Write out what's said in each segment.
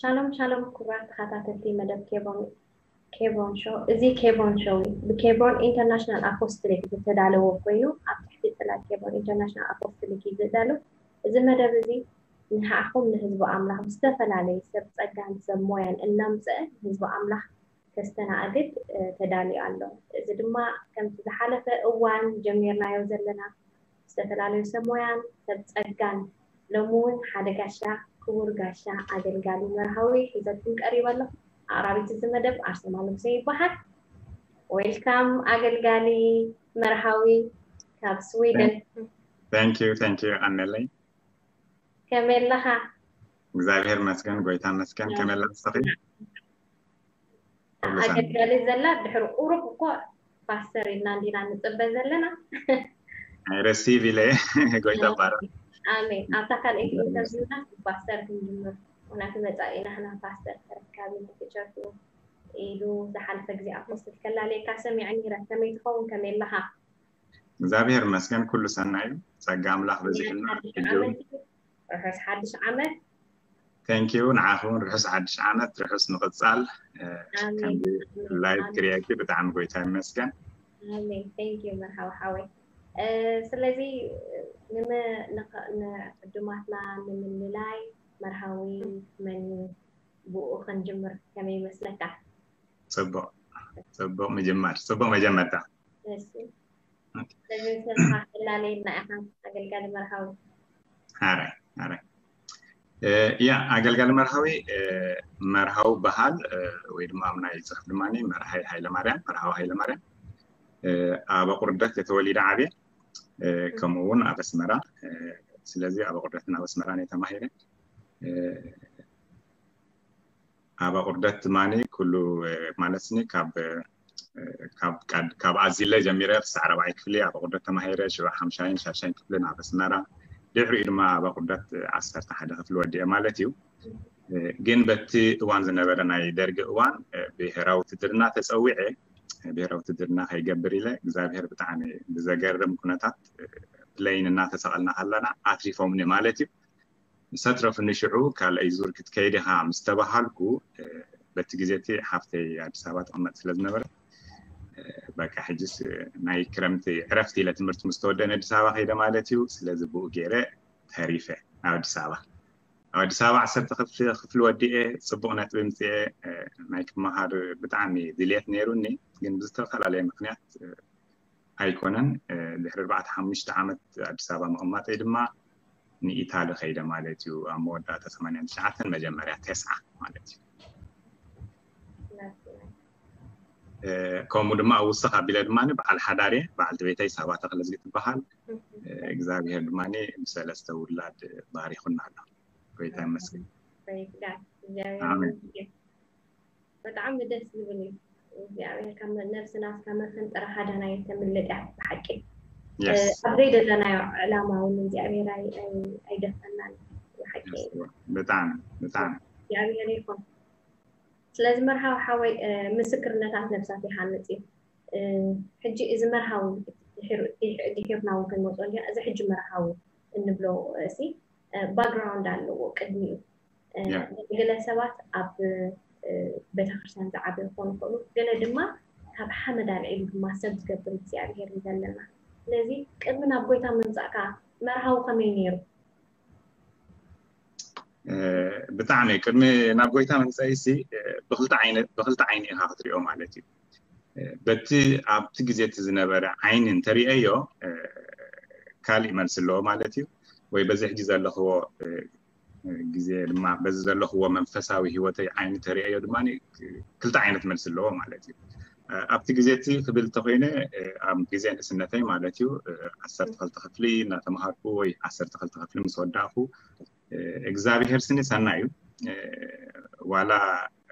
ሻሎም ሻሎም ክቡራት ተኸታተልቲ መደብ ኬቦን ኬቦን ሾው። እዚ ኬቦን ሾው እዩ። ብኬቦን ኢንተርናሽናል ኣፖስትሊክ ዝተዳለወ ኮይኑ ኣብ ትሕቲ ጽላት ኬቦን ኢንተርናሽናል ኣፖስትሊክ እዩ ዝዳሎ። እዚ መደብ እዚ ንዓኹም ንህዝቢ ኣምላኽ ብዝተፈላለዩ ሰብ ጸጋን ሰብ ሞያን እናምጽአ ንህዝቢ ኣምላኽ ከስተናግድ ተዳልዩ ኣሎ። እዚ ድማ ከምቲ ዝሓለፈ እዋን ጀሚርናዮ ዘለና ዝተፈላለዩ ሰብ ሞያን ሰብ ጸጋን ሎሚ እውን ሓደ ጋሻ ክቡር ጋሻ ኣገልጋሊ መርሃዊ ሒዘልኩም ቀሪበ ኣሎ። ኣቕራቢት እዚ መደብ ኣርሰማ ንጉሴ ይበሃል። ዌልካም ኣገልጋሊ መርሃዊ ካብ ስዊድን። Thank you, thank you ኣነለይ። ከመይ ኣለኻ? እግዚኣብሔር ይመስገን፣ ጎይታ ይመስገን። ከመይ ኣላ ንስኺ? ኣገልጋሊ ዘላ ድሕሪ ቁሩብ እኮ ፓስተር ኢልና እንዲና ንጽበ ዘለና። ኣይ ረሲቭ ኢለ ጎይታ ባረ። ኣሜን። ኣብታ ካልኣይቲ ኢንተርቪውና ፓስተር ክንጅምር፣ ምክንያቱ መጻኢ ናህና ፓስተር ተረካቢ ነቲ ቸርቹ ኢሉ ዝሓለፈ ግዜ ኣፖስትል ከላለየካ ሰሚዐ ነይረ። ከመይ ትኸውን? ከመይ ኣለኻ? እግዚኣብሔር ይመስገን፣ ኩሉ ሰናይ እዩ። ጸጋ ኣምላኽ በዚሕልና። ሓድሽ ዓመት እዩ። ርሑስ ሓድሽ ዓመት። Thank you። ንዓኹም ርሑስ ሓድሽ ዓመት፣ ርሑስ ምቕጻል። እ፣ ኣሜን። ከምዚ ላይቭ ክሪኤኪ ብጣዕሚ ጎይታ ይመስገን። ኣሜን። Thank you መርሃዊ ሓወይ። እ፣ ስለዚ ንመ-፣ ንኸ-፣ ንዕዱማትና ንምልላይ መርሃዊ መን እዩ? ብኡ ክንጅምር ከመይ ይመስለካ? ጽቡቕ፣ ጽቡቕ ምጅማር፣ ጽቡቕ መጀመርታ። እሺ። ስለዚ ንስኻ ከላለየና ኢኻ ኣገልጋሊ መርሃዊ። ሓራይ፣ ሓራይ። እ፣ ያ፣ ኣገልጋሊ መርሃዊ፣ እ፣ መርሃዊ በሃል፣ እ፣ ወይ ድማ ኣብ ናይ ጽሑፍ ድማ መርሃይ ሃይለ ማርያም፣ መርሃዊ ሃይለ ማርያም። እ፣ ኣብ ኣቑርደት እየ ተወሊደ ዓብየ፣ እ፣ ከምኡ እውን ኣብ ኣስመራ። እ፣ ስለዚ ኣብ ኣቑርደትን ኣብ ኣስመራን እየ ተማሂረ። እ፣ ኣብ ኣቑርደት ድማ ኩሉ፣ እ፣ ማለት ስኒ ካብ፣ እ፣ ካብ ቀድ-፣ ካብ ኣዚለ ጀሚረ ክሳዕ ራብዓይ ክፍሊ ኣብ ኣቑርደት ተማሂረ፣ ሽዑ ሓምሻይን ሻድሻይን ክፍልን ኣብ ኣስመራ፣ ድሕሪኡ ድማ ኣብ ኣቑርደት ዓሰርተ ሓደ ክፍሊ ወዲኤ ማለት እዩ። እ፣ ግን በቲ እዋን ዝነበረ ናይ ደርጊ እዋን፣ እ፣ ብሄራዊ ውትድርና ተጸዊዐ፣ ብሄራዊ ውትድርና ከይገብር ኢለ እግዚኣብሔር ብጣዕሚ ብዘገርም ኩነታት፣ እ፣ ፕሌን እናተሰቐልና ከለና ኣትሪፎምኒ ማለት እዩ። ዝተረፉኒ ሽዑ ካልኣይ ዙር ክትከይድ ኢኻ ምስ ተባሃልኩ፣ እ፣ በቲ ግዜ እቲ ሓፍተይ ኣዲስ ኣበባ ትቕመጥ ስለ ዝነበረት፣ እ፣ በቃ ሕጅስ፣ እ፣ ናይ ክረምቲ ዕረፍቲ ኢለ ትምህርቲ ምስ ተወደአኒ ኣዲስ ኣበባ ከይደ ማለት እዩ። ስለዚ ብኡ ገይረ ተሪፈ ናብ ኣዲስ ኣበባ። ኣብ ኣዲስ ኣበባ ዓሰርተ ክፍሊ፣ ክፍሊ ወዲኤ ጽቡቕ ነጥቢ ምጽኤ፣ እ፣ ናይ ክመሃር ብጣዕሚ ድልየት ነይሩኒ፣ ግን ብዝተፈላለየ ምክንያት፣ እ፣ ኣይኮነን። እ፣ ድሕሪ ኣርባዕተ ሓሙሽተ ዓመት ኣዲስ ኣበባ ምቕማጠይ ድማ ንኢታሊ ከይደ ማለት እዩ። ኣብ መወዳእታ ሰማንያን ትሽዓተን መጀመርያ ተስዓ ማለት እዩ። እ፣ ከምኡ ድማ ኣብ ውስኽ ኣቢለ ድማ በዓል ሓዳር እየ። በዓልቲ ቤተይ ሳባ ተኽለዝጊ ትበሃል። እ፣ እግዚኣብሔር ድማ ብሰለስተ ውላድ ባሪኹና ኣሎ። ጎይታ ይመስገን። Praise God። እግዚኣብሔር ኣሜን። ይመስገን። ብጣዕሚ ደስ ዝብል እዩ። እግዚኣብሔር ካብ ነብስና ካብ መፈንጠራ ሃዳና የተምልጥ እያ ብሓቂ። የስ። ኣብ ዘይደለናዮ ዕላማ እውን እግዚኣብሔር ኣይ-፣ ኣይ-፣ ኣይደፈናን ብሓቂ። የስ። ብጣዕሚ፣ ብጣዕሚ። እግዚኣብሔር ይኹን። ስለዚ መርሃዊ ሓወይ፣ እ፣ ምስክርነታት ነብሳት ይሃንጽ እዩ። እ፣ ሕጂ እዚ መርሃዊ ድሒሩ-፣ ድሒ-፣ ድሒርና እውን ክንመጾ እንዲና። እዚ ሕጂ መርሃዊ እንብሎ፣ እ፣ ሲ፣ እ፣ ባክግራውንድ ኣለዎ ቅድሚኡ። እ፣ ያ። ገለ ሰባት ኣብ፣ እ፣ ቤተክርስትያን ዝዓበዩ ክኾኑ ይኽእሉ፣ ገለ ድማ ካብ ሓመድ ኣልዒሉ ድማ ሰብ ዝገብር እግዚኣብሔር እዩ ዘለና። ስለዚ ቅድሚ ናብ ጎይታ ምምጻእካ መርሃዊ ከመይ ነይሩ? እ፣ ብጣዕሚ ቅድሚ ናብ ጎይታ ምምጻእሲ፣ እ፣ ብኽልተ ዓይነ-፣ ብኽልተ ዓይኒ ኢኻ ክትሪኦ ማለት እዩ። እ፣ በቲ ኣብቲ ግዜ እቲ ዝነበረ ዓይኒ እንተሪአዮ፣ እ፣ ካሊእ መልሲ ኣለዎ ማለት እዩ። ወይ በዚ ሕጂ ዘለኽዎ፣ እ፣ ግዜ ድማ በዚ ዘለኽዎ መንፈሳዊ ህይወተይ ዓይኒ ተሪአዮ ድማ ክልተ ዓይነት መልሲ ኣለዎ ማለት እዩ። እ፣ ኣብቲ ግዜ እቲ ክብል እንተኾይነ፣ እ፣ ኣብ ግዜ ንእስነተይ ማለት እዩ፣ እ፣ ዓሰርተ ክልተ ክፍሊ እናተምሃርኩ ወይ ዓሰርተ ክልተ ክፍሊ ምስ ወዳእኩ፣ እ፣ እግዚኣብሔር ስኒ ሰናይ እዩ። እ፣ ዋላ፣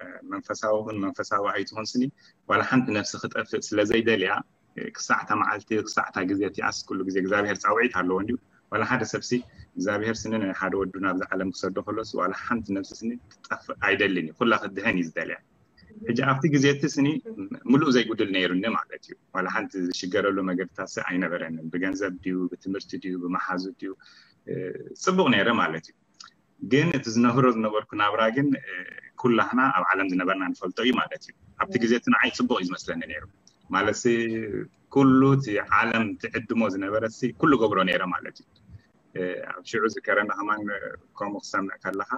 እ፣ መንፈሳዊ ኹን መንፈሳዊ ኣይትኹን ስኒ፣ ዋላ ሓንቲ ነፍሲ ክጠፍእ ስለ ዘይደልያ፣ እ፣ ክሳዕታ መዓልቲ፣ ክሳዕታ ግዜ እቲኣስ ኩሉ ግዜ እግዚኣብሔር ጻውዒት ኣለዎ እንድዩ። ዋላ ሓደ ሰብሲ እግዚኣብሔር ስኒ ናይ ሓደ ወዱ ናብዚ ዓለም ክሰዶ ከሎስ ዋላ ሓንቲ ነፍሲ ስኒ ክትጠፍእ ኣይደልን እዩ። ኩላ ክትድሕን እዩ ዝደልያ። ሕጂ ኣብቲ ግዜ እቲ ስኒ ምሉእ ዘይጉድል ነይሩኒ ማለት እዩ። ዋላ ሓንቲ ዝሽገረሉ መገድታት ሲ ኣይነበረንን። ብገንዘብ ድዩ፣ ብትምህርቲ ድዩ፣ ብመሓዙ ድዩ፣ እ፣ ጽቡቕ ነይረ ማለት እዩ። ግን እቲ ዝነብሮ ዝነበርኩ ናብራ ግን፣ እ፣ ኩላህና ኣብ ዓለም ዝነበርና ንፈልጦ እዩ ማለት እዩ። ኣብቲ ግዜ እቲ ንዓይ ፅቡቕ እዩ ዝመስለኒ ነይሩ። ማለት ኩሉ እቲ ዓለም ትዕድሞ ዝነበረ ኩሉ ገብሮ ነይረ ማለት እዩ። ኣብ ሽዑ ዝከረና ከማን ከምኡ ክሰምዕ ከለካ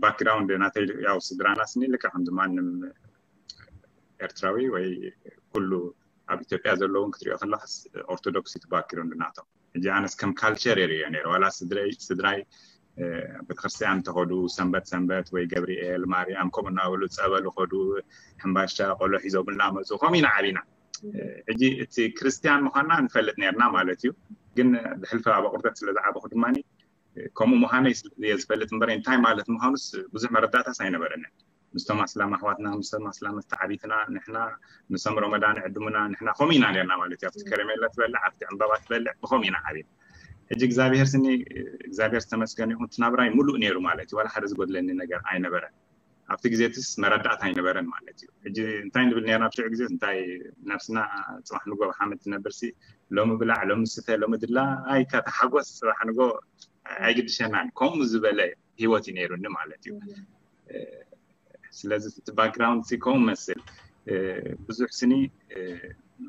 ባክግራውንድ ናተይ ያው ስድራና ስኒ ልክዕ ከምዚ ማንም ኤርትራዊ ወይ ኩሉ ኣብ ኢትዮጵያ ዘለውን ክትሪኦ ከለካስ ኦርቶዶክስ ባክግራውንድ ናቶም። ሕጂ ኣነስ ከም ካልቸር የርእዮ ነይሩ ዋላ ስድራይ ስድራይ ቤተክርስትያን እንተኸዱ ሰንበት ሰንበት ወይ ገብርኤል ማርያም ከምኡ እናበሉ ፀበሉ ከዱ ሕምባሻ ቆሎ ሒዞም እናመፁ ከምኡ ኢና ዓቢና። ሕጂ እቲ ክርስትያን ምዃንና ንፈልጥ ነርና ማለት እዩ። ግን ብሕልፊ ኣብ ኣቁርደት ስለ ዝዓበኹ ድማ ከምኡ ምዃነይ እየ ዝፈልጥ እምበር እንታይ ማለት ምዃኑስ ብዙሕ መረዳእታስ ኣይነበረንን። ምስቶም ኣስላም ኣሕዋትና ምስቶም ኣስላም ተዓቢትና ንሕና ንሶም ረመዳን ዕድሙና ንሕና ከምኡ ኢና ነርና ማለት እዩ። ኣብቲ ከረሜላ ትበልዕ ኣብቲ ዕምባባ ትበልዕ ብከምኡ ኢና ዓቢና። ሕጂ እግዚኣብሔር ስኒ እግዚኣብሔር ዝተመስገነ ይኹን እቲ ናብራይ ሙሉእ ነይሩ ማለት እዩ። ዋላ ሓደ ዝጎድለኒ ነገር ኣይነበረን። ኣብቲ ግዜ ትስ መረዳእታ ኣይነበረን ማለት እዩ። ሕጂ እንታይ ንብል ነርና ኣብ ሽዑ ግዜ እንታይ ነብስና ፅባሕ ንጎ ሓመድ ትነብር ሲ ሎሚ ብላዕ ሎሚ ስተ ሎሚ ድላ ኣይካ ተሓጎስ ፅባሕ ንጎ ኣይግድሸናን ከምኡ ዝበለ ህይወት እዩ ነይሩኒ ማለት እዩ። ስለዚ እቲ ባክግራውንድ ሲ ከምኡ መስል ብዙሕ ስኒ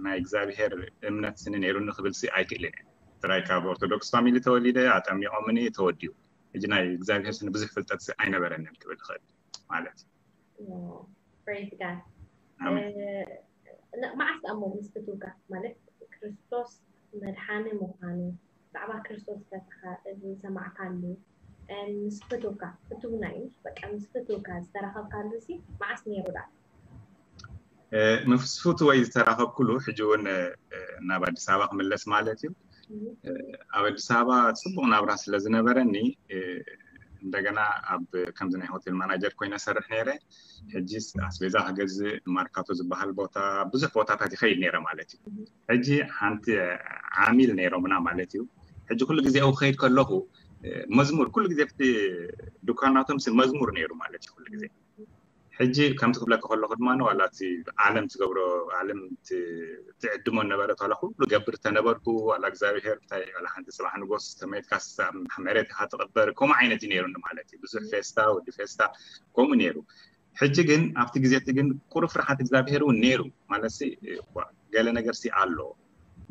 ናይ እግዚኣብሄር እምነት ስኒ ነይሩኒ ክብል ሲ ኣይክእልን እየ። ጥራይ ካብ ኦርቶዶክስ ፋሚሊ ተወሊደ ኣጠሚቆምኒ ተወዲኡ። ሕጂ ናይ እግዚኣብሄር ስኒ ብዙሕ ፍልጠት ሲ ኣይነበረንን ክብል ይኽእል ማለት እዩ። Praise God። ኣሜን። እ፣ ን- መዓስ ደኣ እሞ ምስ ፍትውካ ማለት ክርስቶስ መድሓኒ ምዃኑ ብዛዕባ ክርስቶስ ዝተሰኸ ዝሰማዕካሉ እ፣ ምስ ፍትውካ ፍትውና እዩ በቃ ምስ ፍትውካ ዝተራኸብካሉ ሲ መዓስ ነይሩ ደኣ? እ፣ ምስ ፍትወይ ዝተራኸብኩሉ ሕጂ እውን እ፣ ናብ ኣዲስ ኣበባ ክምለስ ማለት እዩ። ኣብ ኣዲስ ኣበባ ፅቡቕ ናብራ ስለ ዝነበረኒ እንደገና ኣብ ከምዚ ናይ ሆቴል ማናጀር ኮይነ ሰርሕ ነይረ። ሕጂ ኣስቤዛ ክገዝእ ማርካቶ ዝበሃል ቦታ ብዙሕ ቦታታት ይኸይድ ነይረ ማለት እዩ። ሕጂ ሓንቲ ዓሚል ነይሮምና ማለት እዩ። ሕጂ ኩሉ ግዜ ኣብኡ ክኸይድ ከለኹ መዝሙር ኩሉ ግዜ ኣብቲ ድኳናቶም ሲ መዝሙር ነይሩ ማለት እዩ ኩሉ ግዜ። ሕጂ ከምቲ ክብለካ ከለኹ ድማ ዋላ እቲ ዓለም ትገብሮ ዓለም ትዕድሞ ነበረት ዋላ ኩሉ ገብር ተነበርኩ ዋላ እግዚኣብሄር እንታይ ዋላ ሓንቲ ፅባሕ ንጎስ ተመይትካ መሬት ኢካ ትቕበር ከምኡ ዓይነት እዩ ነይሩኒ ማለት እዩ። ብዙሕ ፌስታ ወዲ ፌስታ ከምኡ ነይሩ። ሕጂ ግን ኣብቲ ግዜ እቲ ግን ቁሩብ ፍርሓት እግዚኣብሄር እውን ነይሩ ማለት ሲ ገለ ነገር ሲ ኣሎ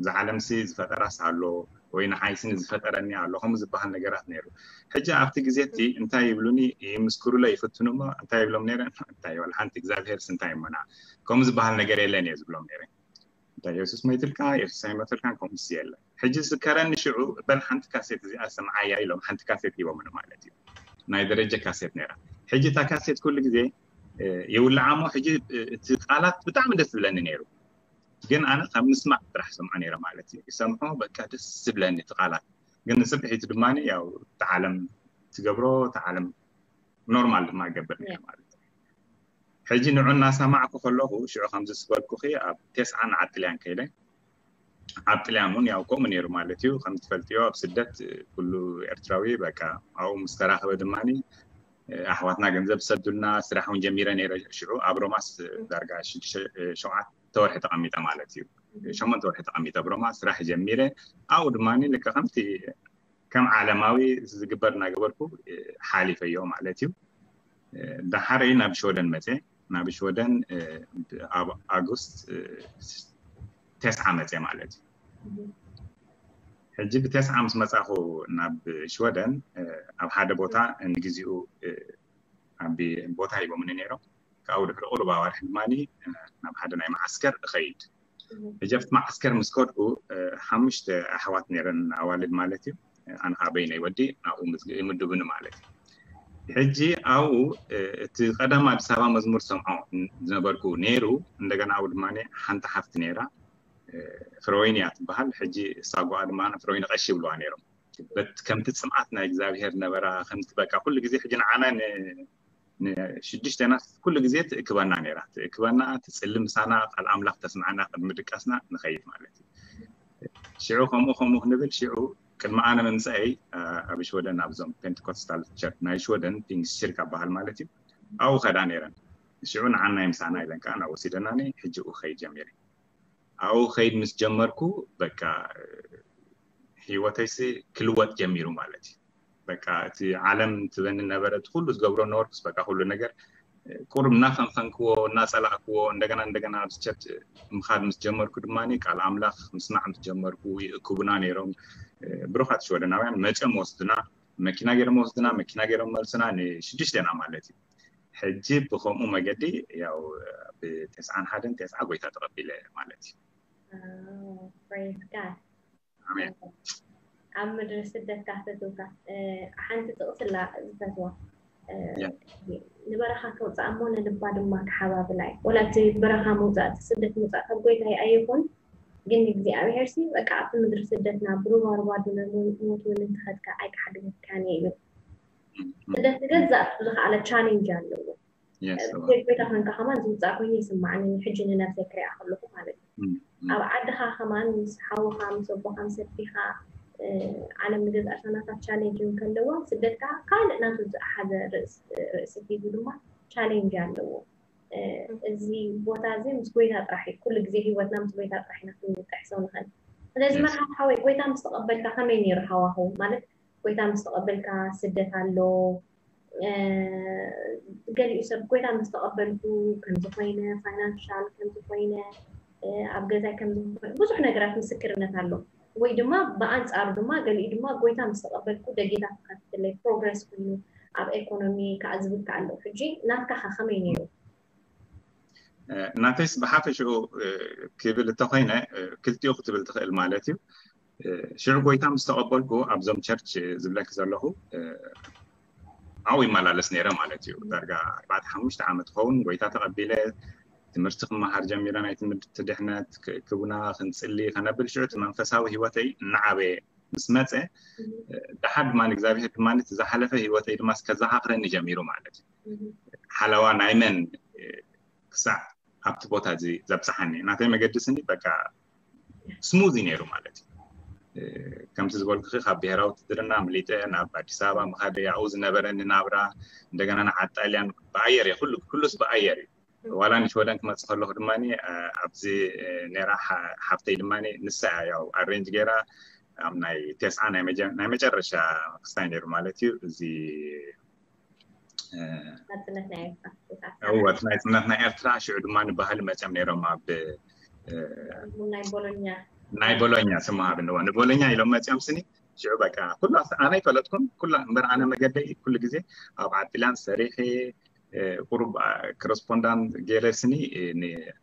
እዛ ዓለም ሲ ዝፈጠራስ ኣሎ ወይ ንዓይ ስኒ ዝፈጠረኒ ኣሎ ከምኡ ዝበሃል ነገራት ነይሩ። ሕጂ ኣብቲ ግዜ እቲ እንታይ ይብሉኒ ይምስክሩለ ይፍትኑ እሞ እንታይ ይብሎም ነይረ እንታይ ይበል ሓንቲ እግዚኣብሄርስ እንታይ እሞና ከምኡ ዝበሃል ነገር የለን እየ ዝብሎም ነይረ። እንታይ የሱስ መይትልካ የሱስ ኣይመተልካን ከምኡስ የለን። ሕጂ ዝከረኒ ሽዑ በል ሓንቲ ካሴት እዚኣ ሰምዓያ ኢሎም ሓንቲ ካሴት ሂቦምኒ ማለት እዩ። ናይ ደረጀ ካሴት ነይራ። ሕጂ እታ ካሴት ኩሉ ግዜ ይውልዓ እሞ ሕጂ እቲ ቃላት ብጣዕሚ ደስ ዝብለኒ ነይሩ። ግን ኣነ ካብ ምስማዕ ጥራሕ ሰምዖ ነይረ ማለት እዩ። ይሰምዖ በቃ ደስ ዝብለኒ እቲ ቃላት ግን ንፅብሒቱ ድማ ያው እቲ ዓለም ትገብሮ እቲ ዓለም ኖርማል ድማ ይገብር ነይረ ማለት እዩ። ሕጂ ንዑ እናሰማዕኩ ከለኹ ሽዑ ከምዚ ዝበልኩኺ ኣብ ቴስዓን ዓጥልያን ከይደ ኣብ ጥልያን እውን ያው ከምኡ ነይሩ ማለት እዩ። ከም ትፈልጥዮ ኣብ ስደት ኩሉ ኤርትራዊ በቃ ኣብኡ ምስ ተራኸበ ድማ ኣሕዋትና ገንዘብ ዝሰዱልና ስራሕ እውን ጀሚረ ነይረ። ሽዑ ኣብ ሮማስ ዳርጋ ሽዱሽተ ሸውዓተ ወርሒ ተቐሚጠ ማለት እዩ። ሸሞንተ ወርሒ ተቐሚጠ ኣብ ሮማ ስራሕ ጀሚረ። ኣብኡ ድማ ልክዕ ከምቲ ከም ዓለማዊ ዝግበር እናገበርኩ ሓሊፈዮ ማለት እዩ። ዳሓረይ ናብ ሽወደን መፀ ናብ ሽወደን ኣብ ኣጉስት ተስዓ መፀ ማለት እዩ። ሕጂ ብተስዓ ምስ መፃኹ ናብ ሽወደን ኣብ ሓደ ቦታ ንግዚኡ ዓቢ ቦታ ሂቦምኒ ነይሮም። ካብኡ ድሕሪ ቁሩብ ኣዋርሕ ድማ ናብ ሓደ ናይ መዓስከር እኸይድ። ሕጂ ኣብቲ መዓስከር ምስ ከድኩ ሓሙሽተ ኣሕዋት ነይረን ኣዋልድ ማለት እዩ። ኣነ ከዓ በይነይ ወዲ ናብኡ ይምድቡኒ ማለት እዩ። ሕጂ ኣብኡ እቲ ቀደም ኣዲስ ኣበባ መዝሙር ሰምዖ ዝነበርኩ ነይሩ። እንደገና ኣብኡ ድማ ሓንቲ ሓፍቲ ነይራ ፍረወይኒ እያ ትበሃል። ሕጂ ሳጓኣ ድማ ፍረወይኒ ቀሺ ይብልዋ ነይሮም። በት ከምቲ ፅምኣት ናይ እግዚኣብሄር ነበራ ከምቲ በቃ ኩሉ ግዜ ሕጂ ንዓና ንሽዱሽተና ኩሉ ግዜ ትእክበና ነይራ ትእክበና ትፅሊ ምሳና ቃል ኣምላኽ ተስምዓና ቅድሚ ድቃስና ንኸይድ ማለት እዩ። ሽዑ ከምኡ ከምኡ ክንብል ሽዑ ቅድሚ ኣነ ምምፀአይ ኣብ ሽወደን ኣብዞም ፔንቴኮስታል ቸርች ናይ ሽወደን ፒንግስ ሽርካ በሃል ማለት እዩ ኣብኡ ከዳ ነይረን። ሽዑ ንዓናይ ምሳና ኢለን ከዓ ናብ ወሲደናኒ ሕጂ ኡ ከይድ ጀሚረ። ኣብኡ ከይድ ምስ ጀመርኩ በቃ ህይወተይሲ ክልወጥ ጀሚሩ ማለት እዩ። በቃ እቲ ዓለም ትበኒ ነበረ፣ እቲ ኩሉ ዝገብሮ ነበርኩስ በቃ ኩሉ ነገር ቁሩብ እናፈንፈንክዎ እናጸላእክዎ እንደገና እንደገና ኣብዚ ቸርች ምኻድ ምስ ጀመርኩ ድማ ቃል ኣምላኽ ምስማዕ ምስ ጀመርኩ ይእክቡና ነይሮም። ብሩኻት ሽወደናውያን መጽኦም ወስዱና፣ መኪና ገይሮም ወስዱና፣ መኪና ገይሮም መልሱና፣ ንሽዱሽተና ማለት እዩ። ሕጂ ብኸምኡ መገዲ ያው ብተስዓን ሓደን ተስዓ ጎይታ ተቐቢለ ማለት እዩ። Praise God። ኣሜን። ኣብ ምድሪ ስደት ካፍትትውካ ሓንቲ ጥቕስላ ዝፈትዋ ንበረኻ ከውፅኣ እሞ ንልባ ድማ ክሓባብላ እዩ። ወላ እቲ በረኻ ምውፃእ እቲ ስደት ምውፃእ ካብ ጎይታ ኣይኹን፣ ግን እግዚኣብሔር ሲ በቃ ኣብቲ ምድሪ ስደትና ብሩባሩባ ድነ ሞት እውን እንትኸድካ ኣይክሓድገካን እዩ ይብል። ስደት ንገዛእ ዝኸኣለ ቻሌንጅ ኣለዎ። ጎይታ ኮንካ ከማን ዝውፃእ ኮይኑ ይስማዓኒ ሕጂ ንነብሰይ ክሪኣ ከለኹ ማለት እዩ። ኣብ ዓድኻ ከማን ምስ ሓውኻ ምስ ኣቦኻ ምስ ኣዲኻ ዓለም ንገዛእ ርሳናታት ቻሌንጅ ከለዎ ስደት ከዓ ካልእ ናቱ ዝሓዘ ርእሲ ሒዙ ድማ ቻሌንጅ ኣለዎ። እዚ ቦታ እዚ ምስ ጎይታ ጥራሕ እዩ። ኩሉ ግዜ ህይወትና ምስ ጎይታ ጥራሕ ኢና ክንጥሕሶ ንኽእል። ስለዚ መርሃብ ሓወይ ጎይታ ምስ ተቐበልካ ከመይ ነይሩ ሃዋህው ማለት ጎይታ ምስ ተቐበልካ ስደት ኣሎ። ገሊኡ ሰብ ጎይታ ምስ ተቐበልኩ ከምዚ ኮይነ፣ ፋይናንሻል ከምዚ ኮይነ፣ ኣብ ገዛይ ከምዚ ኮይነ፣ ብዙሕ ነገራት ምስክርነት ኣሎ። ወይ ድማ ብኣንፃሩ ድማ ገሊኡ ድማ ጎይታ ምስ ተቐበልኩ ደጌታት ክኸፍትለይ፣ ፕሮግረስ ኮይኑ ኣብ ኤኮኖሚ ከዓ ዝብል ከዓ ኣሎ። ሕጂ ናትካ ከ ከመይ ነይሩ? ናተይስ ብሓፈሽኡ ክብል እንተኮይነ ክልቲኡ ክትብል ትኽእል ማለት እዩ። ሽዑ ጎይታ ምስ ተቐበልኩ ኣብዞም ቸርች ዝብለኪ ዘለኹ ኣብኡ ይመላለስ ነይረ ማለት እዩ። ዳርጋ ኣርባዕተ ሓሙሽተ ዓመት ክኸውን ጎይታ ተቐቢለ ትምህርቲ ክመሃር ጀሚረ። ናይ ትምህርቲ ድሕነት ክቡና ክንፅሊ ከነብል ሽዑ እቲ መንፈሳዊ ህይወተይ እናዓበየ ምስ መፀ ደሓር ድማ እግዚኣብሔር ድማ እቲ ዝሓለፈ ህይወተይ ድማ ከዘኻኽረኒ ጀሚሩ ማለት እዩ። ሓለዋ ናይ መን ክሳዕ ኣብቲ ቦታ እዚ ዘብፅሓኒ ናተይ መገዲ ስኒ በቃ ስሙዝ እዩ ነይሩ ማለት እዩ። ከምቲ ዝበልኩ ካብ ብሄራዊ ውትድርና ኣምሊጠ ናብ ኣዲስ ኣበባ ምኻደ ኣብኡ ዝነበረኒ ናብራ እንደገና ንዓዲ ጣልያን ብኣየር እየ ኩሉ ኩሉስ ብኣየር እዩ። ዋላ ንሽወደን ክመፅእ ከለኹ ድማ ኣብዚ ነራ ሓፍተይ ድማ ንሳ እያ ያው ኣሬንጅ ገይራ ኣብ ናይ ቴስዓ ናይ መጨረሻ ክስታይ ነይሩ ማለት እዩ። እዚ እወ እቲ ናይ ፅነት ናይ ኤርትራ ሽዑ ድማ ንባህሊ መፅኦም ነይሮም ኣብ ናይ ቦሎኛ ስምሃብ ንዋ ንቦሎኛ ኢሎም መፅኦም ስኒ ሽዑ በቃ ኩሉ ኣነ ይፈለጥኩም ኩሉ እምበር ኣነ መገደይ ኩሉ ግዜ ኣብ ዓዲላን ሰሪሐ ቁሩብ ኮረስፖንዳንት ገይረ ስኒ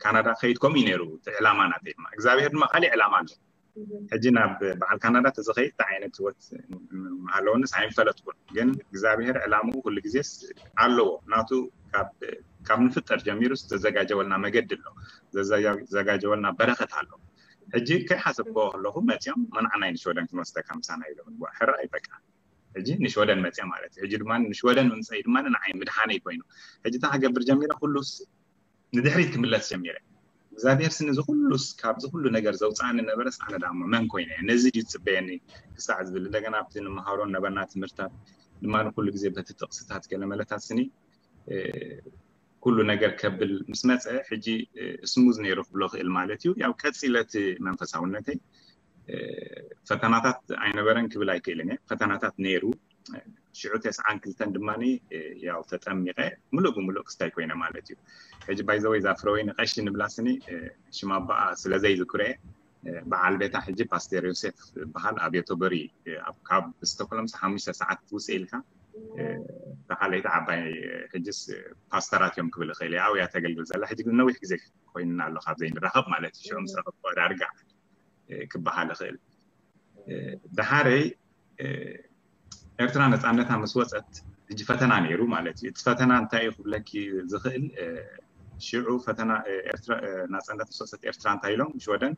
ካናዳ ከይድ ከምኡ እዩ ነይሩ ዕላማ ናተይ ድማ እግዚኣብሔር ድማ ካሊእ ዕላማ ኣሎ ሕጂ ናብ በዓል ካናዳ ተዝኸይድ እንታይ ዓይነት ህይወት ምሃለወንስ ኣይምፈለጥኩን። ግን እግዚኣብሔር ዕላምኡ ኩሉ ግዜ ኣለዎ። ናቱ ካብ ንፍጠር ጀሚሩ ዝተዘጋጀወልና መገዲ ኣሎ፣ ዘዘጋጀወልና በረኸት ኣሎ። ሕጂ ከይሓሰብክዎ ከለኹ መፅኦም መናዕናይ ንሽወደን ክንወስደካ ምሳና ኢሎም ሕራይ በቃ ሕጂ ንሽወደን መፅአ ማለት እዩ። ሕጂ ድማ ንሽወደን ምምፀይ ድማ ንዓይ ምድሓነይ ኮይኑ ሕጂ እንታይ ክገብር ጀሚረ ኩሉስ ንድሕሪት ክምለስ ጀሚረ እግዚኣብሔር ስኒ እዚ ኩሉስ ካብዚ ኩሉ ነገር ዘውፅኣኒ ነበረስ ኣነ ዳ መን ኮይነ ነዚ ድዩ ዝፅበየኒ ክሳዕ ዝብል እንደገና ኣብቲ ንምሃሮ ነበርና ትምህርታት ድማ ንኩሉ ግዜ በቲ ጥቕስታት ገለ መለታት ስኒ ኩሉ ነገር ከብል ምስ መፀ ሕጂ ስሙዝ ነይሩ ክብሎ ክእል ማለት እዩ ያው ቀፂለ እቲ መንፈሳውነተይ ፈተናታት ኣይነበረን ክብል ኣይክእልን እየ ፈተናታት ነይሩ ሽዑ ተስዓን ክልተን ድማ ያው ተጠሚቀ ምሉእ ብምሉእ ክስታይ ኮይነ ማለት እዩ ሕጂ ባይዘወይ ዛፍረወይ ንቀሺ ንብላ ስኒ ሽማ ኣባኣ ስለዘይ ዝኩረ በዓል ቤታ ሕጂ ፓስተር ዮሴፍ ዝበሃል ኣብ ዮቶበሪ ካብ ስቶክሎም ሓሙሽተ ሰዓት ውፅእ ኢልካ ተኻለይቲ ዓባይ ሕጅስ ፓስተራት እዮም ክብል ይኽእል እየ ኣብያ ተገልግል ዘላ ሕጂ ግን ነዊሕ ግዜ ኮይንና ኣሎ ካብ ዘይንራኸብ ማለት እዩ ሽዑ ምስ ረኸብኩ ዳርጋ ክበሃል ይኽእል ደሓረይ ኤርትራ ነፃነታ ምስ ወፀት ሕጂ ፈተና ነይሩ ማለት እዩ እቲ ፈተና እንታይ እዩ ክብለኪ ዝኽእል ሽዑ ፈተና ናፃነት ምስ ወፀት ኤርትራ እንታይ ኢሎም ሽወደን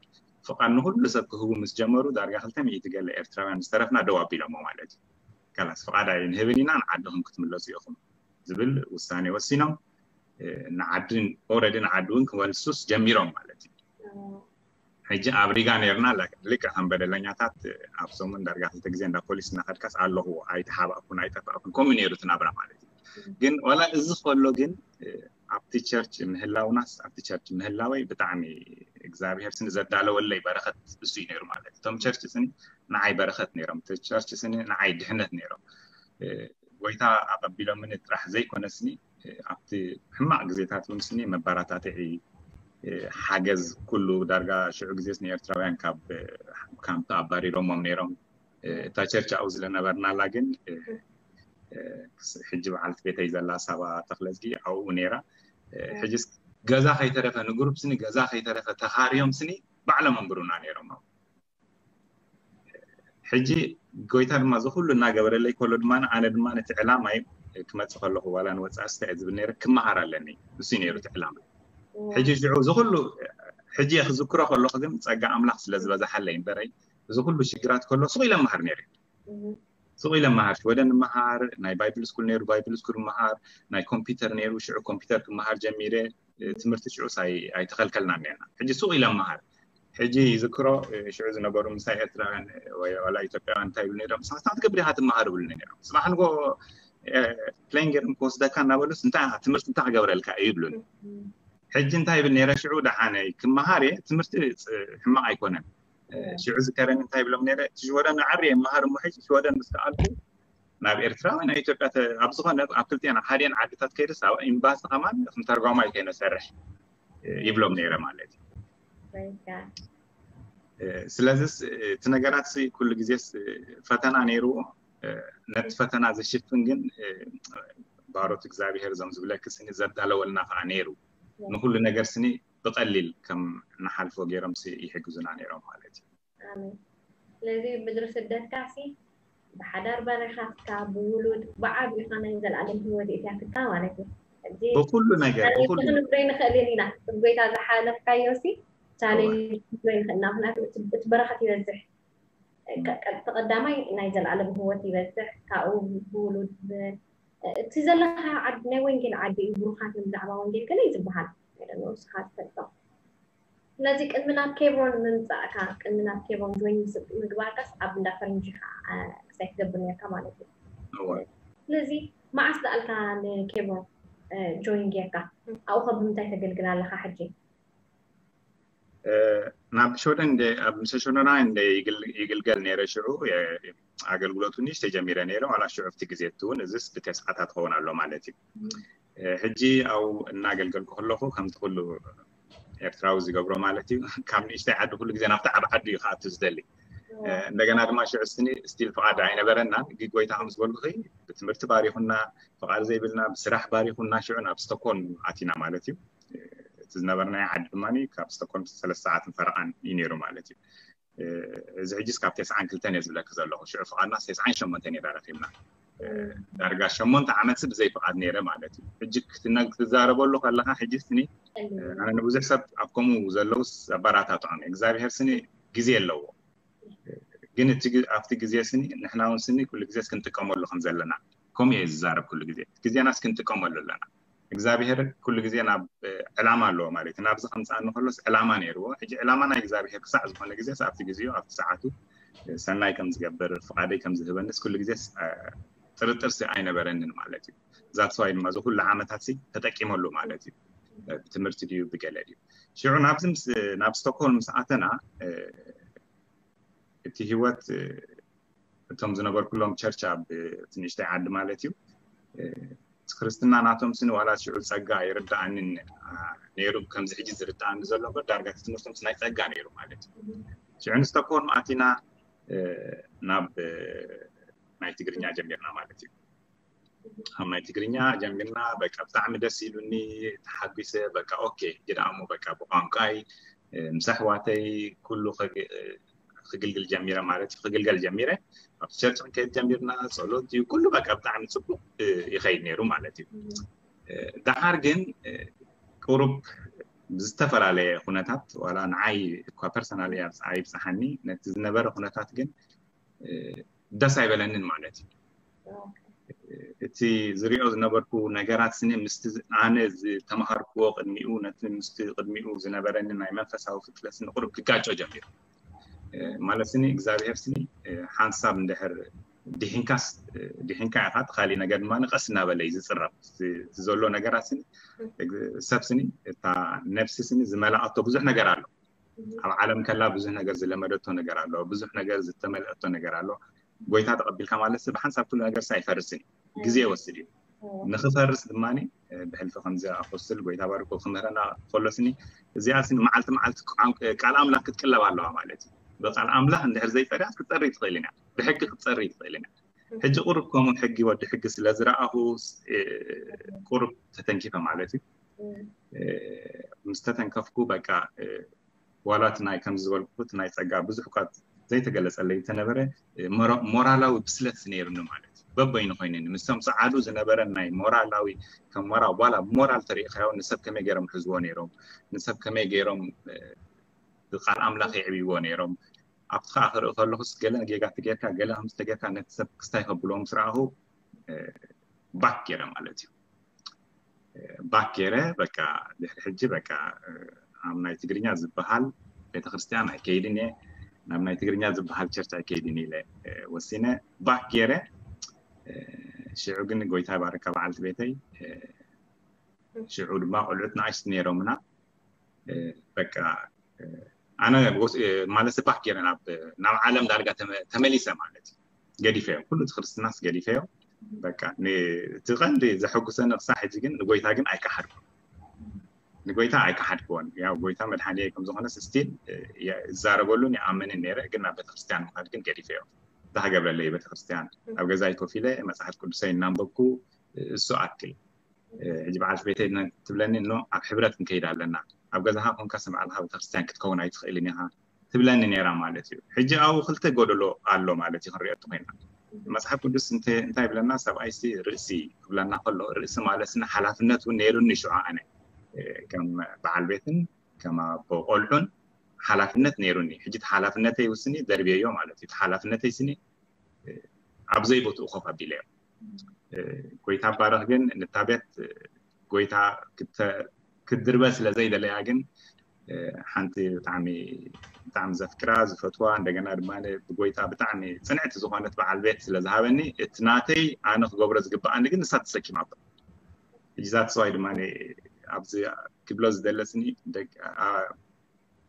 ፍቓድ ንኩሉ ሰብ ክህቡ ምስ ጀመሩ ዳርጋ ክልተ ሚእቲ ገለ ኤርትራውያን ዝተረፍና ደው ኣቢሎሞ ማለት እዩ ከላስ ፍቓድ ኣይንህብን ኢና ንዓድኹም ክትምለሱ ኢኹም ዝብል ውሳኔ ወሲኖም ንዓድን ኦረዲ ንዓዲ እውን ክመልሱስ ጀሚሮም ማለት እዩ ሕጂ ኣብ ሪጋ ነርና ልክዕ ከም በደለኛታት ኣብ ሰሙን ዳርጋ ክልተ ግዜ እንዳ ፖሊስ እናኸድካስ ኣለኹ ኣይተሓባእኩን ኣይጠፋእኩን ከምኡ ነይሩ ትናብራ ማለት እዩ ግን ዋላ እዚ ከሎ ግን ኣብቲ ቸርች ምህላውናስ ኣብቲ ቸርች ምህላወይ ብጣዕሚ እግዚኣብሔር ስኒ ዘዳለወለይ በረኸት እሱ እዩ ነይሩ ማለት እቶም ቸርች ስኒ ንዓይ በረኸት ነይሮም ቸርች ስኒ ንዓይ ድሕነት ነይሮም ጎይታ ኣቐቢሎምኒ ጥራሕ ዘይኮነስኒ ኣብቲ ሕማቕ ግዜታት እውን ስኒ መባራታትዒ ሓገዝ ኩሉ ዳርጋ ሽዑ ግዜስ ንኤርትራውያን ካብ ካምፕ ኣባሪሮሞም ነይሮም። እታ ቸርች ኣብኡ ዝለነበርናላ ግን ሕጂ በዓልቲ ቤተይ ዘላ ሳባ ተክለዝጊ ኣብኡ ነይራ። ሕጂ ገዛ ከይተረፈ ንግሩፕ ስኒ ገዛ ከይተረፈ ተኻርዮም ስኒ ባዕሎም ኣንብሩና ነይሮም። ሕጂ ጎይታ ድማ እዚ ኩሉ እናገበረለይ ከሎ ድማ ኣነ ድማ ነቲ ዕላማይ ክመፅእ ከለኹ ዋላ ንወፃኢ ስታይ ዝብል ነይረ ክመሃር ኣለኒ። እሱ ነይሩ እቲ ዕላማ። ሕጂ ሽዑ እዚ ኩሉ ሕጂ ክዝክሮ ከለኹ ግን ፀጋ ኣምላኽ ስለ ዝበዛሓለይ እምበረይ እዚ ኩሉ ሽግራት ከሎ ስቕ ኢለ መሃር ነይረ። ስቕ ኢለ መሃር ሽወደን መሃር ናይ ባይብል ስኩል ነይሩ ባይብል ስኩል መሃር ናይ ኮምፒውተር ነይሩ ሽዑ ኮምፒውተር ክመሃር ጀሚረ። ትምህርቲ ሽዑ ኣይተኸልከልና ነና። ሕጂ ስቕ ኢለ መሃር ሕጂ ይዝክሮ ሽዑ ዝነበሩ ምሳይ ኤርትራውያን ወይ ዋላ ኢትዮጵያውያን እንታይ ይብሉ ነይሮም ንስኻ ትገብር ኢኻ ትመሃር ይብሉ ነይሮም። ፅባሕ ንጎ ፕሌን ገይሮም ክወስደካ እናበሉስ እንታይ ትምህርቲ እንታይ ክገብረልካ እዩ ይብሉን። ሕጂ እንታይ ይብል ነይረ ሽዑ ደሓነይ ክመሃር እየ ትምህርቲ ሕማቕ ኣይኮነን። ሽዑ ዝከረኒ እንታይ ይብሎም ነይረ እቲ ሽወደን ዓሪ እየ መሃር እሞ ሕጂ ሽወደን ምስ ከኣልኩ ናብ ኤርትራ ወይ ናብ ኢትዮጵያ ኣብ ዝኾነ ኣብ ክልቲአን ሓዲአን ዓድታት ከይደስ ኣብ ኤምባሲ ከማን ከምተርጓማይ ከይነ ሰርሕ ይብሎም ነይረ ማለት እዩ። ስለዚስ እቲ ነገራት ኩሉ ግዜስ ፈተና ነይርዎ። ነቲ ፈተና ዝሽፍን ግን ባሮት እግዚኣብሄር እዞም ዝብለኪ ስኒ ዘዳለወልና ከዓ ነይሩ። ንኩሉ ነገር ስኒ ብቀሊል ከም ንሓልፎ ገይሮም ይሕግዙና ነይሮም ማለት እዩ። ስለዚ ምድሪ ስደትካ ሲ ብሓዳር ባሪኻትካ ብውሉድ ብዓብዩኻ ናይ ዘለኣለም ህይወት የእትያትካ ማለት እዩ። ብኩሉ ነገር ብኩሉ ክንብሎ ይንኽእል ኢና። ጎይታ ዝሓለፍካዮ ሲ ቻሌንጅ ክንብሎ ይንኽእል ኢና። ምክንያቱ እቲ በረኸት ይበዝሕ። ቀዳማይ ናይ ዘለኣለም ህይወት ይበዝሕ፣ ካብኡ ብውሉድ እቲ ዘለካ ዓዲ ናይ ወንጌል ዓዲ እዩ፣ ብሩኻት እዮም ብዛዕባ ወንጌል ገለ እዩ ዝበሃል። ንስኻ ትፈልጦ። ስለዚ ቅድሚ ናብ ኬብሮን ምምፃእካ ቅድሚ ናብ ኬብሮን ጆይን ምግባርካስ ኣብ እንዳ ፈረንጂ ኢኻ ክሳይ ትገብር ነርካ ማለት እዩ። ስለዚ መዓስ ደኣልካ ንኬብሮን ጆይን ጌርካ ኣብኡ ከ ብምንታይ ተገልግል ኣለካ ሕጂ? ናብ ሸወደን ኣብ ምሰ ሸወደና እንደ ይግልገል ነይረ ሽዑ ኣገልግሎቱ ንእሽተይ ጀሚረ ነይረ ዋላ ሽዑ ኣብቲ ግዜ እቲ እውን እዚስ ብተስዓታት ክኸውን ኣሎ ማለት እዩ። ሕጂ ኣብኡ እናገልገልኩ ከለኹ ከምቲ ኩሉ ኤርትራዊ ዝገብሮ ማለት እዩ ካብ ንእሽተይ ዓዲ ኩሉ ግዜ ናብቲ ዓብ ዓዲ እዩ ክኣቱ ዝደሊ። እንደገና ድማ ሽዑ ስኒ ስቲል ፍቓድ ኣይነበረናን። ግን ጎይታ ከም ዝበልኩኺ ብትምህርቲ ባሪኹና፣ ፍቓድ ዘይብልና ብስራሕ ባሪኹና ሽዑ ናብ ስቶኮልም ኣቲና ማለት እዩ። እቲ ዝነበርናዮ ዓዲ ድማ ካብ ስቶኮልም ሰለስተ ሰዓትን ፈረቓን እዩ ነይሩ ማለት እዩ። እዚ ሕጂስ ካብ ተስዓን ክልተን እየ ዝብለኪ ዘለኹ። ሽዑ ፍቓድና ተስዓን ሸሞንተን እየ ረኺብና። ዳርጋ ሸሞንተ ዓመት ብዘይ ፍቓድ ነይረ ማለት እዩ። ሕጂ ክትዛረበሉ ከለካ ሕጂ ስኒ ኣነ ንብዙሕ ሰብ ኣብ ከምኡ ዘለውስ ኣበራታትዖም እግዚኣብሔር ስኒ ግዜ ኣለዎ። ግን ኣብቲ ግዜ ስኒ ንሕና እውን ስኒ ኩሉ ግዜ ክንጥቀመሉ ከም ዘለና ከምኡ እየ ዝዛረብ። ኩሉ ግዜ ግዜናስ ክንጥቀመሉ ኣለና። እግዚኣብሔር ኩሉ ግዜ ናብ ዕላማ ኣለዎ ማለት እዩ። ናብዚ ከምፅኣኒ ከሎስ ዕላማ ነይርዎ። ሕጂ ዕላማ ናይ እግዚኣብሔር ክሳዕ ዝኾነ ግዜስ ኣብቲ ግዜኡ ኣብቲ ሰዓቱ ሰናይ ከም ዝገብር ፍቓደይ ከም ዝህበንስ ኩሉ ግዜስ ጥርጥርሲ ኣይነበረንን ማለት እዩ። ዛትስዋይ ድማ እዚ ኩሉ ዓመታት ተጠቂመሉ ማለት እዩ። ብትምህርቲ ድዩ ብገለ ድዩ። ሽዑ ናብዚ ናብ ስቶክሆልም ምስ ኣተና እቲ ህይወት እቶም ዝነበርኩሎም ቸርች ኣብ ትንሽተይ ዓዲ ማለት እዩ። እቲ ክርስትና ናቶም ስኒ ዋላ ሽዑ ጸጋ ይርዳኣንን ነይሩ ከምዚ ሕጂ ዝርዳኣኒ ዘሎ እምበር ዳርጋ እቲ ትምህርቶም ናይ ጸጋ ነይሩ ማለት እዩ። ሽዑ ንስቶክሆልም ኣቲና ናብ ናይ ትግርኛ ጀሚርና ማለት እዩ። ኣብ ናይ ትግርኛ ጀሚርና በቃ ብጣዕሚ ደስ ኢሉኒ ተሓጒሰ በቃ ኦኬ ግዳሞ በቃ ብቋንቋይ ምስ ኣሕዋተይ ኩሉ ክግልግል ጀሚረ ማለት እዩ። ክግልገል ጀሚረ ኣብቲ ቸርች ክንከይድ ጀሚርና ጸሎት እዩ ኩሉ በቃ ብጣዕሚ ጽቡቅ ይኸይድ ነይሩ ማለት እዩ። ደሓር ግን ቁሩብ ብዝተፈላለየ ኩነታት ዋላ ንዓይ እኳ ፐርሰናል እያ ኣይብፅሓኒ ነቲ ዝነበረ ኩነታት ግን ደስ ኣይበለንን ማለት እዩ። እቲ ዝሪኦ ዝነበርኩ ነገራት ስኒ ምስቲ ኣነ ዝተምሃርክዎ ቅድሚኡ ነቲ ምስቲ ቅድሚኡ ዝነበረኒ ናይ መንፈሳዊ ፍጥለት ስኒ ቁሩብ ክጋጮ ጀሚሩ። ማለት ስኒ እግዚኣብሔር ስኒ ሓንሳብ እንድሕር ድሒንካስ ድሒንካ ኢኻ፣ እቲ ካሊእ ነገር ድማ ቀስ እናበለ እዩ ዝፅረብ። እቲ ዘሎ ነገራት ስኒ ሰብ ስኒ እታ ነብሲ ስኒ ዝመላኣቶ ብዙሕ ነገር ኣሎ። ኣብ ዓለም ከላ ብዙሕ ነገር ዝለመደቶ ነገር ኣሎ፣ ብዙሕ ነገር ዝተመልአቶ ነገር ኣሎ። ጎይታ ተቐቢልካ ማለት ብሓንሳብ ኩሉ ነገር ኣይፈርስን እዩ። ግዜ ይወስድ እዩ። ንክፈርስ ድማ ብሕልፊ ከምዚ ኣኮስትል ጎይታ ባርኮ ክምህረና ከሎስኒ እዚኣ ስኒ መዓልቲ መዓልቲ ቃል ኣምላኽ ክትቅለብ ኣለዋ ማለት እዩ። ብቃል ኣምላኽ እንድሕር ዘይፀሪያት ክትፀሪ ትኽእል ኢና፣ ብሕጊ ክትፀሪ ትኽእል ኢና። ሕጂ ቁሩብ ከምኡ ሕጊ ወዲ ሕጊ ስለ ዝረኣኹ ቁሩብ ተተንኪፈ ማለት እዩ። ምስ ተተንከፍኩ በቃ ዋላ እቲ ናይ ከምዚ ዝበልኩ እቲ ናይ ፀጋ ብዙሕ እኳ ዘይተገለፀለይ እንተነበረ ሞራላዊ ብስለት ነይሩኒ ማለት እዩ። በበይኑ ኮይኑኒ ምስቶም ፀዓዱ ዝነበረ ናይ ሞራላዊ ከም ሞራል ዋላ ሞራል ተሪእካዮ ንሰብ ከመይ ገይሮም ሕዝዎ ነይሮም፣ ንሰብ ከመይ ገይሮም ብቃል ኣምላኽ የዕብይዎ ነይሮም። ኣብቲ ከዓ ክርኢ ከለኹስ ገለ ጌጋ ተጌርካ ገለ ከምዚ ተጌርካ ነቲ ሰብ ክስታይ ከብልዎ ምስ ረኣኹ ባክ ገይረ ማለት እዩ። ባክ ገይረ በቃ ድሕሪ ሕጂ በቃ ኣብ ናይ ትግርኛ ዝበሃል ቤተክርስትያን ኣይከይድን እየ፣ ናብ ናይ ትግርኛ ዝበሃል ቸርች ኣይከይድን ኢለ ወሲነ ባክ ገይረ። ሽዑ ግን ጎይታ ይባርካ በዓልቲ ቤተይ። ሽዑ ድማ ቆልዑት ንኣሽቱ ነይሮምና በቃ ኣነ ማለት ባክ ገይረ ናብ ዓለም ዳርጋ ተመሊሰ ማለት እዩ። ገዲፈዮ ኩሉ እቲ ክርስትናስ ገዲፈዮ። በቃ እቲ ቀንዲ ዘሐጉሰኒ ክሳዕ ሕጂ ግን ንጎይታ ግን ኣይከሓድኩን። ንጎይታ ኣይከሓድክዎን። ያው ጎይታ መድሓኒ ከም ዝኾነ ስቲል ይዛረበሉን ይኣምንን ነይረ፣ ግን ናብ ቤተክርስትያን ምኻድ ግን ገዲፈዮ። እንታይ ክገብረለይ ቤተክርስትያን ኣብ ገዛይ ኮፍ ኢለ መፅሓፍ ቅዱሰይ እናንበብኩ እሱ ኣክል። ሕጂ በዓልቲ ቤተይ ትብለኒ እኖ ኣብ ሕብረት ክንከይድ ኣለና፣ ኣብ ገዛኻ ኮንካ ስም ባዕልኻ ቤተክርስትያን ክትከውን ኣይትኽእልን ኢኻ ትብለኒ ነይራ ማለት እዩ። ሕጂ ኣብኡ ክልተ ጎደሎ ኣሎ ማለት እዩ። ክንሪኦ እንተኮይና መፅሓፍ ቅዱስ እንታይ ይብለና? ሰብኣይሲ ርእሲ ክብለና ከሎ ርእሲ ማለት ስኒ ሓላፍነት እውን ነይሩኒ ሽዑ ኣነ ከም በዓል ቤትን ከም ኣቦ ቆልዑን ሓላፍነት ነይሩኒ። ሕጂ እቲ ሓላፍነተይ ውስኒ ደርብየዮ ማለት እዩ። እቲ ሓላፍነተይ ስኒ ኣብ ዘይቦትኡ ኮፍ ኣቢለዮ። ጎይታ ባረኽ ግን ንታ ቤት ጎይታ ክትድርበ ስለ ዘይደለያ ግን ሓንቲ ብጣዕሚ ብጣዕሚ ዘፍቅራ ዝፈትዋ እንደገና ድማ ብጎይታ ብጣዕሚ ፅንዕቲ ዝኾነት በዓል ቤት ስለ ዝሃበኒ እቲ ናተይ ኣነ ክገብሮ ዝግበኣኒ ግን ንሳ ተሰኪማቶ። ሕጂ ዛትስዋይ ድማ ኣብዚ ክብሎ ዝደለስኒ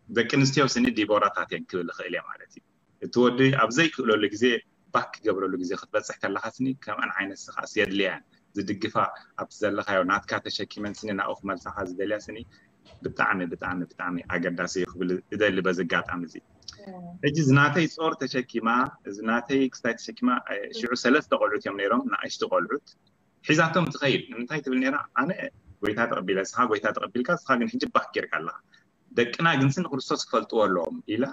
ደቂ ኣንስትዮ ስኒ ዲቦራታት እየን ክብል እኽእል እየ ማለት እዩ። እቲ ወዲ ኣብ ዘይክእለሉ ግዜ ባክ ክገብረሉ ግዜ ክትበፅሕ ከለኻ ስኒ ከምኣን ዓይነት ስኻስ የድልያን ዝድግፋ ኣብቲ ዘለኻዮ ናትካ ተሸኪመን ስኒ ናብኡ ክመልሳኻ ዝደልያ ስኒ ብጣዕሚ ብጣዕሚ ብጣዕሚ ኣገዳሲ እዩ ክብል እደሊ በዚ ኣጋጣሚ እዚ። ሕጂ ዝናተይ ፆር ተሸኪማ ዝናተይ ክስታይ ተሸኪማ ሽዑ ሰለስተ ቆልዑት እዮም ነይሮም ንኣሽቱ ቆልዑት ሒዛቶም ትኸይድ። ንምንታይ ትብል ነይራ ኣነ ጎይታ ተቐቢለ ስኻ ጎይታ ተቐቢልካ ስኻ ግን ሕጂ ባክ ጌርካ ኣለኻ ደቅና ግንሲ ንክርስቶስ ክፈልጥዎ ኣለዎም ኢላ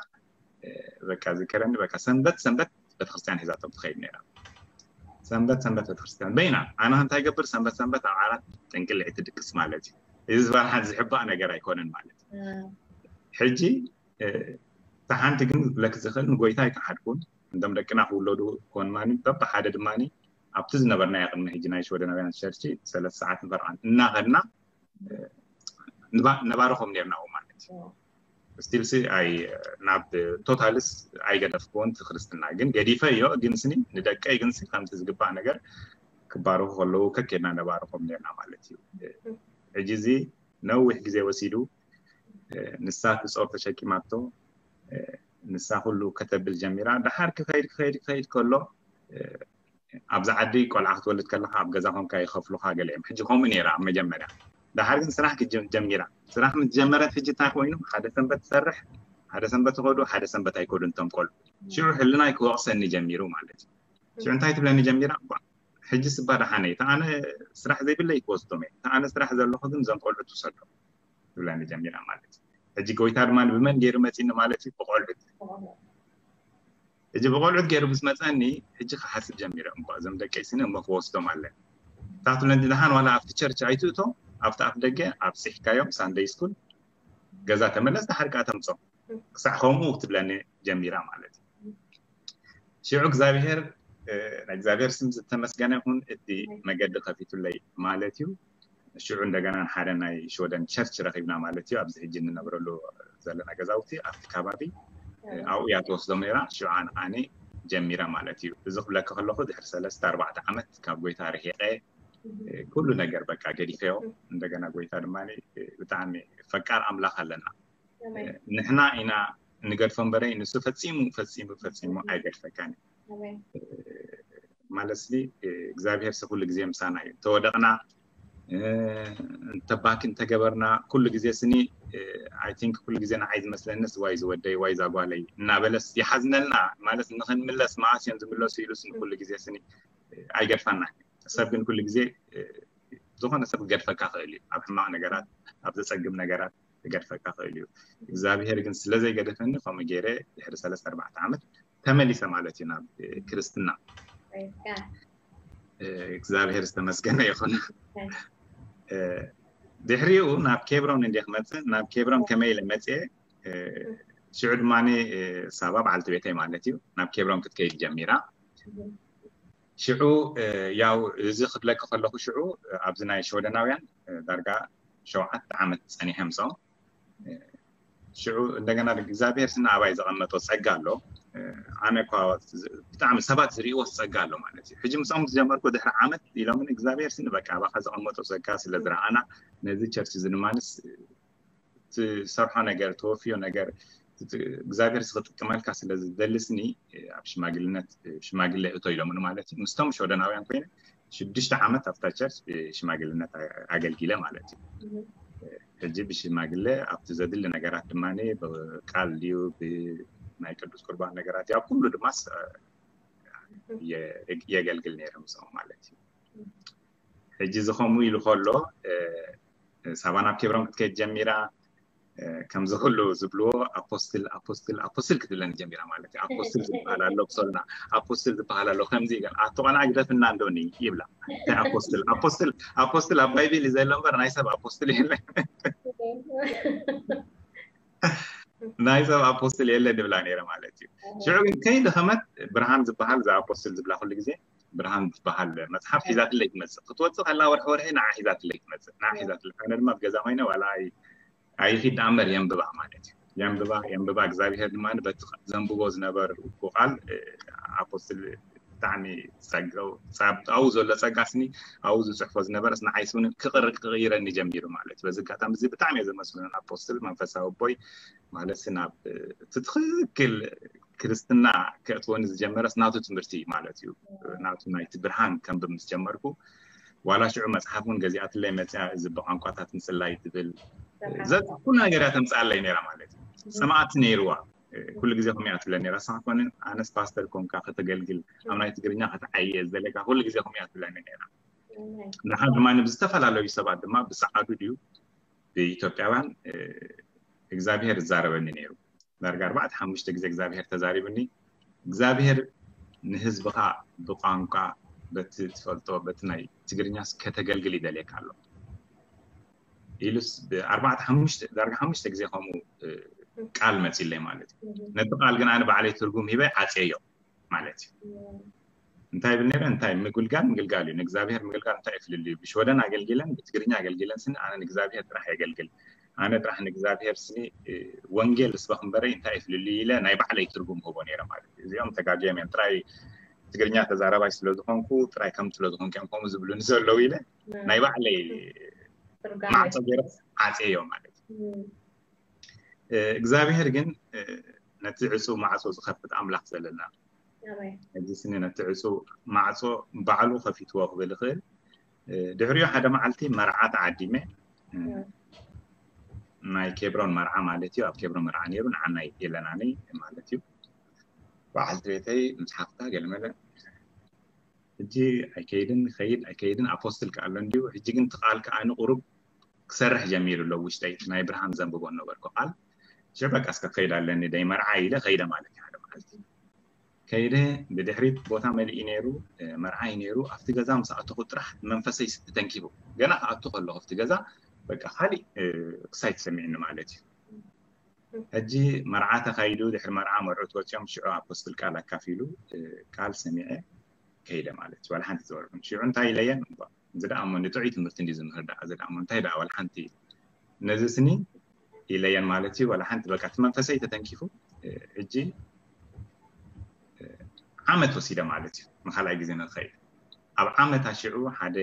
በቃ ዝከረኒ በቃ ሰንበት ሰንበት ቤተክርስትያን ሒዛቶም ትኸይድ ነይራ። ሰንበት ሰንበት ቤተክርስትያን በይና ኣነ እንታይ ገብር ሰንበት ሰንበት ኣብ ዓራት ጥንቅልዒ ትድቅስ ማለት እዩ። እዚ ዝበሃል ዝሕባእ ነገር ኣይኮነን ማለት እዩ። ሕጂ እቲ ሓንቲ ግን ክብለክ ዝኽእል ንጎይታ ኣይከሓድኩን። እንቶም ደቅና ክውለዱ ኮንማኒ በብሓደ ድማኒ ኣብቲ ዝነበርናዮ ቅድሚ ሕጂ ናይ ሽወደናውያን ቸርች ሰለስተ ሰዓት ንፈርቓን እናኸድና ነባርኾም ነርና ማለት እዩ። ስቲልሲ ኣይ ናብ ቶታልስ ኣይገደፍክዎን እቲ ክርስትና ግን ገዲፈዮ ግንስኒ ንደቀይ ግንሲ ከምቲ ዝግባእ ነገር ክባረኹ ከለዉ ከኬድና ነባርኾም ነርና ማለት እዩ። ሕጂ እዚ ነዊሕ ግዜ ወሲዱ ንሳ ትፆር ተሸኪማቶ ንሳ ኩሉ ከተብል ጀሚራ። ደሓር ክኸይድ ክኸይድ ክኸይድ ከሎ ኣብዚ ዓዲ ቆልዓ ክትወልድ ከለካ ኣብ ገዛ ኮንካ ይኸፍሉካ ገለ እዮም። ሕጂ ከምኡ ነይራ ኣብ መጀመርያ። ደሓር ግን ስራሕ ጀሚራ። ስራሕ ምስ ጀመረት ሕጂ እንታይ ኮይኑ ሓደ ሰንበት ትሰርሕ፣ ሓደ ሰንበት ይኸዱ፣ ሓደ ሰንበት ኣይከዱን እቶም ቆልዑ። ሽዑ ሕልናይ ክወቕሰኒ ጀሚሩ ማለት እዩ። ሽዑ እንታይ ትብለኒ ጀሚራ? ሕጂ ስባ ደሓነ እዩ። ተኣነ ስራሕ ዘይብለይ ክወስዶም እየ። ተኣነ ስራሕ ዘለኹ ግን እዞም ቆልዑ ትውሰዶም ትብለኒ ጀሚራ ማለት እዩ። ሕጂ ጎይታ ድማ ብመን ገይሩ መፂኒ ማለት እዩ? ብቆልዑት። ሕጂ ብቆልዑት ገይሩ ምስ መፀኒ ሕጂ ክሓስብ ጀሚረ። እሞ እዞም ደቀይ ስኒ እሞ ክወስዶም ኣለ ታትብለኒ ደሓን ዋላ ኣብቲ ቸርች ኣይትእቶ ኣብቲ ኣፍ ደገ ኣብፂሕካዮም ሳንደይ ስኩል ገዛ ተመለስ ደሓር ከዓ ተምፆም ክሳዕ ከምኡ ትብለኒ ጀሚራ ማለት እዩ። ሽዑ እግዚኣብሔር ናይ እግዚኣብሔር ስም ዝተመስገነ ይኹን እቲ መገዲ ከፊቱለይ ማለት እዩ። ሽዑ እንደገና ሓደ ናይ ሽወደን ቸርች ረኺብና ማለት እዩ። ኣብዚ ሕጂ እንነብረሉ ዘለና ገዛውቲ ኣብቲ ከባቢ ኣብኡ እያ ትወስዶም ነይራ። ሽዑ ኣነ ጀሚረ ማለት እዩ። እዚ ክብለካ ከለኹ ድሕሪ ሰለስተ ኣርባዕተ ዓመት ካብ ጎይታ ርሒቐ ኩሉ ነገር በቃ ገዲፈዮ። እንደገና ጎይታ ድማ ብጣዕሚ ፈቃር ኣምላኽ ኣለና። ንሕና ኢና ንገድፎ እምበረይ ንሱ ፈፂሙ ፈፂሙ ፈፂሙ ኣይገድፈካን እዩ። ማለት ሲ እግዚኣብሔር ሲ ኩሉ ግዜ ምሳና እዩ። ተወደቕና፣ እንተባኪ እንተገበርና፣ ኩሉ ግዜ ስኒ፣ I think ኩሉ ግዜ ንዓይ ዝመስለኒ ሲ ዋይ ዝወደይ ዋይ ዛጓለይ እናበለስ ይሓዝነልና። ማለት ንክንምለስ መዓስ እዮም ዝምለሱ ኢሉ ስኒ ኩሉ ግዜ ስኒ ኣይገድፋና። ሰብ ግን ኩሉ ግዜ ዝኾነ ሰብ ክገድፈካ ክእል እዩ። ኣብ ሕማቕ ነገራት፣ ኣብ ዘጸግም ነገራት ክገድፈካ ክእል እዩ። እግዚኣብሔር ግን ስለ ዘይገደፈኒ ከምኡ ገይረ ድሕሪ ሰለስተ ኣርባዕተ ዓመት ተመሊሰ ማለት እዩ ናብ ክርስትና። እግዚኣብሔር ዝተመስገነ ይኹን። ድሕሪኡ ናብ ኬብሮን እንደ ክመፅእ፣ ናብ ኬብሮን ከመይ ኢለ መፅየ? ሽዑ ድማ ሳባ በዓልቲ ቤተይ ማለት እዩ ናብ ኬብሮን ክትከይድ ጀሚራ። ሽዑ ያው እዚ ክብለኪ ከለኹ ሽዑ ኣብዚ ናይ ሽወደናውያን ዳርጋ ሸውዓተ ዓመት ፀኒሐ ምስኦም። ሽዑ እንደገና እግዚኣብሔር ስና ኣባይ ዘቐመጦ ጸጋ ኣሎ። ኣነ እኳ ብጣዕሚ ሰባት ዝርእይዎ ጸጋ ኣሎ ማለት እዩ። ሕጂ ምስኦም ዝጀመርኩ ድሕሪ ዓመት ኢሎምን እግዚኣብሔር ስኒ በቃ ኣባኻ ዘቐመጦ ጸጋ ስለ ዝረኣና ነዚ ቸርች እዚ ድማንስ ትሰርሖ ነገር፣ ተወፍዮ ነገር እግዚኣብሔር ዝክጥቀመልካ ስለ ዝደሊ ስኒ ኣብ ሽማግልነት ሽማግለ እቶ ኢሎምኒ ማለት እዩ። ምስቶም ሸወደናውያን ኮይነ ሽዱሽተ ዓመት ኣብታ ቸርች ብሽማግልነት ኣገልጊለ ማለት እዩ። ሕጂ ብሽማግለ ኣብቲ ዘድሊ ነገራት ድማ ብቃል ድዩ ብናይ ቅዱስ ቁርባን ነገራት ኣብ ኩሉ ድማ የገልግል ነይረ ምስኦም ማለት እዩ። ሕጂ ዝኸምኡ ኢሉ ከሎ ሳባ ናብ ኬብሮን ክትከይድ ጀሚራ። ከምዚ ኩሉ ዝብልዎ ኣፖስትል ኣፖስትል ኣፖስትል ክትብለኒ ጀሚራ ማለት እዩ። ኣፖስትል ዝበሃል ኣሎ ብሶልና ኣፖስትል ዝበሃል ኣሎ ከምዚ ይገል ኣቶ ቆልዓ ግደፍና እንዶኒ ይብላ። እንታይ ኣፖስትል ኣፖስትል ኣፖስትል ኣብ ባይብል እዩ ዘሎ እምበር ናይ ሰብ ኣፖስትል የለ ናይ ሰብ ኣፖስትል የለ ንብላ ነይረ ማለት እዩ። ሽዑ ግን ከይደኸመት ብርሃን ዝበሃል እዛ ኣፖስትል ዝብላ ኩሉ ግዜ ብርሃን ዝበሃል መፅሓፍ ሒዛትለይ ትመፅእ ክትወፅእ ከላ ወርሒ ወርሒ ንዓ ሒዛትለይ ትመፅእ ንዓ ሒዛትለይ ኣነ ድማ ብገዛ ኮይነ ዋላ ኣይኺድ ኣምበር የንብባ ማለት እዩ። የንብባ የንብባ እግዚኣብሔር ድማ በቲ ዘንብቦ ዝነበርኩ ቃል ኣፖስትል ብጣዕሚ ጸገው ኣብኡ ዘሎ ጸጋ ስኒ ኣብኡ ዝጽሕፎ ዝነበረስ ንዓይ ስኒ ክቕይረኒ ጀሚሩ ማለት እዩ። በዚ ኣጋጣሚ እዚ ብጣዕሚ እየ ዘመስግኖ ኣፖስትል መንፈሳዊ ኣቦይ ማለት ናብ እቲ ትኽክል ክርስትና ከእትወኒ ዝጀመረስ ናቱ ትምህርቲ እዩ ማለት እዩ። ናቱ ናይቲ ብርሃን ከንብብ ምስ ጀመርኩ ዋላ ሽዑ መፅሓፍ እውን ገዚኣትለይ መፅያ እዚ ብቋንቋታት ምፅላይ ትብል ኩሉ ነገር እያ ተምፅኣለይ ነይራ ማለት እዩ። ሰማዕቲ ነይርዋ ኩሉ ግዜ ከምኡ እያ ትብለኒ ነይራ። ንስኻ ኮነ ኣነስ ፓስተር ኮንካ ከተገልግል ኣብ ናይ ትግርኛ ከተዓየ ዝደለካ ኩሉ ግዜ ከምኡ እያ ትብለኒ ነይራ። ንሓ ድማ ብዝተፈላለዩ ሰባት ድማ ብሰዓዱ ድዩ ብኢትዮጵያውያን እግዚኣብሄር ይዛረበኒ ነይሩ። ዳርጋ ኣርባዕተ ሓሙሽተ ግዜ እግዚኣብሄር ተዛሪቡኒ። እግዚኣብሄር ንህዝብኻ ብቋንቋ በቲ ትፈልጦ በቲ ናይ ትግርኛስ ከተገልግል ይደልየካ ኣሎ ኢሉስ ብኣርባዕተ ሓሙሽተ ዳርጋ ሓሙሽተ ግዜ ከምኡ ቃል መፂለይ ማለት እዩ። ነቲ ቃል ግን ኣነ ባዕለይ ትርጉም ሂበ ዓፅየዮ ማለት እዩ። እንታይ ይብል ነይረ እንታይ ምግልጋል ምግልጋል እዩ ንእግዚኣብሔር ምግልጋል እንታይ ይፍልል እዩ ብሽወደን ኣገልጊለን ብትግርኛ ኣገልጊለን ስኒ ኣነ ንእግዚኣብሔር ጥራሕ የገልግል ኣነ ጥራሕ ንእግዚኣብሔር ስኒ ወንጌል ስበኽ እምበረይ እንታይ ይፍልል እዩ ኢለ ናይ ባዕለይ ትርጉም ህቦ ነይረ ማለት እዩ። እዚኦም ተጋግዮም እዮም ጥራይ ትግርኛ ተዛረባይ ስለ ዝኾንኩ ጥራይ ከም ስለ ዝኾንኩ እዮም ከምኡ ዝብሉኒ ዘለዉ ኢለ ናይ ባዕለይ ማዕፆ ገይረ ዓፅየዮ ማለት እዩ። እግዚኣብሔር ግን ነቲ ዕፁ ማዕፆ ዝኸፍት ኣምላኽ ዘለና ሕጂ ስኒ ነቲ ዕፁ ማዕፆ ባዕሉ ከፊትዎ ክብል ይኽእል። ድሕሪኡ ሓደ መዓልቲ መርዓ ተዓዲመ ናይ ኬብሮን መርዓ ማለት እዩ። ኣብ ኬብሮን መርዓ ነይሩ ንዓናይ የለናኒ ማለት እዩ። በዓልቲ ቤተይ ምስ ሓፍታ ገለመለ ሕጂ ኣይከይድን ይኸይድ ኣይከይድን ኣፖስትል ከኣሎ እንዲሁ ሕጂ ግን ትቃል ከኣ ንቁሩብ ክሰርሕ ጀሚሩ ኣሎ ውሽጠይ ናይ ብርሃን ዘንብቦ ነበርኩ ቃል ሽዕ በቃ እስከ ክኸይድ ኣለኒ ደይ መርዓ ኢለ ከይደ ማለት እዩ። ሓደ መዓልቲ ከይደ ብድሕሪት ቦታ መሊኡ ነይሩ መርዓይ ነይሩ ኣብቲ ገዛ ምስ ኣተኹ ጥራሕ መንፈሰይ ተተንኪፉ ገና ክኣቱ ከለኹ ኣብቲ ገዛ በቃ ካሊእ ክሳይ ተሰሚዕኒ ማለት እዩ። ሕጂ መርዓ ተኻይዱ ድሕሪ መርዓ መርዑት ወፂኦም ሽዑ ኣፖስትል ቃል ኣካፊሉ ቃል ሰሚዐ ከይደ ማለት እዩ። ዋላ ሓንቲ ዝበልኩን ሽዑ እንታይ ኢለየን እዚ ደኣ እሞ ንጥዑይ ትምህርቲ እንዲ ዝምህር ደኣ እዚ ደኣ እሞ እንታይ ደኣ ዋላ ሓንቲ ነዚ ስኒ ኢለየን ማለት እዩ። ዋላ ሓንቲ በቃ እቲ መንፈሰይ ተተንኪፉ ሕጂ ዓመት ወሲደ ማለት እዩ። ንካልኣይ ግዜ ንክኸይድ ኣብ ዓመታ ሽዑ ሓደ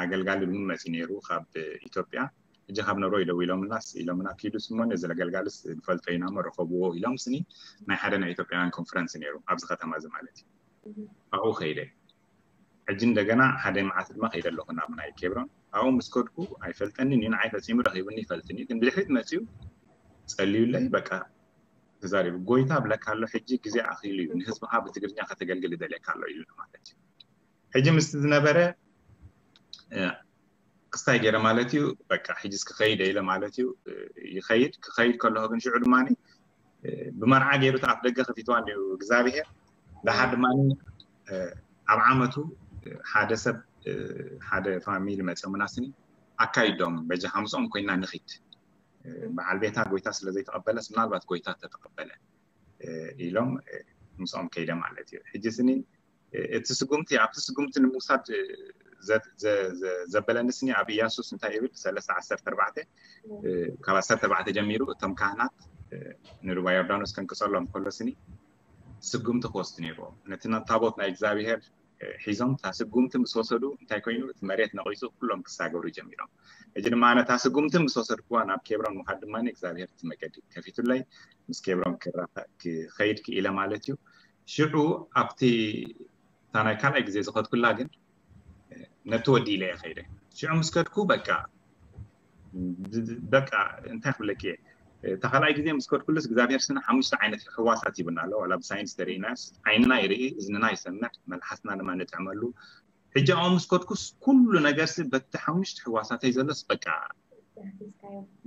ኣገልጋሊ እውን መፂ ነይሩ ካብ ኢትዮጵያ ሕጂ ካብ ኖርወይ ደዊሎምናስ ኢሎምና፣ ኪዱ ስሞን እዚ ለገልጋልስ ንፈልጦ ኢና መረኸብዎ ኢሎም ስኒ ናይ ሓደ ናይ ኢትዮጵያውያን ኮንፈረንስ ነይሩ ኣብዚ ከተማ እዚ ማለት እዩ። ኣብኡ ከይደ። ሕጂ እንደገና ሓደ መዓልቲ ድማ ከይደ ኣለኹ ናብ ናይ ኬብሮን። ኣብኡ ምስ ከድኩ ኣይፈልጠንን እዩ፣ ንዓይ ፈጺሙ ረኺቡኒ ይፈልጥን እዩ፣ ግን ብድሕሪት መጺኡ ጸልዩለይ፣ በቃ ተዛሪቡ፣ ጎይታ ብለካ ኣሎ፣ ሕጂ ግዜ ኣኺሉ እዩ፣ ንህዝብኻ ብትግርኛ ከተገልግል ይደልየካ ኣሎ ኢሉ ማለት እዩ። ሕጂ ምስቲ ዝነበረ ክስታይ ገይረ ማለት እዩ። በቃ ሕጂስ ክኸይድ ኢለ ማለት እዩ። ይኸይድ ክኸይድ ከለኹ ግን ሽዑ ድማ ብመርዓ ገይሩ ኣፍ ደገ ከፊትዋ እንዲዩ እግዚኣብሄር። ደሓር ድማ ኣብ ዓመቱ ሓደ ሰብ ሓደ ፋሚሊ መፅኦምና ስኒ ኣካይዶም በጃ ሓምስኦም ኮይና ንኺድ። በዓል ቤታ ጎይታ ስለ ዘይተቐበለስ ምናልባት ጎይታ ተተቐበለ ኢሎም ምስኦም ከይደ ማለት እዩ። ሕጂ ስኒ እቲ ስጉምቲ ኣብቲ ስጉምቲ ንምውሳድ ዘበለኒ ስኒ ኣብ ኢያሱስ እንታይ ይብል ሰለስተ ዓሰርተ ኣርባዕተ ካብ ዓሰርተ ኣርባዕተ ጀሚሩ እቶም ካህናት ንሩባ ዮርዳኖስ ከንቅፀሎም ከሎ ስኒ ስጉምቲ ክወስዱ ነይርዎም። ነቲ ታቦት ናይ እግዚኣብሄር ሒዞም እታ ስጉምቲ ምስ ወሰዱ እንታይ ኮይኑ እቲ መሬት ነቒፁ ኩሎም ክሳገሩ ጀሚሮም። ሕጂ ድማ ኣነ እታ ስጉምቲ ምስ ወሰድኩዋ ናብ ኬብሮን ምኻድ ድማ እግዚኣብሄር እቲ መገዲ ከፊቱለይ ምስ ኬብሮን ክኸይድ ክኢለ ማለት እዩ። ሽዑ ኣብቲ እታ ናይ ካልኣይ ግዜ ዝኸድኩላ ግን ነቲ ወዲ ኢለ እየ ከይደ። ሽዑ ምስ ከድኩ በቃ በቃ እንታይ ክብለኪ እየ፣ እታ ካልኣይ ግዜ ምስ ከድኩሉስ እግዚኣብሔር ስነ ሓሙሽተ ዓይነት ሕዋሳት ይብና ኣሎ። ዋላ ብሳይንስ ተርእናስ ዓይንና ይርኢ፣ እዝንና ይሰምዕ፣ መልሓስና ድማ ንጥዕመሉ። ሕጂ ኣብኡ ምስ ከድኩስ ኩሉ ነገርሲ በቲ ሓሙሽተ ሕዋሳተይ ዘሎስ በቃ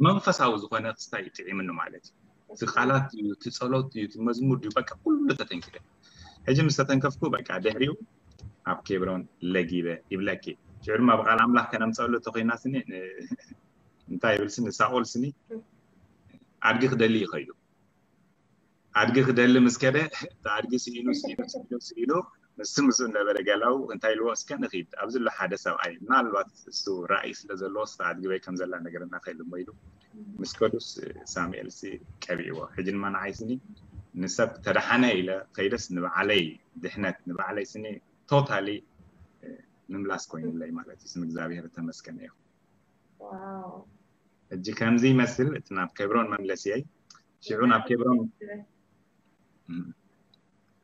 መንፈሳዊ ዝኾነ ክስታይ ጥዒምኒ ማለት እዩ። እቲ ቃላት እዩ፣ እቲ ጸሎት እዩ፣ እቲ መዝሙር እዩ፣ በቃ ኩሉ ተተንኪፈ። ሕጂ ምስ ተተንከፍኩ በቃ ድሕሪኡ ኣብ ኬብሮን ለጊበ ይብለኪ። ሽዑ ድማ ብቃል ኣምላኽ ከነምፀሉ ተኮይና ስኒ እንታይ ይብል ስኒ ሳኦል ስኒ ኣድጊ ክደሊ ይኸዩ። ኣድጊ ክደሊ ምስ ከደ ኣድጊ ስኢሉ ስኢሉ ስኢሉ ስኢሉ ምስ ምስኡ ነበረ ገላው እንታይ ኢልዎ እስከ ንኺድ ኣብዚ ኣሎ ሓደ ሰብኣይ ምናልባት እሱ ራእይ ስለ ዘለዎ ስታ ኣድጊ በይ ከም ዘላ ነገረና ከይልሞ ኢሉ ምስ ከዱስ ሳሙኤል ሲ ቀቢእዎ። ሕጂ ድማ ንዓይ ስኒ ንሰብ ተደሓነ ኢለ ከይደስ ንባዕለይ ድሕነት ንባዕለይ ስኒ ቶታሊ ምምላስ ኮይኑለይ ማለት እዩ። ስም እግዚኣብሔር ተመስገነ ይኹን። ሕጂ ከምዚ ይመስል እቲ ናብ ኬብሮን መምለስየይ። ሽዑ ናብ ኬብሮን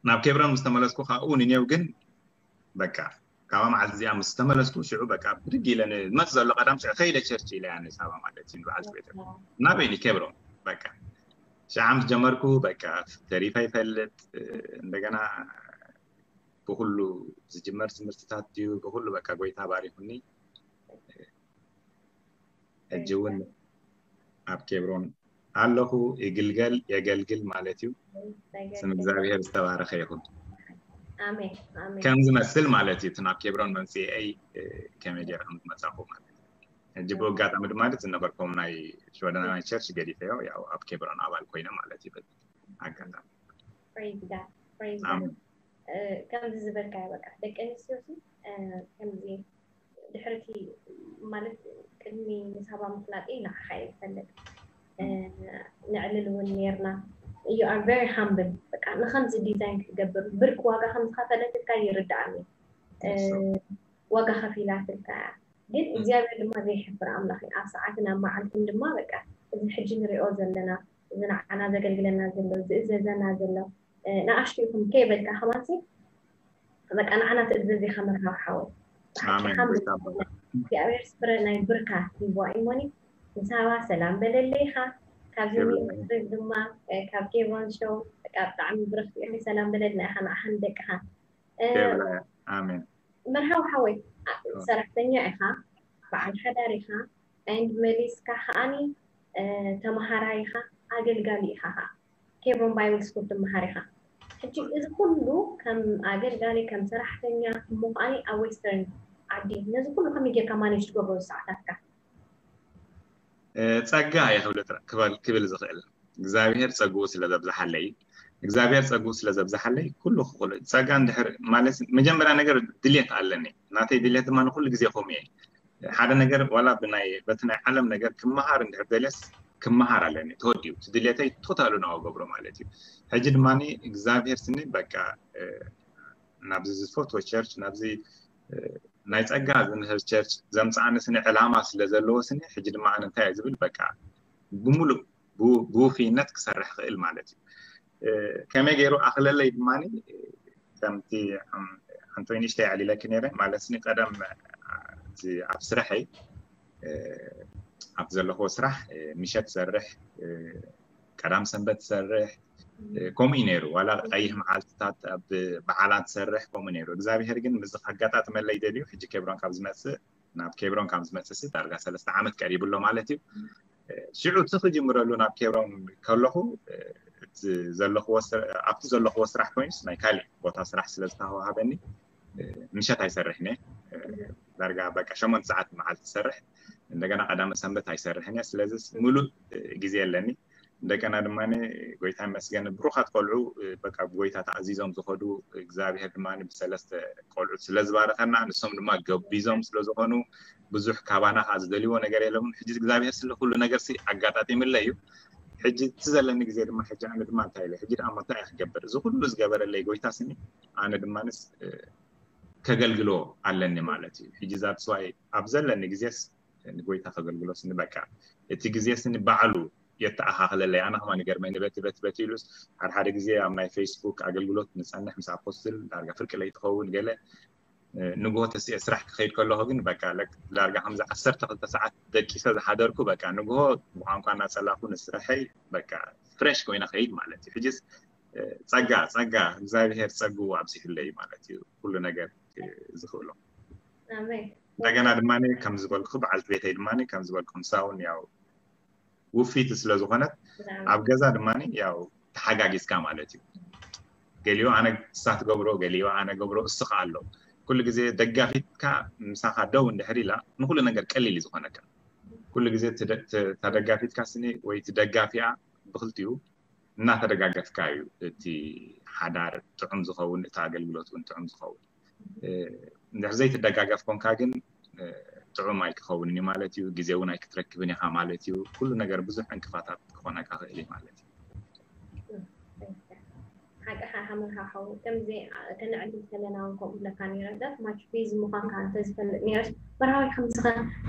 ናብ ኬብሮን ምስ ተመለስኩ ካብኡ ንኔው ግን በቃ ካብኣ መዓልቲ እዚኣ ምስ ተመለስኩ ሽዑ በቃ ብድግ ኢለ ንመፅ ዘሎ ቀዳም ሽዑ ከይደ ቸርች ኢለ ያ ንሳባ ማለት እዩ ንበዓልቲ ቤተ ናበይኒ ኬብሮን በቃ ሽዓ ምስ ጀመርኩ በቃ ተሪፋ ይፈልጥ እንደገና ብኩሉ ዝጅመር ትምህርትታት ድዩ ብኩሉ በቃ ጎይታ ባሪኩኒ። ሕጂ እውን ኣብ ኬብሮን ኣለኹ። ይግልገል የገልግል ማለት እዩ። ስም እግዚኣብሔር ዝተባረኸ ይኹን። ከም ዝመስል ማለት እዩ። እቲ ናብ ኬብሮን መምፅኤይ ከመይ ገይረ ከም ዝመፃኹ ማለት እዩ። ሕጂ ብኡ ኣጋጣሚ ድማ ዝነበርኩም ናይ ሽወደናውያን ቸርች ገዲፈዮ ያው ኣብ ኬብሮን ኣባል ኮይነ ማለት እዩ። በዚ ኣጋጣሚ ኣሜን። ከምዚ ዝበልካዮ በቃ ደቂ ኣንስትዮ ከምዚ ድሕርቲ ማለት ቅድሚ ንሳባ ምፍላጠይ ንዓኻ እየ ዝፈልጥ። ንዕልል እውን ነርና። You are very humble። በቃ ንከምዚ ዲዛይን ክትገብር ብርክ ዋጋ ከም ዝኸፈለትልካ ይርድኣኒ። ዋጋ ከፊላትልካ እያ። ግን እግዚኣብሔር ድማ ዘይሕፍር ኣምላኽ እዩ። ኣብ ሰዓትን ኣብ መዓልትን ድማ በቃ እዚ ሕጂ ንሪኦ ዘለና እዚ ንዓና ዘገልግለና ዘሎ ዝእዘዘና ዘሎ ንኣሽቱ ይኹን ከይበልካ ከማንሲ በቃ ንዓና ትእዘዝ ኢኻ መርሃዊ ሓወይ። ብሓቂ ኣሜን። ሓምድ ብርካ ኣቦ። እግዚኣብሔር ስፍረ ናይ ብርካ ይቦ እሞኒ ንሳባ ሰላም በለለይ ኢኻ። ካብዚ ይብላኝ። ሚኒስትሪ ድማ እ፣ ካብ ኬብሮን ሾው በቃ ብጣዕሚ ብርክ ኢኺ ሰላም በለልና ኢኻ ንዓኻን ደቅኻ። እ፣ ይብላኝ። ኣሜን። መርሃዊ ሓወይ እ፣ እ። ሰራሕተኛ ኢኻ፣ በዓል ሓዳር ኢኻ፣ and መሊስካ ከኣኒ እ፣ ተመሃራይ ኢኻ፣ ኣገልጋሊ ኢኻ ኸኣ። ኬብሮን ባይብል ስኩል ትመሃር ኢኻ። ሕጂ እዚ ኩሉ ከም ኣገልጋሊ ከም ሰራሕተኛ እሞ ከኣኒ ኣብ ዌስተርን ዓዲ ነዚ ኩሉ ከመይ ጌርካ ማኔጅ ትገብሮ ሰዓታትካ? ጸጋ እየ ክብል ጥራ- ክበል- ክብል ዝኽእል እግዚኣብሔር ጸግኡ ስለ ዘብዝሓለይ እግዚኣብሔር ጸግኡ ስለ ዘብዝሓለይ ኩሉ ክኽእሎ እዩ። ጸጋ እንድሕር ማለት መጀመርያ ነገር ድልየት ኣለኒ ናተይ ድልየት ድማ ንኩሉ ግዜ ከምኡ እየ ሓደ ነገር ዋላ ብናይ በቲ ናይ ዓለም ነገር ክመሃር እንድሕር ደልየስ ክመሃር ኣለኒ ተወዲኡ እቲ ድልየተይ ቶታሉ ናው ገብሮ ማለት እዩ። ሕጂ ድማ እግዚኣብሔር ስኒ በቃ ናብዚ ዝፈትዎ ቸርች ናብዚ ናይ ጸጋ ዝምህር ቸርች ዘምጽኣኒ ስኒ ዕላማ ስለ ዘለዎ ስኒ ሕጂ ድማ ኣነ እንታይ እየ ዝብል በቃ ብምሉእ ብውፍይነት ክሰርሕ ክእል ማለት እዩ። ከመይ ገይሩ ኣኽለለይ ድማ ከምቲ ኣንቶኒ ሽተይ ኣዕሊለኪ ነይረ ማለት ስኒ ቀደም ኣብ ስራሐይ ኣብ ዘለኽዎ ስራሕ ምሸት ሰርሕ ቀዳም ሰንበት ሰርሕ ከምኡ እዩ ነይሩ። ዋላ ቀይሕ መዓልትታት ኣብ በዓላት ሰርሕ ከምኡ ነይሩ። እግዚኣብሔር ግን ምስ ኣጋጣጥመለይ ደልዩ ሕጂ ኬብሮን ካብ ዝመፅእ ናብ ኬብሮን ካብ ዝመፅእ ሲ ዳርጋ ሰለስተ ዓመት ቀሪቡ ኣሎ ማለት እዩ። ሽዑ እቲ ክጅምረሉ ናብ ኬብሮን ከለኹ ኣብቲ ዘለኽዎ ስራሕ ኮይኑስ ናይ ካሊእ ቦታ ስራሕ ስለ ዝተዋሃበኒ ምሸት ኣይሰርሕን እየ። ዳርጋ በቃ ሸሞንተ ሰዓት መዓልቲ ሰርሕ እንደገና ቀዳመ ሰንበት ኣይሰርሕን እየ። ስለዚ ሙሉእ ግዜ ኣለኒ። እንደገና ድማ ጎይታ ይመስገን ብሩኻት ቆልዑ በቃ ብጎይታ ተኣዚዞም ዝኸዱ እግዚኣብሔር ድማ ብሰለስተ ቆልዑት ስለ ዝባረኸና ንሶም ድማ ገቢዞም ስለ ዝኾኑ ብዙሕ ካባና ከዓ ዝደልይዎ ነገር የለምን። ሕጂ እግዚኣብሔር ስለ ኩሉ ነገር ሲ ኣጋጣጢምለ እዩ። ሕጂ እቲ ዘለኒ ግዜ ድማ ሕጂ ኣነ ድማ እንታይ ኢለ ሕጂ ደኣ እንታይ ክገብር እዚ ኩሉ ዝገበረለይ ጎይታ ስኒ ኣነ ድማንስ ከገልግሎ ኣለኒ ማለት እዩ። ሕጂ ዛትስዋይ ኣብ ዘለኒ ግዜስ ንጎይታ ከገልግሎስ ንበቃ እቲ ግዜስ ንባዕሉ የተኣኻኽለለይ ኣነ ከማ ንገርመኒ በቲ በቲ በቲ ኢሉስ ሓደ ሓደ ግዜ ኣብ ናይ ፌስቡክ ኣገልግሎት ንፀንሕ ምስ ኣፖስትል ዳርጋ ፍርቂ ለይትኸውን ገለ ንግሆ ተስኤ ስራሕ ክኸይድ ከለኹ ግን በቃ ዳርጋ ከምዚ ዓሰርተ ክልተ ሰዓት ደቂሰ ዝሓደርኩ በቃ ንግሆ ብቋንቋ እናፀላኹ ንስራሐይ በቃ ፍሬሽ ኮይነ ከይድ ማለት እዩ። ሕጅስ ጸጋ ጸጋ እግዚኣብሔር ጸግኡ ኣብዚሑለይ ማለት እዩ። ኩሉ ነገር ዝኽእሎ እንደገና ድማ ከም ዝበልኩ በዓልቲ ቤተይ ድማ ከም ዝበልኩ ምሳውን ያው ውፊት ስለ ዝኾነት ኣብ ገዛ ድማ ያው ተሓጋጊዝካ ማለት እዩ። ገሊኡ ኣነ እሳ ትገብሮ ገሊኡ ኣነ ገብሮ እስኻ ኣሎ ኩሉ ግዜ ደጋፊትካ ምሳኻ ደው እንድሕር ኢላ ንኩሉ ነገር ቀሊል እዩ ዝኾነካ። ኩሉ ግዜ ተደጋፊትካ ስኒ ወይ ትደጋፊያ ብክልቲኡ እናተደጋገፍካ እዩ እቲ ሓዳር ጥዑም ዝኸውን እቲ ኣገልግሎት እውን ጥዑም ዝኸውን። እንድሕር ዘይትደጋገፍ ኮንካ ግን ጥዑም ኣይክኸውንን እዩ ማለት እዩ። ግዜ እውን ኣይክትረክብን ኢኻ ማለት እዩ። ኩሉ ነገር ብዙሕ ዕንቅፋታት ክኾነካ ክእል እዩ ማለት እዩ። ሓቂ ሓመርሃ ሓው ከምዚ ከነዕልል ከለና እውን ከምኡ ብለካ ነረ ዳት ማች ቢዚ ምዃንካ እንተዝፈልጥ ነረስ በርሃዊ ከምዚ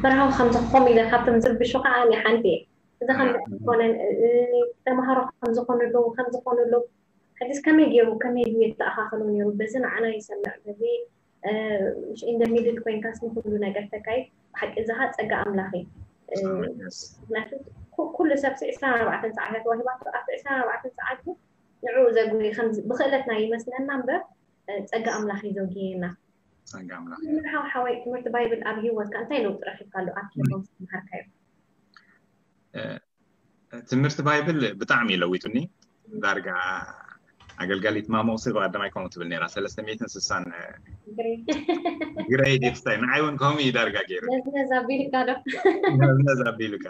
በርሃዊ ከምዚ ክኾም ኢለ ካብቶም ዝርብሹ ከዓ እኔ ሓንቲ እየ። እዚ ከም ዝኾነን ተምሃሮ ከም ዝኾኑ ኣለዉ ከም ዝኾኑ ኣለዉ ሕጂስ ከመይ ገይሩ ከመይ ድዩ የተኣኻኸሎ ነይሩ በዚ ንዓና ይሰምዕ በዚ ምሽ ኢንደ ሚድል ኮይንካስ ንኩሉ ነገር ተካይድ ብሓቂ እዚ ከዓ ፀጋ ኣምላኽ እዩ። ምክንያቱ ኩሉ ሰብ ሲ ዕስራን ኣርባዕተን ሰዓት ተዋሂባቶ ኣብቲ ዕስራን ኣርባዕተን ሰዓት ንዕኡ ዘጉ ብክእለትና ይመስለና እምበር ፀጋ ኣምላኽ እዩ ዘጉየና። ፀጋ ኣምላኽ ሓው ሓወይ ትምህርቲ ባይብል ኣብ ሂወትካ እንታይ ለውጢ ረኪብካሉ ኣብ ኬብሮን ዝተምሃርካዮ? ትምህርቲ ባይብል ብጣዕሚ እዩ ለዊጡኒ። ዳርጋ ኣገልጋሊት ማሞቅሲ ብቀዳማይ ከምኡ ትብል ነራ ሰለስተ ሚእትን ስሳን ግሬድ ይፍሳይ ንዓይ እውን ከምኡ እዩ ዳርጋ ገይሩ ነዝነዝ ኣቢልካ ዶ ነዝነዝ ኣቢሉካ።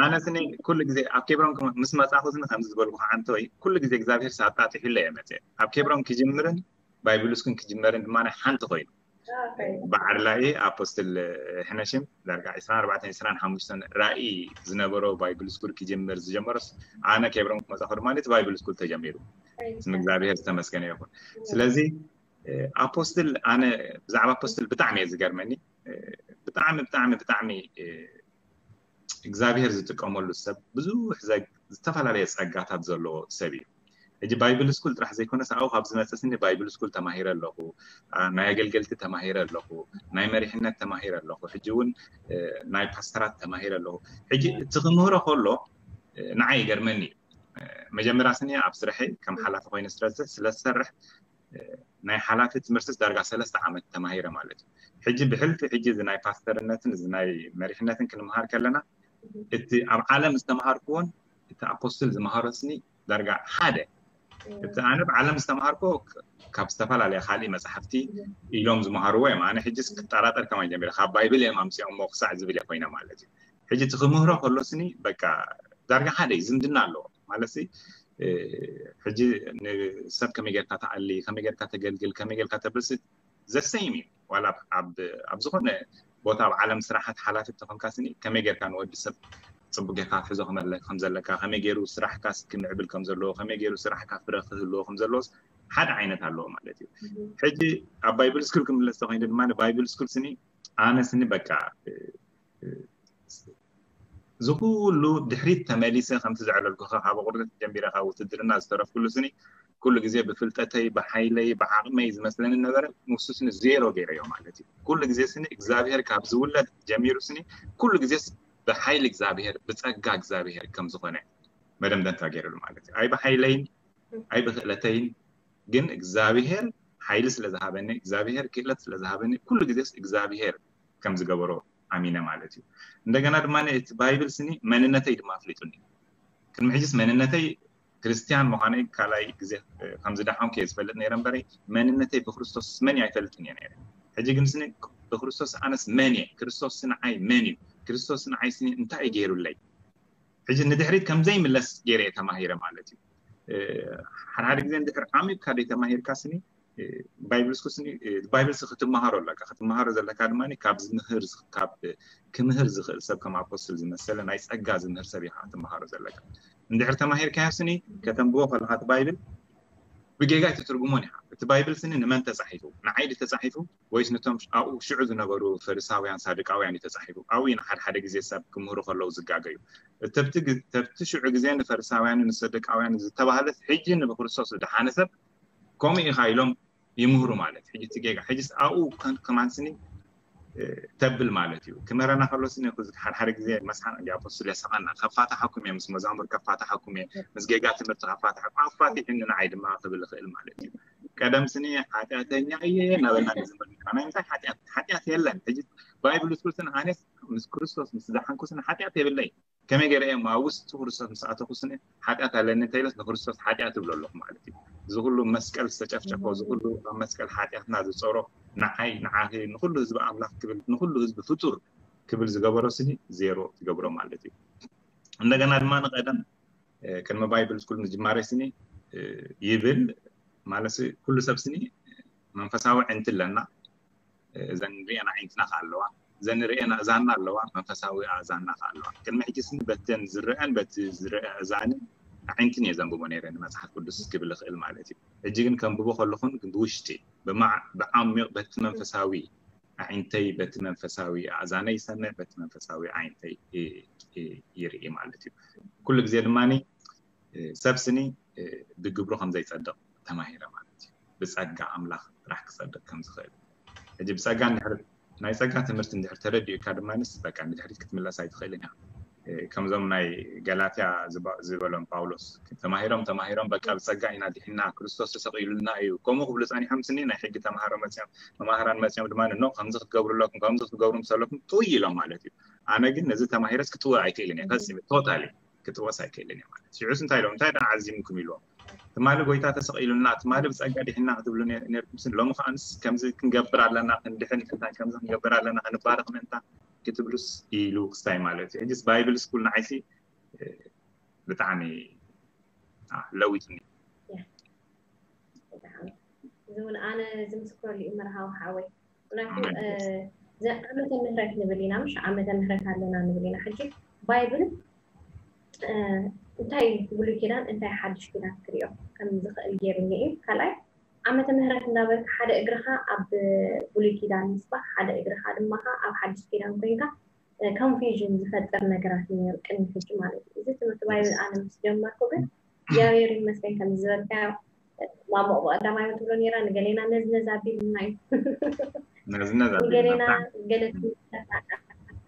ኣነ ስኒ ኩሉ ግዜ ኣብ ኬብሮን ምስ መፃኹ ስኒ ከምዚ ዝበልኩ ሓንቲ ወይ ኩሉ ግዜ እግዚኣብሔር ሳጣጢሑለ እየ መፅአ ኣብ ኬብሮን ክጅምርን ባይብል ስኩል ክጅመርን ድማ ሓንቲ ኮይኑ በዓል ራእይ ኣፖስትል ሕነሽም ዳርጋ ዕስራን ኣርባዕተን ዕስራን ሓሙሽተን ራእይ ዝነበሮ ባይብል ስኩል ክጅምር ዝጀመረስ ኣነ ኬብሮን ክመፃኹ ድማ እቲ ባይብል ስኩል ተጀሚሩ። ስም እግዚኣብሔር ዝተመስገነ ይኹን። ስለዚ ኣፖስትል ኣነ ብዛዕባ ኣፖስትል ብጣዕሚ እየ ዝገርመኒ። ብጣዕሚ ብጣዕሚ ብጣዕሚ እግዚኣብሔር ዝጥቀመሉ ሰብ ብዙሕ ዝተፈላለየ ጸጋታት ዘለዎ ሰብ እዩ። ሕጂ ባይብል ስኩል ጥራሕ ዘይኮነስ ኣብኡ ካብ ዝመፅእ ስኒ ባይብል ስኩል ተማሂረ ኣለኹ፣ ናይ ኣገልገልቲ ተማሂረ ኣለኹ፣ ናይ መሪሕነት ተማሂረ ኣለኹ፣ ሕጂ እውን ናይ ፓስተራት ተማሂረ ኣለኹ። ሕጂ እቲ ክምህሮ ከሎ ንዓይ ይገርመኒ እዩ። መጀመርያ ስኒ ኣብ ስርሐይ ከም ሓላፊ ኮይነ ስለ ዝሰርሕ ናይ ሓላፊ ትምህርትስ ዳርጋ ሰለስተ ዓመት ተማሂረ ማለት እዩ። ሕጂ ብሕልፊ ሕጂ እዚ ናይ ፓስተርነትን እዚ ናይ መሪሕነትን ክንምሃር ከለና እቲ ኣብ ዓለም ዝተምሃርክዎን እቲ ኣፖስትል ዝመሃሮ ስኒ ዳርጋ ሓደ። እቲ ኣነ ኣብ ዓለም ዝተምሃርኮ ካብ ዝተፈላለየ ካሊእ መፅሓፍቲ ኢሎም ዝመሃርዎ እዮም። ኣነ ሕጂስ ክጠራጠር ከማይ ጀሚረ ካብ ባይብል እዮም ኣምፅኦሞ ክሳዕ ዝብል እየ ኮይነ ማለት እዩ። ሕጂ እቲ ክምህሮ ከሎ ስኒ በቃ ዳርጋ ሓደ እዩ፣ ዝምድና ኣለዎ ማለት ሕጂ ንሰብ ከመይ ጌርካ ተኣሊ ከመይ ጌርካ ተገልግል ከመይ ጌርካ ተብልሲ ዘሰይም እዩ ዋላ ኣብ ዝኾነ ቦታ ኣብ ዓለም ስራሓት ሓላፊ ተኾንካ ስኒ ከመይ ጌርካ ንወዲ ሰብ ፅቡቅ ጌርካ ክትሕዞ ከም ዘለካ ከመይ ገይሩ ስራሕካስ ክምዕብል ከም ዘለዎ ከመይ ገይሩ ስራሕካ ፍረ ክህልዎ ከም ዘለዎስ ሓደ ዓይነት ኣለዎ ማለት እዩ። ሕጂ ኣብ ባይብል ስኩል ክምለስ ተኮይኑ ድማ ባይብል ስኩል ስኒ ኣነ ስኒ በቃ እዚ ኩሉ ድሕሪት ተመሊሰ ከምቲ ዘዕለልኩኻ ካብ ቁርደት ጀሚረ ካብ ውትድርና ዝተረፍኩሉ ስኒ ኩሉ ግዜ ብፍልጠተይ ብሓይለይ ብዓቕመይ ዝመስለኒ ነበረ። ንሱ ስኒ ዜሮ ገይረዮ ማለት እዩ። ኩሉ ግዜ ስኒ እግዚኣብሔር ካብ ዝውለድ ጀሚሩ ስኒ ኩሉ ግዜስ ብሓይሊ እግዚኣብሔር ብፀጋ እግዚኣብሔር ከም ዝኾነ መደምደምታ ገይሩሉ ማለት እዩ። ኣይ ብሓይለይን ኣይ ብክእለተይን ግን እግዚኣብሔር ሓይሊ ስለ ዝሃበኒ እግዚኣብሔር ክእለት ስለ ዝሃበኒ ኩሉ ግዜስ እግዚኣብሔር ከም ዝገበሮ ኣሚነ ማለት እዩ። እንደገና ድማ እቲ ባይብል ስኒ መንነተይ ድማ ኣፍሊጡኒ። ቅድሚ ሕጅስ መንነተይ ክርስትያን ምዃነይ ካልኣይ ግዜ ከም ዝደሓንኩ እየ ዝፈልጥ ነይረ እምበረይ መንነተይ ብክርስቶስ መን ኣይፈልጥን እየ ነይረ። ሕጂ ግን ስኒ ብክርስቶስ ኣነስ መን እየ? ክርስቶስ ንዓይ መን እዩ? ክርስቶስ ንዓይ ስኒ እንታይ እዩ ገይሩለይ? ሕጂ ንድሕሪት ከምዘይምለስ ገይረ እየ ተማሂረ ማለት እዩ። ሓደ ሓደ ግዜ እንድሕር ዓሚቕካ ዘይተማሂርካ ስኒ ባይብል ስኩል ስኒ ባይብል ሲ ክትመሃሮ ኣለካ። ክትመሃሮ ዘለካ ድማ ካብ ዝምህር ካብ ክምህር ዝኽእል ሰብ ከም ኣፖስትል ዝመሰለ ናይ ጸጋ ዝምህር ሰብ ኢኻ ክትመሃሮ ዘለካ። እንድሕር ተማሂርካዮ ስኒ ከተንብቦ ከለካ እቲ ባይብል ብጌጋ ኣይትትርጉሞን ኢኻ። እቲ ባይብል ስኒ ንመን ተጻሒፉ? ንዓይ ድዩ ተጻሒፉ ወይስ ነቶም ኣብኡ ሽዑ ዝነበሩ ፈሪሳውያን ሳዱቃውያን እዩ ተጻሒፉ? ኣብኡ ኢና ሓደ ሓደ ግዜ ሰብ ክምህሩ ከለዉ ዝጋገዩ። እተብቲ ግ- ተብቲ ሽዑ ግዜ ንፈሪሳውያን ንሰዱቃውያን ዝተባህለት ሕጂ ንብክርስቶስ ዝደሓነ ሰብ ከምኡ ኢኻ ኢሎም ይምህሩ ማለት ሕጂ እቲ ጌጋ ሕጂስ ኣብኡ ከን- ከማን ስኒ እ፣ ተብል ማለት እዩ። ክምህረና ከሎ ስኒ ኩዚ ሓደ ሓደ ግዜ መስሓን እንዲ ኣፖስትል የሳቐና ከፋታሓኩም እየ ምስ መዛሙር ከፋታሓኩም እየ ምስ ጌጋ ትምህርቲ ከፋታሓኩም ኣፋቲሕኒ ንዓይ ድማ ክብል ይኽእል ማለት እዩ። ቀደም ስኒ ሓጢኣተኛ እየ እናበልና ንዝምር ነርና። ናይ ምንታይ ሓጢኣት ሓጢኣት የለን። ሕጂ ባይብል ስኩል ስኒ ኣነስ ምስ ክርስቶስ ምስ ዝደሓንኩ ስኒ ሓጢኣት የብለይ። ከመይ ገይረ እየ ኣብ ውስጢ ክርስቶስ ምስ ኣተኹ ስኒ ሓጢኣት ኣለኒ እንተኢለስ ንክርስቶስ ሓጢኣት እብሎ ኣለኹ ማለት እዩ። እዚ ኩሉ መስቀል ዝተጨፍጨፎ እዚ ኩሉ ኣብ መስቀል ሓጢኣትና ዝፀሮ ንዓይ ንዓኺ ንኩሉ ህዝቢ ኣምላኽ ክብል ንኩሉ ህዝቢ ፍጡር ክብል ዝገበሮ ስኒ ዜሮ ትገብሮ ማለት እዩ። እንደገና ድማ ንቀደም እ፣ ቅድሚ ባይብል ስኩል ምጅማረይ ስኒ እ፣ ይብል ማለት ኩሉ ሰብ ስኒ መንፈሳዊ ዕንቲ ኣለና። እዘን ንሪኤን ኣዒንትና ከ ኣለዋ፣ እዘን ንሪኤን ኣእዛንና ኣለዋ፣ መንፈሳዊ ኣእዛንና ከ ኣለዋ። ቅድሚ ሕጂ ስኒ በተን ዝረአን በቲ ዝረአ ኣእዛንን ኣዒንትን እየ ዘንብቦ ነይረ ንመፅሓፍ ቅዱስ ክብል እኽእል ማለት እዩ። ሕጂ ግን ከንብቦ ከለኹን ግን ብውሽጢ ብማዕ ብዓሚቕ በቲ መንፈሳዊ ኣዒንተይ በቲ መንፈሳዊ ኣእዛነይ ይሰምዕ በቲ መንፈሳዊ ኣዒንተይ ይ- ይ- ይርኢ ማለት እዩ። ኩሉ ግዜ ድማ ሰብ ስኒ ብግብሩ ከም ዘይጸድቕ ተማሂረ ማለት እዩ። ብጸጋ ኣምላኽ ጥራሕ ክጸድቕ ከም ዝኽእል ሕጂ ብጸጋ እንድሕር ናይ ጸጋ ትምህርቲ እንድሕር ተረዲኡካ ድማ ንስ በቃ ንድሕሪት ክትምለስ ኣይትኽእልን እያ። ከምዞም ናይ ገላትያ ዝበሎም ጳውሎስ ተማሂሮም ተማሂሮም በቃ ብጸጋ ኢና ድሒና ክርስቶስ ተሰቒሉልና እዩ ከምኡ ክብሉ ጸኒሖም ስኒ ናይ ሕጊ ተማሃሮ መጽኦም መማህራን መጽኦም ድማ ኖ ከምዚ ክትገብሩ ኣለኩም ከምዚ ክትገብሩ ምስ ኣለኩም ጥውይ ኢሎም ማለት እዩ። ኣነ ግን ነዚ ተማሂረስ ክጥውዕ ኣይክእልን እየ ፈጺሙ ቶታሊ ክጥወስ ኣይክእልን እየ ማለት ሽዑስ እንታይ ኢሎም እንታይ ደኣ ዓዚምኩም ኢልዎም ትማሊ ጎይታ ተሰቒሉልና ትማሊ ብጸጋ ድሒና ክትብሉ ነርኩም ስኒ ሎሚ ከኣንስ ከምዚ ክንገብር ኣለና ክንድሕን እንታይ ከምዚ ክንገብር ኣለና ክንባረኽ ምእንታ ክትብሉስ ኢሉ ክስታይ ማለት እዩ። ሕጅስ ባይብል ስኩል ንዓይሲ ብጣዕሚ ለዊጥኒ። እዚ እውን ኣነ ዝምስክረሉ እዩ መርሃዊ ሓወይ። ምክንያቱ ዓመተ ምህረት ንብል ኢና ምሽ ዓመተ ምህረት ኣለና ንብል ኢና። ሕጂ ባይብል እንታይ ብሉይ ኪዳን እንታይ ሓድሽ ኪዳን ክሪኦ ከም ዝኽእል ገይሩኒ እዩ። ካልኣይ ዓመተ ምህረት እንዳበልካ ሓደ እግርኻ ኣብ ብሉይ ኪዳን ምስባሕ ሓደ እግርኻ ድማ ኣብ ሓድሽ ኪዳን ኮይንካ ኮንፊውዥን ዝፈጥር ነገራት እዩ ነይሩ ቅድሚ ሕጂ ማለት እዩ። እዚ ትምህርቲ ባይብል ኣነ ምስ ጀመርኩ ግን እግዚኣብሔር ይመስገን ከም ዝበልካዮ ማሞ ብቀዳማይ ትብሎ ነይራ ንገሌና ነዝነዝ ኣቢልና እዩ ንገሌና ገለ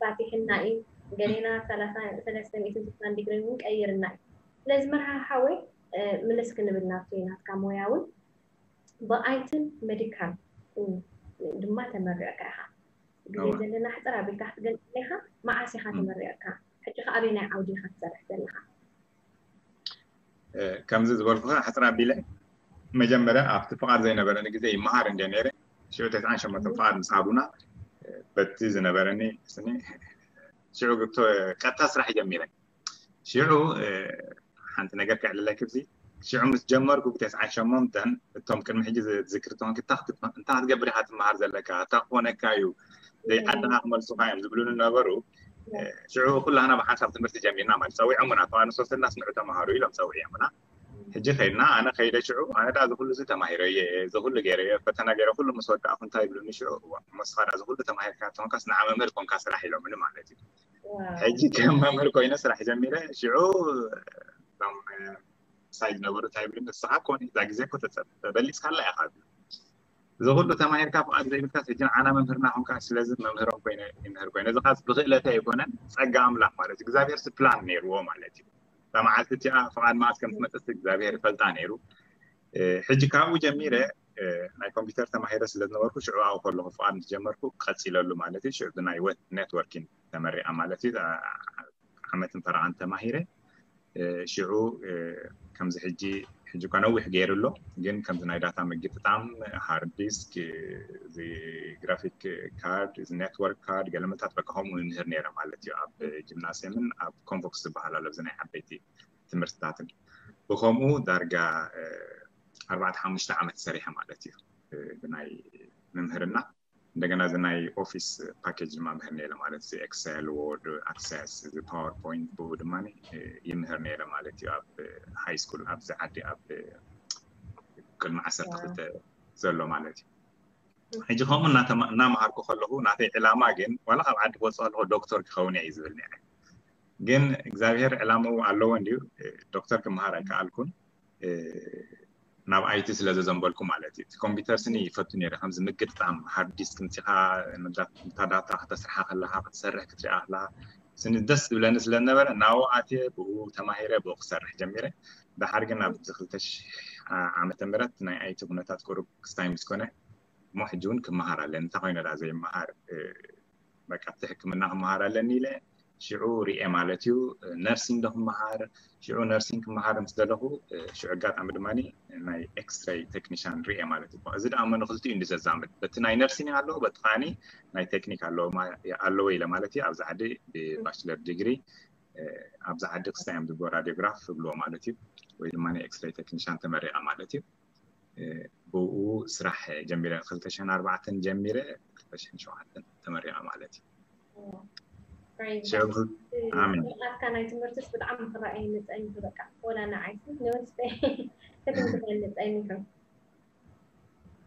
ፋቲሕና እዩ ገሌና ሰለስተ ሚእትን ስልሳን ዲግሪ እውን ቀይርና እዩ። ስለዚ መርሃ ሓወይ ምልስ ክንብል ናብቲ ናትካ ሞያ እውን ብኣይትን መዲካል ድማ ተመሪዕካ ኢኻ። ግዜ ዘለና ሕፅር ኣቢልካ ክትገልፅ ኢኻ። መዓስ ኢኻ ተመሪዕካ? ሕጂ ከ ኣበይ ናይ ዓውዲ ኢኻ ትሰርሕ ዘለኻ? ከምዚ ዝበልኩኻ ሕፅር ኣቢለ መጀመርያ ኣብቲ ፍቓድ ዘይነበረኒ ግዜ ይመሃር እንደ ነይረ ሽዑ ተስዓን ሸሞንተን ፍቓድ ምስ ሃቡና በቲ ዝነበረኒ ስኒ ሽዑ ቀጥታ ስራሕ ጀሚረ። ሽዑ ሓንቲ ነገር ከዕልለኪ ብዚ ሽዑ ምስ ጀመርኩ ብተስዓን ሸሞንተን እቶም ቅድሚ ሕጂ ዝዝክር ተኾንኪ እንታይ ክትገብር ኢኻ ትመሃር ዘለካ እንታይ ክኾነካ እዩ ዘይዓድኻ ክመልሱኻ እዮም ዝብሉኒ ነበሩ። ሽዑ ኩላህና ብሓንሳብ ትምህርቲ ጀሚርና ማለት ፀዊዖሙና ተዋንሶ ስላስ ንዑ ተምሃሩ ኢሎም ፀዊዖሙና። ሕጂ ከይድና ኣነ ከይደ ሽዑ ኣነ ዳ ዝኩሉ እዚ ተማሂረዮ እዚ ኩሉ ገይረዮ ፈተና ገይረ ኩሉ ምስ ወዳእኩ እንታይ ይብሉኒ ሽዑ እዋ እሞ ንስኻ ዳ ዝኩሉ ተማሂርካ ተኾንካስ ንዓ መምህር ኮንካ ስራሕ ኢሎምኒ ማለት እዩ። ሕጂ ከም መምህር ኮይነ ስራሕ ጀሚረ ሽዑ እቶም ሳይ ዝነበሩ እንታይ ይብሉኒ ንስኻ ኮኒ እዛ ግዜ እኮ ተበሊፅካላ ኢኻ። እዚ ኩሉ ተማሂርካ ፍቓድ ዘይብልካ ሕጂ ንዓና መምህርና ኮንካ ስለዚ መምህሮም ኮይነ ይምህር ኮይነ እዚ ኻስ ብክእለተ ኣይኮነን ጸጋ ኣምላኽ ማለት እዩ እግዚኣብሔር ሲ ፕላን ነይርዎ ማለት እዩ። እዛ መዓልቲ እቲኣ ፍቓድ መዓስ ከም ትመጽእ እግዚኣብሔር ይፈልጣ ነይሩ። ሕጂ ካብኡ ጀሚረ ናይ ኮምፒውተር ተማሂረ ስለ ዝነበርኩ ሽዑ ኣብኡ ከለኹ ፍቓድ ምስ ጀመርኩ ቀጺለሉ ማለት እዩ። ሽዑ ብናይ ኔትወርኪንግ ተመሪቐ ማለት እዩ። ዓመትን ፈረቓን ተማሂረ ሽዑ ከምዚ ሕጂ ሕጂ እኳ ነዊሕ ገይሩ ኣሎ ግን ከምዚ ናይ ዳታ ምግጥጣም ሃርድ ዲስክ እዚ ግራፊክ ካርድ እዚ ኔትወርክ ካርድ ገለመታት በቃ ከምኡ ይምህር ነይረ ማለት እዩ ኣብ ጂምናስየምን ኣብ ኮንቮክስ ዝበሃል ኣሎ እዚ ናይ ዓበይቲ ትምህርትታትን ብከምኡ ዳርጋ ኣርባዕተ ሓሙሽተ ዓመት ሰሪሐ ማለት እዩ ብናይ ምምህርና እንደገና እዚ ናይ ኦፊስ ፓኬጅ ድማ ምህር ነይረ ማለት እዚ ኤክሰል ወርድ ኣክሰስ እዚ ፓወርፖይንት ብኡ ድማ ይምህር ነይረ ማለት እዩ ኣብ ሃይ ስኩል ኣብዚ ዓዲ ኣብ ቅድሚ ዓሰርተ ክልተ ዘሎ ማለት እዩ ሕጂ ከምኡ እናመሃርኩ ከለኹ ናተይ ዕላማ ግን ዋላ ካብ ዓዲ ክወፅእ ከለኹ ዶክተር ክኸውን እየ ዝብል ነይረ ግን እግዚኣብሔር ዕላምኡ ኣለዎ እንድዩ ዶክተር ክመሃር ኣይከኣልኩን ናብ ኣይቲ ስለ ዘዘንበልኩ ማለት እዩ እቲ ኮምፒውተር ስኒ ይፈቱ ነይረ ከምዚ ምግጥጣም ሃርድ ዲስክ ምፂኻ ንታ ዳታ ከተስርሓ ከለካ ክትሰርሕ ክትሪኣ ከለካ ስኒ ደስ ዝብለኒ ስለ ዝነበረ ናብኡ ኣትየ ብኡ ተማሂረ ብኡ ክሰርሕ ጀሚረ ድሓር ግን ኣብዚ ክልተ ሽሕ ዓመተ ምህረት ናይ ኣይቲ ኩነታት ቁሩብ ክስታይ ምስ ኮነ እሞ ሕጂ እውን ክመሃር ኣለኒ እንታይ ኮይነ ዳ ዘይመሃር በቃ ኣብቲ ሕክምና ክመሃር ኣለኒ ኢለ ሽዑ ሪኤ ማለት እዩ ነርሲንግ ዶ ክመሃር ሽዑ ነርሲንግ ክመሃር ምስ ደለኹ ሽዑ ኣጋጣሚ ድማ ናይ ኤክስሬይ ቴክኒሻን ሪኤ ማለት እዩ እዚ ደኣ መን ክልቲኡ እንዲ ዘዛምድ በቲ ናይ ነርሲንግ ኣለዎ በቲ ከዓኒ ናይ ቴክኒክ ኣለዎ ኢለ ማለት እዩ ኣብዚ ዓዲ ብባችለር ዲግሪ ኣብዚ ዓዲ ክስታይ እዮም ዝብሎ ራዲዮግራፍ ዝብልዎ ማለት እዩ ወይ ድማ ናይ ኤክስሬይ ቴክኒሻን ተመሪቐ ማለት እዩ ብኡ ስራሕ ጀሚረ ክልተ ሽሕን ኣርባዕተን ጀሚረ ክልተ ሽሕን ሸውዓተን ተመሪቐ ማለት እዩ ኣትካ ናይ ትምህርትስ ብጣዕሚ ክረኣየ መፀኒ በቃ ወላ ንዓይስ ንወስተ ክትምክረኒ ፀኒሑ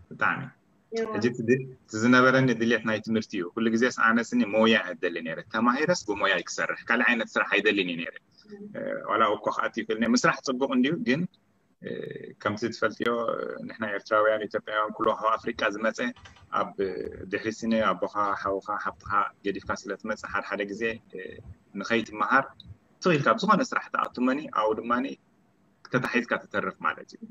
ብጣዕሚ ሕጂ ዝነበረኒ ድሌት ናይ ትምህርቲ እዩ ኩሉ ግዜስ ኣነስኒ ሞያ እደሊ ነረ ተማሂረስ ብሞያ ክሰርሕ ካልእ ዓይነት ስራሕ ኣይደልን እዩ ነረ ዋላ እኮ ከኣት ይክእል ምስራሕ ፅቡቅ እንድዩ ግን ከምቲ ትፈልጥዮ ንሕና ኤርትራውያን ኢትዮጵያውያን ኩሉ ካብ ኣፍሪቃ ዝመፀ ኣብ ድሕሪ ስኒ ኣቦኻ ሓውኻ ሓብትኻ ገዲፍካ ስለ ትመፅእ ሓደ ሓደ ግዜ ንኸይትመሃር ትኽኢልካ ብዝኾነ ስራሕ ተኣቱመኒ ኣብኡ ድማ ተታሒዝካ ትተርፍ ማለት እዩ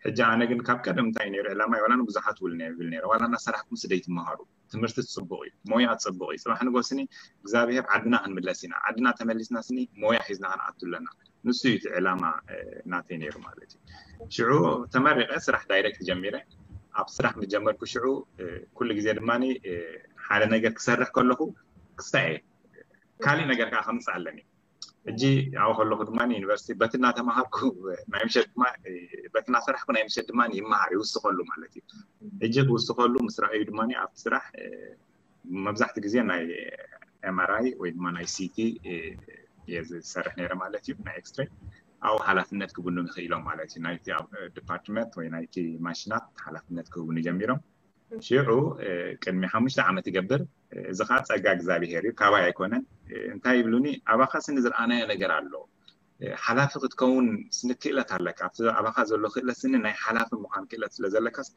ሕጂ ኣነ ግን ካብ ቀደም እንታይ ነይሩ ዕላማይ ዋላ ንብዙሓት ውል ብል ነይረ ዋላ እናሰራሕኩም ስደይ ትመሃሩ ትምህርቲ ፅቡቅ እዩ ሞያ ፅቡቅ እዩ ፅባሕ ንጎስኒ እግዚኣብሔር ዓድና ክንምለስ ኢና ዓድና ተመሊስና ስኒ ሞያ ሒዝና ክንኣቱ ኣለና ንሱ እዩ እቲ ዕላማ ናተይ ነይሩ ማለት እዩ ሽዑ ተመሪቀ ስራሕ ዳይሬክት ጀሚረ ኣብ ስራሕ ምስ ጀመርኩ ሽዑ ኩሉ ግዜ ድማ ሓደ ነገር ክሰርሕ ከለኹ ክስታይ እየ ካሊእ ነገር ከዓ ከምፅእ ኣለኒ ሕጂ ኣብኡ ከለኹ ድማ ዩኒቨርሲቲ በቲ እናተምሃርኩ ናይ ምሸት ድማ በቲ እናሰራሕኩ ናይ ምሸት ድማ ይመሃር ይውስኸሉ ማለት እዩ ሕጂ ክውስኸሉ ምስ ረኣዩ ድማ ኣብቲ ስራሕ መብዛሕቲ ግዜ ናይ ኤምኣርኣይ ወይ ድማ ናይ ሲቲ እየ ዝሰርሕ ነይረ ማለት እዩ ናይ ኤክስትሬ ኣብኡ ሓላፍነት ክብሉ ንኽኢሎም ማለት እዩ ናይቲ ዲፓርትመንት ወይ ናይቲ ማሽናት ሓላፍነት ክህቡኒ ጀሚሮም ሽዑ ቅድሚ ሓሙሽተ ዓመት ይገብር እዚ ከዓ ፀጋ እግዚኣብሄር እዩ ካባይ ኣይኮነን እንታይ ይብሉኒ ኣባኻስ ንዝረኣናዮ ነገር ኣሎ ሓላፊ ክትከውን ስንክእለት ኣለካ ኣብቲ ኣባኻ ዘሎ ክእለት ስኒ ናይ ሓላፊ ምዃን ክእለት ስለ ዘለካስ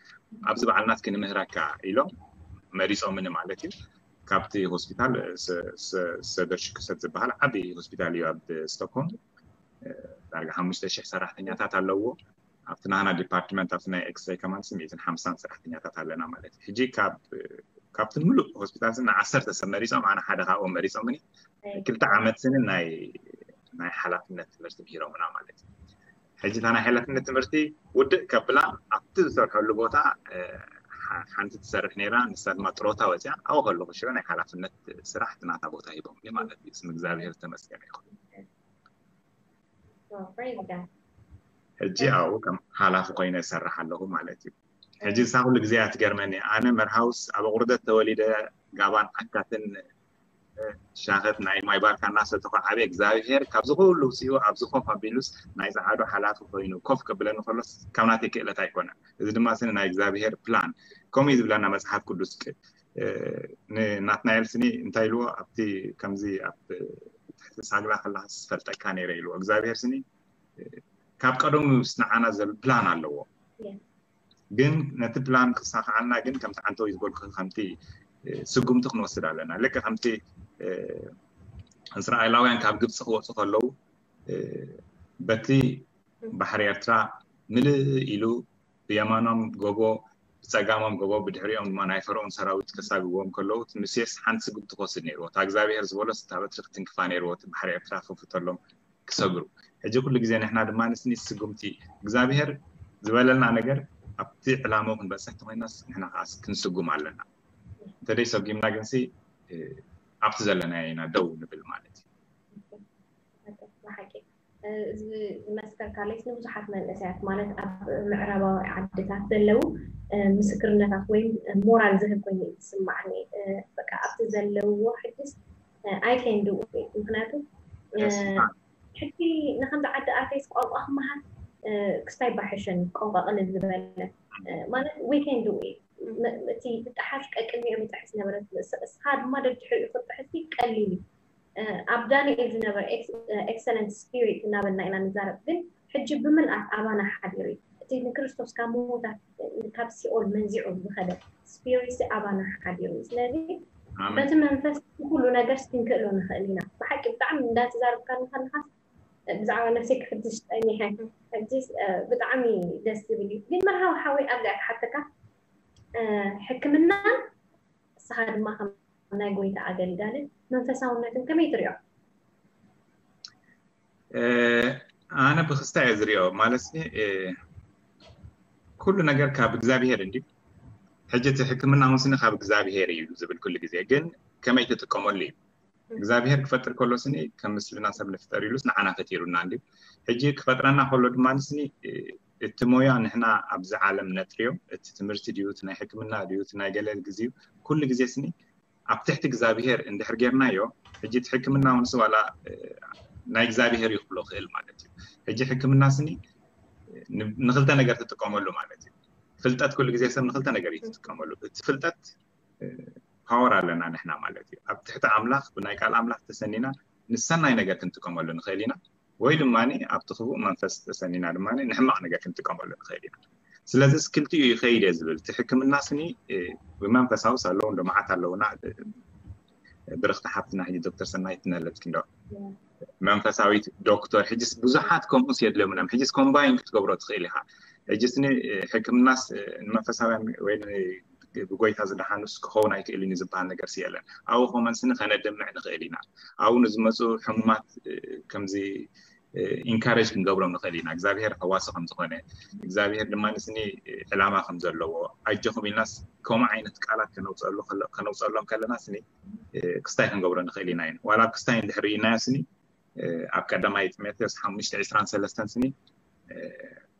ኣብዚ በዓልናት ክንምህረካ ኢሎም መሪፆምኒ ማለት እዩ ካብቲ ሆስፒታል ሰደር ሽክሰት ዝበሃል ዓብዪ ሆስፒታል እዩ ኣብ ስቶክሆልም ዳርጋ ሓሙሽተ ሽሕ ሰራሕተኛታት ኣለዎ ኣብቲ ናህና ዲፓርትመንት ኣብቲ ናይ ኤክስሬይ ከማንስ ሚእትን ሓምሳን ሰራሕተኛታት ኣለና ማለት እዩ ሕጂ ካብ ካብቲ ሙሉእ ሆስፒታል ስኒ ዓሰርተ ሰብ መሪፆም ኣነ ሓደ ካብኦም መሪፆምኒ ክልተ ዓመት ስኒ ናይ ናይ ሓላፍነት ትምህርቲ ምሂሮምና ማለት እዩ ሕጂ እታ ናይ ሓላፍነት ትምህርቲ ውድእ ከብላ ኣብቲ ዝሰርሐሉ ቦታ ሓንቲ ትሰርሕ ነይራ ንሳ ድማ ጥሮታ ወፅያ ኣብኡ ከለኩ ሽዑ ናይ ሓላፍነት ስራሕ ናታ ቦታ ሂቦምኒ ማለት እዩ ስም እግዚኣብሔር ዝተመስገነ ይኹን ሕጂ ኣብኡ ከም ሓላፊ ኮይነ እሰርሕ ኣለኹ ማለት እዩ ሕጂ እሳ ኩሉ ግዜ እያ ትገርመኒ ኣነ መርሃውስ ኣብ ኣቁርደት ተወሊደ ጋባን ዓካትን ሻኸት ናይ ማይ ባርካ እናሰተኹ ዓብየ እግዚኣብሔር ካብዚ ኩሉ ውፅኡ ኣብዚ ኮፍ ኣቢሉስ ናይ ፃዕዱ ሓላፊ ኮይኑ ኮፍ ከብለኒ ከሎስ ካብ ናተይ ክእለት ኣይኮነን። እዚ ድማ ስኒ ናይ እግዚኣብሔር ፕላን ከምኡ እዩ ዝብለና መፅሓፍ ቅዱስ። ንናትናኤል ስኒ እንታይ ኢልዎ ኣብቲ ከምዚ ኣብ ትሕቲ ሳግላ ከለካ ዝፈልጠካ ነይረ ኢልዎ እግዚኣብሔር ስኒ ካብ ቀደሙ ምስ ንዓና ዘሎ ፕላን ኣለዎ። ግን ነቲ ፕላን ክሳኽዓልና ግን ከምቲ ዓንተው ዝበልኩ ከምቲ ስጉምቲ ክንወስድ ኣለና። ልክ ከምቲ እስራኤላውያን ካብ ግብፂ ክወፁ ከለዉ በቲ ባሕሪ ኤርትራ ምልእ ኢሉ ብየማኖም ጎቦ ብፀጋሞም ጎቦ ብድሕሪኦም ድማ ናይ ፈርኦን ሰራዊት ከሳግዎም ከለዉ ሙሴስ ሓንቲ ስጉምቲ ክወስድ ነይርዎ። እታ እግዚኣብሔር ዝበሎስ እታ በትሪ ክትንክፋ ነይርዎ። እቲ ባሕሪ ኤርትራ ክፍተሎም ክሰግሩ። ሕጂ ኩሉ ግዜ ንሕና ድማ ንስኒ ስጉምቲ እግዚኣብሔር ዝበለልና ነገር ኣብቲ ዕላማው ክንበፅሕ ተኮይናስ ንሕና ከዓ ክንስጉም ኣለና። እንተደይ ሰጉምና ግንሲ ኣብቲ ዘለና ኢና ደው ንብል ማለት እዩ። ብሓቂ እዚ ዝመስከርካለይስ ንብዙሓት መንእሰያት ማለት ኣብ ምዕራባዊ ዓድታት ዘለዉ ምስክርነታት ወይ ሞራል ዝህብ ኮይኑ ዝስማዕኒ። በቃ ኣብቲ ዘለውዎ ሕጅስ ኣይከይንድው ምክንያቱ ሕጂ ንከምዚ ዓዲ ኣተይስ ቋንቋ ክመሃር ክስታይ ባሕሸን ቋንቋ ቅልል ዝበለ ማለት we can do it። እቲ ብጣሓስ ቀቅድሚኦም ይጥሕስ ነበረ። እስኻ ድማ ደድሕሪኡ ክትጥሕሲ ቀሊል እዩ። ኣብ ዳንኤል ዝነበረ excellent spirit እናበልና ኢና ንዛረብ፣ ግን ሕጂ ብምልኣት ኣባና ሓዲሩ እዩ። እቲ ንክርስቶስ ካብ ምዉታት ካብ ሲኦል መንዚዑ ዝኸደ spirit ኣባና ሓዲሩ እዩ። ስለዚ በቲ መንፈስ ኩሉ ነገር ክንክእሎ ንኽእል ኢና። ብሓቂ ብጣዕሚ እንዳተዛረብካ ከለኻስ ብዛዕባ ነብሰይ ክሕድሽ ጠኒሐ። ሕጂ ብጣዕሚ ደስ ዝብል እዩ። ግን መርሃዊ ሓወይ ኣብዚኣ ክሓተካ ሕክምና እስኻ ድማ ከም ናይ ጎይታ ኣገልጋልን መንፈሳውነትን ከመይ ትሪኦ? ኣነ ብክስታ እየ ዝሪኦ ማለት ኩሉ ነገር ካብ እግዚኣብሄር እንዲ ሕጂ እቲ ሕክምና እውን ስኒ ካብ እግዚኣብሄር እዩ ዝብል ኩሉ ግዜ ግን ከመይ ትጥቀመሉ እዩ እግዚኣብሄር ክፈጥር ከሎ ስኒ ከም ምስልና ሰብ ንፍጠር ኢሉስ ንዓና ፈጢሩና እንዲ ሕጂ ክፈጥረና ከሎ ድማ ስኒ እቲ ሞያ ንሕና ኣብዚ ዓለም ነጥርዮ እቲ ትምህርቲ ድዩ እቲ ናይ ሕክምና ድዩ እቲ ናይ ገለል ግዜዩ ኩሉ ግዜ ስኒ ኣብ ትሕቲ እግዚኣብሄር እንድሕር ጌርናዮ ሕጂ እቲ ሕክምና ውንስ ዋላ ናይ እግዚኣብሄር እዩ ክብሎ ክእል ማለት እዩ ሕጂ ሕክምና ስኒ ንክልተ ነገር ትጥቀመሉ ማለት እዩ ፍልጠት ኩሉ ግዜ ሰብ ንክልተ ነገር እዩ ትጥቀመሉ እቲ ፍልጠት ፓወር ኣለና ንሕና ማለት እዩ ኣብ ትሕቲ ኣምላኽ ብናይ ቃል ኣምላኽ ተሰኒና ንሰናይ ነገር ክንጥቀመሉ ንኽእል ኢና ወይ ድማ ኣብቲ ክፉእ መንፈስ ተሰኒና ድማ ንሕማቕ ነገር ክንጥቀመሉ ንኽእል ኢና ስለዚ ክልቲኡ ይኸይድ እየ ዝብል እቲ ሕክምና ስኒ ብመንፈሳዊ ኣለዉ እንዶ መዓት ኣለውና ብርኽቲ ሓፍትና ሕጂ ዶክተር ሰናይት ትነለትኪ እንዶ መንፈሳዊት ዶክተር ሕጅስ ብዙሓት ከምኡስ የድለሙና ሕጅስ ኮምባይን ክትገብሮ ትኽእል ኢኻ ሕጅስ ሕክምናስ ንመንፈሳውያን ወይ ብጎይታ ዝደሓኑስ ክኸውን ኣይክእልን እዩ ዝበሃል ነገር የለን ኣብኡ ከመን ስኒ ከነድምዕ ንኽእል ኢና ኣብኡ ንዝመፁ ሕሙማት ከምዚ ኢንካሬጅ ክንገብሮም ንኽእል ኢና እግዚኣብሄር ፈዋሲ ከም ዝኾነ እግዚኣብሄር ድማ ንስኒ ዕላማ ከም ዘለዎ ኣጆኹም ኢልናስ ከምኡ ዓይነት ቃላት ከነውፀሎም ከለና ስኒ ክስታይ ክንገብሮ ንኽእል ኢና ኢና ዋላ ኣብ ክስታይ እንድሕር ኢልናዮ ስኒ ኣብ ቀዳማይ ጢሞቴዎስ ሓሙሽተ ዕስራን ሰለስተን ስኒ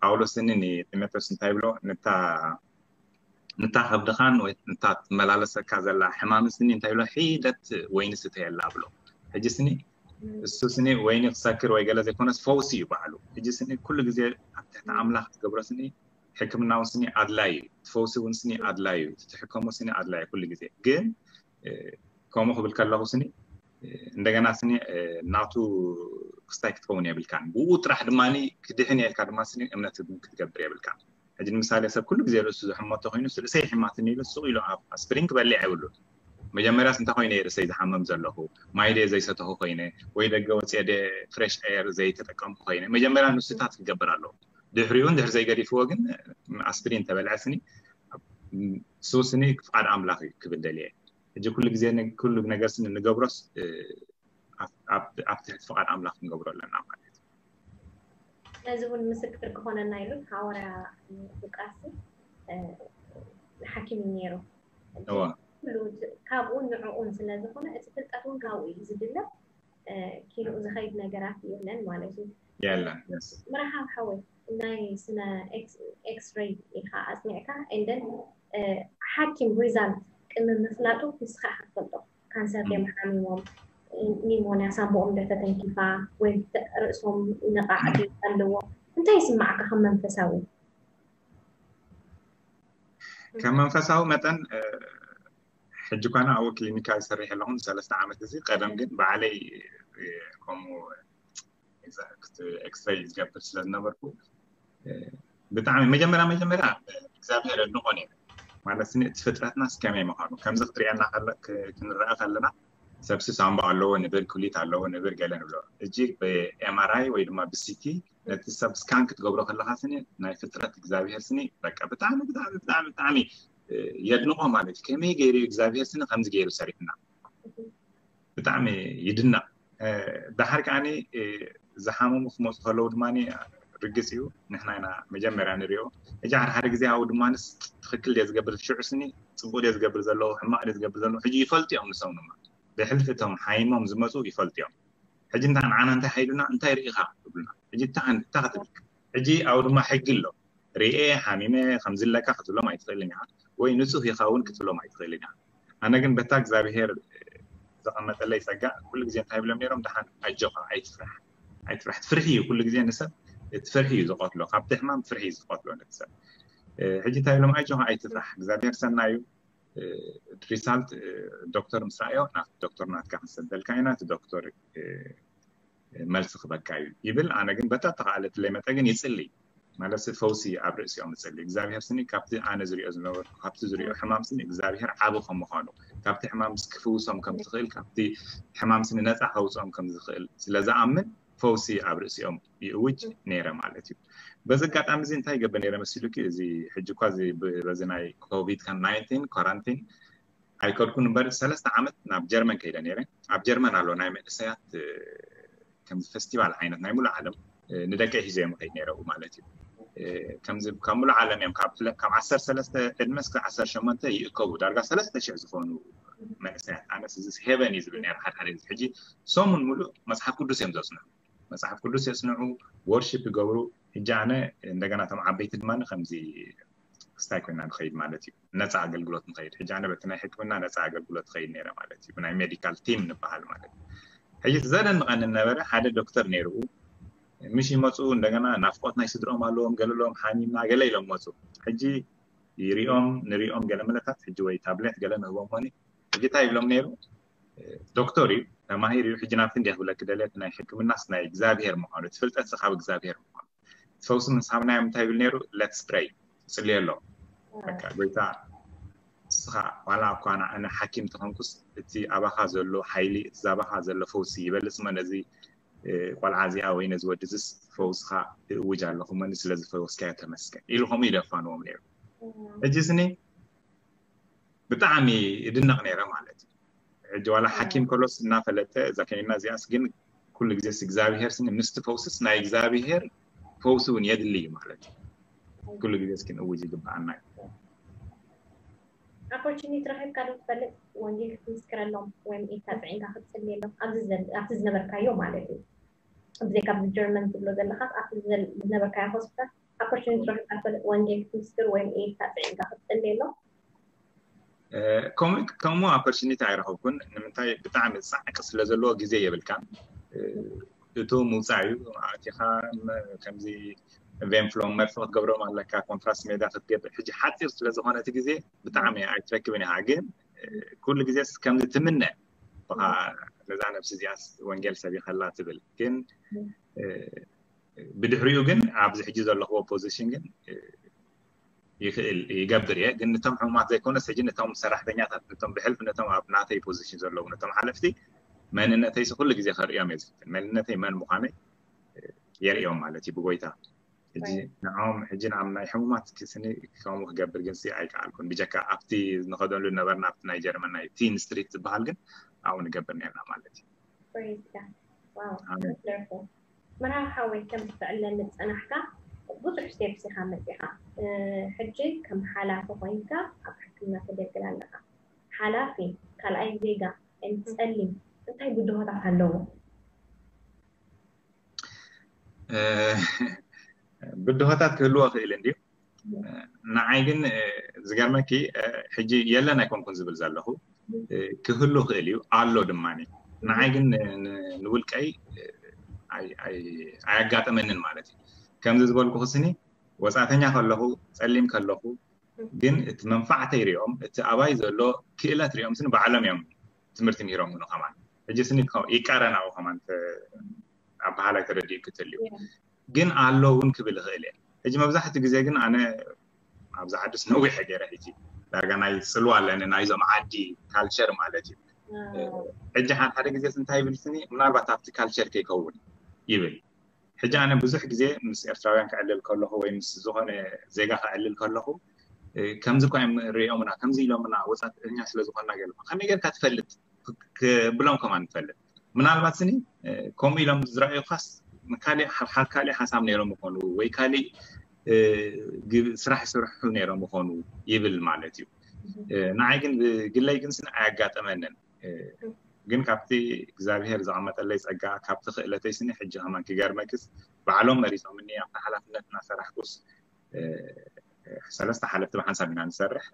ጳውሎስ ስኒ ንጢሞቴዎስ እንታይ ይብሎ ንታ ከብድኻን ወይ ንታ ትመላለሰካ ዘላ ሕማም ስኒ እንታይ ይብሎ ሒደት ወይኒ ስተየላ ብሎ ሕጂ ስኒ እሱ ስኒ ወይኒ ክሰክር ወይ ገለ ዘይኮነስ ፈውሲ እዩ ባዕሉ ሕጂ ስኒ ኩሉ ግዜ ኣብ ትሕቲ ኣምላኽ ትገብሮ ስኒ ሕክምና እውን ስኒ ኣድላይ እዩ ትፈውሲ እውን ስኒ ኣድላይ እዩ ትሕከሞ ስኒ ኣድላይ ኩሉ ግዜ ግን ከምኡ ክብል ከለኹ ስኒ እንደገና ስኒ ናቱ ክስታይ ክትከውን የብልካን ብኡ ጥራሕ ድማ ክድሕን የልካ ድማ ስኒ እምነት ክትገብር የብልካ ሕጂ ንምሳሌ ሰብ ኩሉ ግዜ ርእሱ ዝሕመቶ ኮይኑ ርእሰይ ሕማትኒ ኢሉ ሱቕ ኢሉ ኣብ ኣስፕሪን ክበልዕ የብሉን መጀመርያስ እንታይ ኮይነ ርእሰይ ዝሓመም ዘለኹ ማይ ደ ዘይሰተኹ ኮይነ ወይ ደገ ወፅየ ደ ፍሬሽ ኤር ዘይተጠቀምኩ ኮይነ መጀመርያ ንሱታት ክገብር ኣለዎ ድሕሪኡ እንድሕር ዘይገዲፍዎ ግን ኣስፕሪን ተበልዐ ስኒ ሱስኒ ፍቃድ ኣምላኽ እዩ ክብል ደልየ ሕጂ ኩሉ ግዜ ኩሉ ነገር ስኒ ንገብሮስ ኣብ ትሕቲ ፍቃድ ኣምላኽ ክንገብሮ ኣለና ማለት እዩ ነዚ እውን ምስክር ክኾነና ኢሉ ሃዋርያ ሉቃስ ሓኪም እዩ ነይሩ ካብኡ ንዕኡን ስለ ዝኾነ እቲ ፍልጠት እውን ካብኡ እዩ ዝድለ ኪንኡ ዝኸይድ ነገራት የለን ማለት እዩ የለን መርሃብ ሓወይ ናይ ስነ ኤክስሬይ ኢኻ ኣፅኒዕካ እንደን ሓኪም ሪዛልት ቅድሚ ምፍላጡ ንስኻ ኢኻ ትፈልጦ ካንሰር ድዮም ሓሚሞም፣ ኒሞንያ ሳንቦኦም ዶ ተተንኪፋ፣ ወይ ርእሶም ነቓዕ ድዩ ኣለዎ? እንታይ ይስማዓካ ከም መንፈሳዊ? ከም መንፈሳዊ መጠን ሕጂ ኳና ኣብኡ ክሊኒካ ዝሰርሕ ኣለኹ ንሰለስተ ዓመት። እዚ ቀደም ግን ባዕለይ ከምኡ ኤክስሬይ ዝገብር ስለ ዝነበርኩ ብጣዕሚ መጀመርያ መጀመርያ እግዚኣብሔር ኣድንቆ ነይረ። ማለት ስኒ እቲ ፍጥረትና እስከመይ ምዃኑ ከምዚ ክትሪአና ክንረአ ከለና፣ ሰብሲ ሳምባ ኣለዎ ንብል፣ ኩሊት ኣለዎ ንብል፣ ገለ ንብሎ። እጂ ብኤምኣርኣይ ወይ ድማ ብሲቲ ነቲ ሰብ ስካን ክትገብሮ ከለካ ስኒ ናይ ፍጥረት እግዚኣብሔር ስኒ በቃ ብጣዕሚ ብጣዕሚ ብጣዕሚ ብጣዕሚ የድንቆ ማለት እዩ። ከመይ ገይሩ እግዚኣብሔር ስኒ ከምዚ ገይሩ ሰሪሕና ብጣዕሚ ይድነቕ። ዳሓር ከዓኒ ዝሓመሙ ክመፁ ከለዉ ድማ ርግፅ እዩ ንሕና ኢና መጀመርያ ንሪኦ። ሕጂ ሓደ ሓደ ግዜ ኣብኡ ድማ ትክክል ድየ ዝገብር ሽዑ ስኒ ፅቡቅ ድየ ዝገብር ዘለዉ ሕማቅ ድየ ዝገብር ዘለዉ ሕጂ ይፈልጡ እዮም ንሶም ድማ ብሕልፊ እቶም ሓይሞም ዝመፁ ይፈልጡ እዮም። ሕጂ እንታይ ንዓና እንታይ ሓይሉና እንታይ ርኢኻ ይብሉና። ሕጂ እንታይ እንታይ ክትብል ሕጂ ኣብኡ ድማ ሕጊ ኣሎ ርኤ ሓሚመ ከምዚ ኣለካ ክትብሎም ኣይትኽእልን ኢኻ ወይ ንፁህ ኢኻ እውን ክትብሎም ኣይትኽእልን ኢኻ። ኣነ ግን በታ እግዚኣብሄር ዘቐመጠለይ ፀጋ ኩሉ ግዜ እንታይ ይብሎም ነይሮም ደሓን ኣጆኻ ኣይትፍራሕ ኣይትፍራሕ እቲ ፍርሒ እዩ ኩሉ ግዜ ንሰብ እቲ ፍርሒ እዩ ዝቐትሎ ካብቲ ሕማም ፍርሒ እዩ ዝቐትሎ ነቲ ሰብ። ሕጂ እንታይ ይብሎም ኣጆኻ ኣይትፍራሕ እግዚኣብሄር ሰናዩ ሪሳልት ዶክተር ምስ ረኣዮ ናት ዶክተር ናትካ ክንሰደልካ ኢና እቲ ዶክተር መልሲ ክበካ እዩ ይብል። ኣነ ግን በታ ተኻእለትለይ መጠ ግን ይፅሊ ማለት ፈውሲ ኣብ ርእሲኦም ይፅሊ። እግዚኣብሔር ስኒ ካብቲ ኣነ ዝሪኦ ዝነበርኩ ካብቲ ዝሪኦ ሕማም ስኒ እግዚኣብሔር ዓቢ ከም ምዃኑ ካብቲ ሕማም ክፍውሶም ከም ዝኽእል ካብቲ ሕማም ስኒ ነፃ ከውፅኦም ከም ዝኽእል ስለ ዝኣምን ፈውሲ ኣብ ርእሲኦም ይእውጅ ነይረ ማለት እዩ። በዚ ኣጋጣሚ እዚ እንታይ ይገብር ነይረ መሲሉኪ? እዚ ሕጂ እኳ በዚ ናይ ኮቪድ ናይንቲን ኳራንቲን ኣይከድኩን እምበር ሰለስተ ዓመት ናብ ጀርመን ከይደ ነይረ። ኣብ ጀርመን ኣሎ ናይ መንእሰያት ከምዚ ፈስቲቫል ዓይነት ናይ ሙሉእ ዓለም ንደቀይ ሒዘ እዮም ከይድ ነይረ ማለት እዩ። ከምዚ ካብ ሙሉእ ዓለም እዮም ካብ ዓሰርተ ሰለስተ ዕድመ እስከ ዓሰርተ ሸሞንተ ይእከቡ ዳርጋ ሰለስተ ሽሕ ዝኾኑ መንእሰያት ኣነስ እዚ ሄቨን እዩ ዝብል ነይረ ሓደ ሓደ ግዜ ሕጂ ሰሙን ሙሉእ መፅሓፍ ቅዱስ እዮም ዘፅንዑ መፅሓፍ ቅዱስ የፅንዑ ወርሺፕ ይገብሩ። ሕጂ ኣነ እንደገና እቶም ዓበይቲ ድማ ከምዚ ክስታይ ኮይና ንኸይድ ማለት እዩ ነፃ ኣገልግሎት ንኸይድ ሕጂ ኣነ በቲ ናይ ሕክምና ነፃ ኣገልግሎት ትኸይድ ነይረ ማለት እዩ ብናይ ሜዲካል ቲም ንበሃል ማለት እዩ። ሕጂ ዘደንቐኒ ነበረ ሓደ ዶክተር ነይርኡ ምሽ ይመፁ እንደገና ናፍቆት ናይ ስድሮም ኣለዎም ገለሎም ሓሚምና ገለ ኢሎም መፁ። ሕጂ ይሪኦም ንሪኦም ገለ መለታት ሕጂ ወይ ታብሌት ገለ ንህቦም ሆኒ ሕጂ እንታይ ይብሎም ነይሩ ዶክተር እዩ ተማሂር እዩ ሕጂ ናብቲ እንዲያ ክብለክ ደልየት ናይ ሕክምናስ ናይ እግዚኣብሄር ምዃኑ እቲ ፍልጠት ካብ እግዚኣብሄር ምዃኑ ፈውሲ ምስ ሃብናዮም እንታይ ይብል ነይሩ let's pray ፅልየሎም በቃ ጎይታ ንስኻ ዋላ እኳ ኣነ ሓኪም ተኾንኩስ እቲ ኣባኻ ዘሎ ሓይሊ እቲ ዛባኻ ዘሎ ፈውሲ ይበልፅ እሞ ነዚ ቆልዓ እዚኣ ወይ ነዚ ወዲ እዚስ ፈውስኻ እእውጅ ኣለኹ እሞ ስለ ዝፈወስካዮ ተመስገን ኢሉ ከምኡ ኢሉ የፋንዎም ነይሩ። ሕጂ ስኒ ብጣዕሚ እድነቕ ነይረ ማለት እዩ። ሕጂ ዋላ ሓኪም ከሎስ እናፈለጠ እዛ ከኒና እዚኣስ ግን ኩሉ ግዜስ እግዚኣብሄር ስኒ ምስቲ ፈውስስ ናይ እግዚኣብሄር ፈውሲ እውን የድሊ እዩ ማለት እዩ። ኩሉ ግዜስ ክንእውጅ ይግብኣና እዩ። ኣፖርቹኒቲ ረኺብካ ዶ ትፈልጥ ወንጌል ክትምስክረሎም ወይም ኢድካ ፅዒንካ ክትፅልየሎም ኣብቲ ዝነበርካዮ ማለት እዩ? ብዘይካ ኣብዚ ጀርመን ትብሎ ዘለኻስ ኣብቲ ዝነበርካዮ ሆስፒታል ኣፖርቹኒቲ ረኺብካ ትፈልጥ ወንጌል ክትምስክር ወይም ኢድካ ፅዒንካ ክትፅልየሎም? ከምኡ ኣፖርቹኒቲ ኣይረኸብኩን። ንምንታይ ብጣዕሚ ፃዕቂ ስለ ዘለዎ ግዜ የብልካን። እቱ ምውፃእ እዩ ኣቲኻ ከምዚ ቬንፍሎም መርፊ ክትገብሮም ኣለካ ኮንትራስት ሜዳ ክትገብር ሕጂ ሓፂር ስለ ዝኾነ እቲ ግዜ ብጣዕሚ ኣይትረክብን ኢኻ። ግን ኩሉ ግዜ ከምዚ ትምነ ብኻ ነዛ ነብሲ እዚኣ ወንጌል ሰቢኸላ ትብል ግን ብድሕሪኡ ግን ኣብዚ ሕጂ ዘለኽዎ ፖዚሽን ግን ይኽእል ይገብር እየ ግን ነቶም ሕሙማት ዘይኮነስ ሕጂ ነቶም ሰራሕተኛታት ነቶም ብሕልፊ ነቶም ኣብ ናተይ ፖዚሽን ዘለዉ ነቶም ሓለፍቲ መንነተይ ኩሉ ግዜ ከርእዮም እየ ዝፍትን መንነተይ መን ምዃነይ የርእዮም ማለት እዩ ብጎይታ ሕጂ ንዖም ሕጂ ንኣም ናይ ሕሙማት ክስኒ ከምኡ ክገብር ግን ኣይከኣልኩን ብጀካ ኣብቲ ንኸደሉ ነበርና ኣብቲ ናይ ጀርመን ናይ ቲን ስትሪት ዝበሃል ግን ኣብኡ ንገብር ነርና ማለት እዩ። መርሃዊ ሓወይ ከም ትዕለኒ ዝፀናሕካ ብዙሕ ስቴፕስ ኢኻ መፂኻ ሕጂ ከም ሓላፊ ኮይንካ ኣብ ሕክምና ተገልግል ኣለኻ። ሓላፊ ካልኣይ ዜጋ ጸሊም እንታይ ብድሆታት ኣለዎ? ብድሆታት ክህልዎ ክእል እንድዩ። ንዓይ ግን ዝገርመኪ ሕጂ የለን ኣይኮንኩን ዝብል ዘለኹ ክህሉ ክእል እዩ ኣሎ ድማ። ንዓይ ግን ንውልቀይ ኣያጋጠመንን ማለት እዩ። ከምዚ ዝበልኩ ክስኒ ወፃእተኛ ከለኹ፣ ፀሊም ከለኹ ግን እቲ መንፋዕተይ ሪኦም፣ እቲ ኣባይ ዘሎ ክእለት ሪኦም ስኒ ባዕሎም እዮም ትምህርቲ ምሂሮምኒ። ከማን ሕጂ ስኒ ይቃረናኡ ከማን ኣበሃላይ ተረዲኡ ክትልዩ ግን ኣሎ እውን ክብል ይኽእል እየ። ሕጂ መብዛሕትኡ ግዜ ግን ኣነ ኣብዚ ዓድስ ነዊሐ ገይረ ሕጂ ዳርጋ ናይ ፅልዋ ኣለኒ ናይዞም ዓዲ ካልቸር ማለት እዩ። ሕጂ ሓደ ሓደ ግዜ እንታይ ይብል ስኒ ምናልባት ኣብቲ ካልቸር ከይከውን ይብል። ሕጂ ኣነ ብዙሕ ግዜ ምስ ኤርትራውያን ክዕልል ከለኹ ወይ ምስ ዝኾነ ዜጋ ክዕልል ከለኹ ከምዚ እኳ እዮም ሪኦምና ከምዚ ኢሎምና ወፃእተኛ ስለዝኾንና ገለ ከመይ ጌርካ ትፈልጥ ክብሎም ከማን ንፈልጥ። ምናልባት ስኒ ከምኡ ኢሎም ዝረኣዩካስ ካልእ ሓሳብ ነይሮም ይኾኑ ወይ ካልእ ስራሕ ይሰርሑ ነይሮም ይኾኑ ይብል ማለት እዩ። ንዓይ ግን ብግለይ ግን ስኒ ኣያጋጠመንን። ግን ካብቲ እግዚኣብሄር ዘቐመጠለይ ጸጋ ካብቲ ክእለተይ ስኒ ሕጂ ከማን ክገርመክስ ባዕሎም መሪጾምኒ ኣብቲ ሓላፍነት እናሰራሕኩስ ሰለስተ ሓለፍቲ ብሓንሳብ ኢና ንሰርሕ።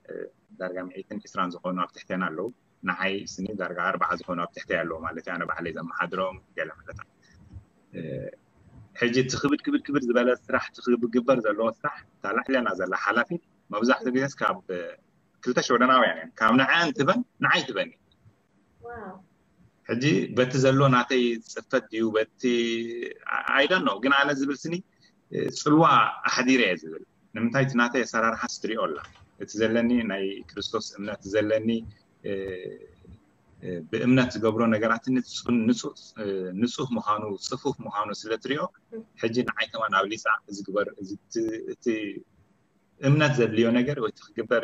ዳርጋ ሚእትን ዕስራን ዝኾኑ ኣብ ትሕቴና ኣለዉ። ንዓይ ስኒ ዳርጋ ኣርባዓ ዝኾኑ ኣብ ትሕተይ ኣለዉ ማለት እዩ። ኣነ ባዕለይ ዘመሓድሮም ገለ ማለት ሕጂ እቲ ክብድ ክብድ ክብድ ዝበለ ስራሕ እቲ ክግበር ዘለዎ ስራሕ እታ ላዕለና ዘላ ሓላፊት መብዛሕትኡ ግዜስ ካብ ክልተ ሽወደናውያን እየን ካብ ንዓን ትበን ንዓይ ትበኒ። ሕጂ በቲ ዘሎ ናተይ ፅፈት ድዩ በቲ ኣይደን ነው ግን ኣነ ዝብል ስኒ ፅልዋ ኣሕዲረ እየ ዝብል። ንምንታይ እቲ ናተይ ኣሰራርሓ ስትሪኦ ኣላ እቲ ዘለኒ ናይ ክርስቶስ እምነት ዘለኒ ብእምነት ዝገብሮ ነገራት ንፁህ ምዃኑ ፅፉፍ ምዃኑ ስለ ትሪኦ ሕጂ ንዓይ ከማን ኣብ ሊፃ ዝግበር እቲ እምነት ዘድልዮ ነገር ወይ ክግበር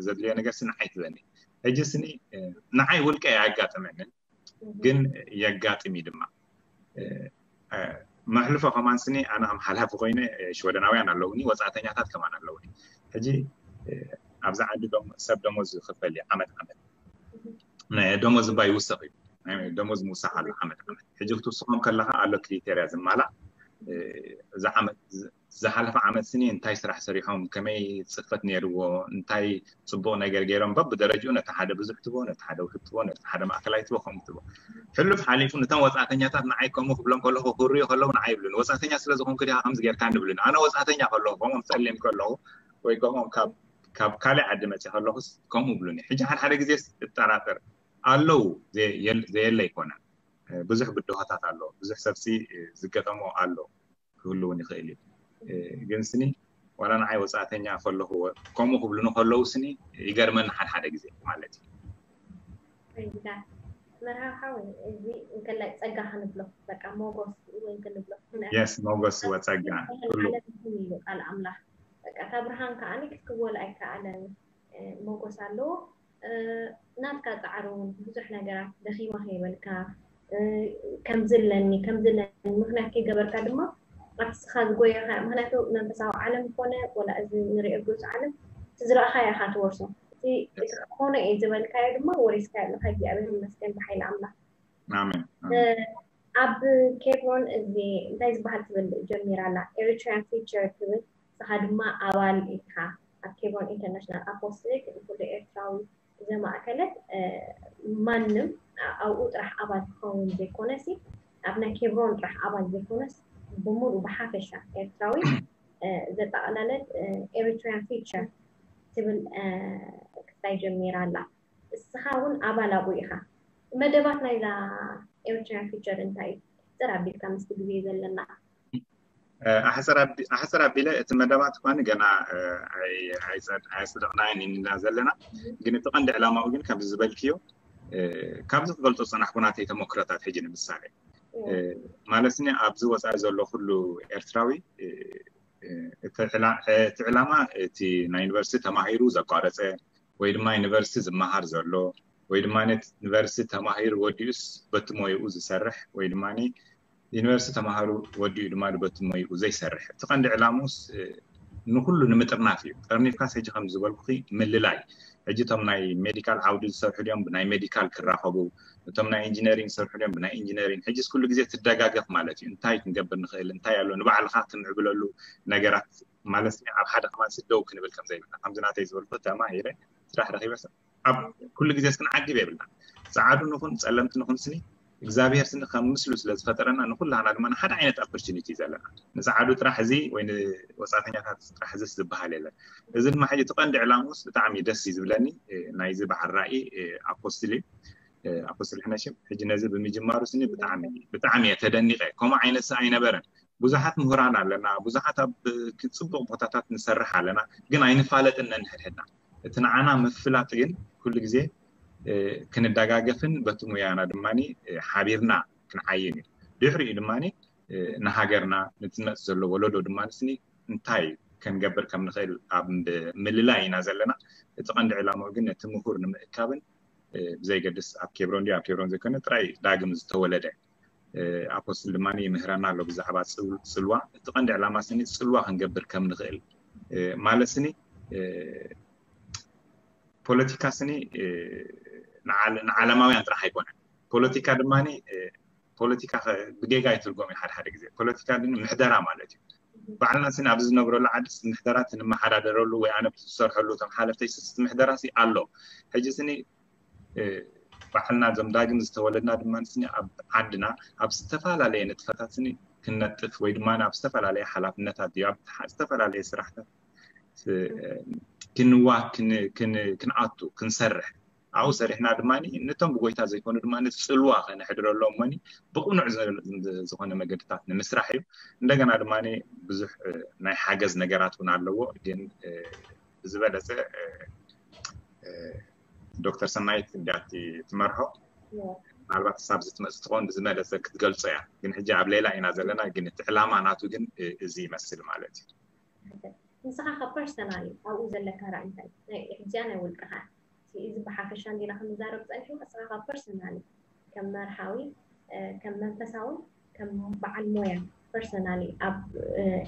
ዘድልዮ ነገር ስኒ ዓይትበኒ። ሕጂ ስኒ ንዓይ ውልቀ ኣያጋጥመንን ግን የጋጥም እዩ ድማ መሕልፎ ከማን ስኒ ኣነ ከም ሓላፊ ኮይነ ሽወደናውያን ኣለውኒ ወፃእተኛታት ከማን ኣለውኒ። ሕጂ ኣብዚ ዓዲ ሰብ ደሞዝ ዝኽፈል እዩ ዓመት ዓመት ደሞዝ እባ ይውሰኽ እዩ። ደሞዝ ምውሳኽ ኣሎ ዓመት ዓመት። ሕጂ ክትውስኾም ከለኻ ኣሎ ክሪቴርያ ዝማላእ እዚ ዓመት ዝሓለፈ ዓመት ስኒ እንታይ ስራሕ ሰሪሖም ከመይ ፅፈት ነይርዎ እንታይ ፅቡቕ ነገር ገይሮም በብደረጅኡ ነቲ ሓደ ብዙሕ ትቦ ነቲ ሓደ ውሕድ ትቦ ነቲ ሓደ ማእከላይ ትቦ ከምኡ ትቦ ሕሉፍ ሓሊፉ ነቶም ወፃእተኛታት ንዓይ ከምኡ ክብሎም ከለኹ ክርዩ ከለዉ ንዓይ ይብሉኒ ወፃእተኛ ስለ ዝኾንኩ ዲኻ ከምዚ ጌርካ ንብሉኒ ኣነ ወፃእተኛ ከለኹ ከምኦም ፀሊም ከለኹ ወይ ከምኦም ካብ ካልእ ዓዲ መፅእ ከለኹስ ከምኡ ይብሉኒ ሕጂ ሓደ ሓደ ግዜ እጠራጠር ኣለዉ ዘየለ ኣይኮነን ብዙሕ ብድሆታት ኣለዎ ብዙሕ ሰብሲ ዝገጠሞ ኣሎ ክህሉ እውን ይኽእል እዩ። ግን ስኒ ዋላ ንዓይ ወፃእተኛ ከለኹ ከምኡ ክብሉኒ ከለዉ ስኒ ይገርመኒ ሓደ ሓደ ግዜ ማለት እዩ። መርሃዊ ሓወይ እዚ እንከላይ ፀጋ ክንብሎ በቃ ሞጎስ እውን ክንብሎ ምክንያቱ yes ሞጎስ ወፀጋ ኩሉ ዓለም ይኹን ኢሉ ቃል ኣምላኽ በቃ እታ ብርሃን ከዓኒ ክትክወል ኣይከኣለን ሞጎስ ኣለዎ ናትካ ፃዕሪ እውን ብዙሕ ነገራት ደኺመ ከይበልካ ከምዚ ኣለኒ ከምዚ ኣለኒ ምክንያት ከይገበርካ ድማ ኣብቲ ስኻ ዝጎየኻ ምክንያቱ መንፈሳዊ ዓለም ኮነ ወላ እዚ ንሪኦ ግልፂ ዓለም እቲ ዝረእኻዮ ኢኻ ትወርሶ እቲ እቲ ክኾነ እዩ ዝበልካዮ ድማ ወሪስካዮ ኣለካ እግዚኣብሔር ይመስገን ብሓይሊ ኣምላኽ ኣሜን ኣብ ኬብሮን እዚ እንታይ ዝበሃል ትብል ጀሚራ ኣላ ኤሪትሪያን ፊቸር ትብል ንስኻ ድማ ኣባል ኢኻ ኣብ ኬብሮን ኢንተርናሽናል ኣፖስትሊክ ንኩሉ ኤርትራዊ ዘማእከለት ማንም ኣብኡ ጥራሕ ኣባል ክኸውን ዘይኮነሲ ኣብ ናይ ኬብሮን ጥራሕ ኣባል ዘይኮነስ ብምሉእ ብሓፈሻ ኤርትራዊ ዘጠቓለለት ኤሪትሪያን ፊቸር ትብል ክስታይ ጀሚራ ኣላ እስኻ እውን ኣባል ኣብኡ ኢኻ መደባት ናይዛ ኤሪትሪያን ፊቸር እንታይ እዩ ሕፅር ኣቢልካ ምስቲ ግዜ ዘለና ኣሕፅር ኣቢለ እቲ መደባት እኳ ገና ኣየፅደቕናዮን ኢና ዘለና ግን እቲ ቀንዲ ዕላማኡ ግን ከምዚ ዝበልክዮ ካብዚ ክገልፆ ዝፀናሕኩ ናተይ ተመክሮታት ሕጂ ንምሳሌ ማለት ኒ ኣብዚ ወፃኢ ዘሎ ኩሉ ኤርትራዊ እቲ ዕላማ እቲ ናይ ዩኒቨርሲቲ ተማሂሩ ዘቋረፀ ወይ ድማ ዩኒቨርሲቲ ዝመሃር ዘሎ ወይ ድማ ዩኒቨርሲቲ ተማሂሩ ወዲኡስ በቲ ሞይኡ ዝሰርሕ ወይ ድማ ዩኒቨርሲቲ ተማሃሩ ወዲኡ ድማ በቲ ሞይኡ ዘይሰርሕ እቲ ቀንዲ ዕላሙስ ንኩሉ ንምጥርናፍ እዩ ጠርኒፍካስ ሕጂ ከም ዝበልኩ ምልላይ ሕጂ እቶም ናይ ሜዲካል ዓውዲ ዝሰርሑ ድዮም ብናይ ሜዲካል ክራኸቡ እቶም ናይ ኢንጂነሪንግ ዝሰርሑ ድዮም ብናይ ኢንጂነሪንግ ሕጂስ ኩሉ ግዜ ትደጋገፍ ማለት እዩ እንታይ ክንገብር ንኽእል እንታይ ኣሎ ንባዕልኻ ትምዕብለሉ ነገራት ማለት ኣብ ሓደ ከማን ስደው ክንብል ከም ዘይብልና ከምዚ ናተይ ዝበልኩ ተማሂረ ስራሕ ረኺበ ሰብ ኣብ ኩሉ ግዜ ክንዓግብ የብልና። ፃዓዱ ንኹን ፀለምቲ ንኹን ስኒ እግዚኣብሔር ስኒ ከም ምስሉ ስለ ዝፈጠረና ንኩላና ድማ ሓደ ዓይነት ኦፖርቹኒቲ ዘለና። ንፃዓዱ ጥራሕ እዚ ወይ ንወፃእተኛታት ጥራሕ እዚ ዝበሃል የለን። እዚ ድማ ሕጂ እቲ ቀንዲ ዕላምኡስ ብጣዕሚ ደስ እዩ ዝብለኒ። ናይዚ በዓል ራእይ ኣፖስትል እዩ። ኣፖስትል ሕነሽም ሕጂ ነዚ ብምጅማሩ ስኒ ብጣዕሚ ብጣዕሚ እየ ተደኒቀ። ከምኡ ዓይነት ሰ ኣይነበረን። ብዙሓት ምሁራን ኣለና፣ ብዙሓት ኣብ ጽቡቕ ቦታታት ንሰርሕ ኣለና፣ ግን ኣይንፋለጥን ነንሕድሕድና። እቲ ንዓና ምፍላጥ ግን ኩሉ ግዜ ክንደጋገፍን በቲ ሙያና ድማ ሓቢርና ክንዓይን እዩ። ድሕሪኡ ድማ ንሃገርና ንትመጽእ ዘሎ ወለዶ ድማ ስኒ እንታይ ክንገብር ከም ንኽእል ኣብ ምልላይ ኢና ዘለና። እቲ ቀንዲ ዕላማኡ ግን ነቲ ምሁር ንምእካብን ብዘይገድስ ኣብ ኬብሮን ድዩ ኣብ ኬብሮን ዘይኮነ ጥራይ ዳግም ዝተወለደ ኣፖስትል ድማ ይምህረና ኣሎ ብዛዕባ ጽልዋ። እቲ ቀንዲ ዕላማ ስኒ ጽልዋ ክንገብር ከም ንኽእል ማለት ስኒ ፖለቲካ ስኒ ንዓለማውያን ጥራሕ ኣይኮነን። ፖለቲካ ድማ ፖለቲካ ብጌጋ ይትርጎም እዩ። ሓደ ሓደ ግዜ ፖለቲካ ግን ምሕደራ ማለት እዩ። ባዕልና ስኒ ኣብዚ ዝነብረሉ ዓዲ ምሕደራ ትንመሓዳደረሉ ወይ ኣነ ዝሰርሐሉ እቶም ሓለፍተይ ስስቲ ምሕደራ ኣሎ። ሕጂ ስኒ ባዕልና እዞም ዳግም ዝተወለድና ድማ ስኒ ኣብ ዓድና ኣብ ዝተፈላለየ ንጥፈታት ስኒ ክንነጥፍ ወይ ድማ ኣብ ዝተፈላለየ ሓላፍነታት እዩ ኣብ ዝተፈላለየ ስራሕታት ክንዋ ክንኣቱ ክንሰርሕ ኣብኡ ሰሪሕና ድማ ነቶም ብጎይታ ዘይኮኑ ድማ ጽልዋ ከነሕድረሎም ሞኒ ብቕኑዕ ዝኾነ መገድታት ንምስራሕ እዩ። እንደገና ድማ ብዙሕ ናይ ሓገዝ ነገራት እውን ኣለዎ። ግን ብዝበለፀ ዶክተር ሰናይት እንዲያ ትመርሖ ምናልባት ክሳብ ዝትመፅ ትኸውን ብዝበለፀ ክትገልፆ እያ። ግን ሕጂ ኣብ ሌላ ኢና ዘለና። ግን እቲ ዕላማ ናቱ ግን እዚ ይመስል ማለት እዩ። ንስኻ ካብ ፐርሰናሊ ኣብኡ ዘለካ ራእይ እንታይ ናይ ሕዚያ ናይ ውልቅኻ እዚ ብሓፈሻ እንዲና ክንዛረብ ፀኒሕና ንስኻ ካብ ፐርሰናሊ ከም መርሃዊ ከም መንፈሳዊ ከም በዓል ሞያ ፐርሰናሊ ኣብ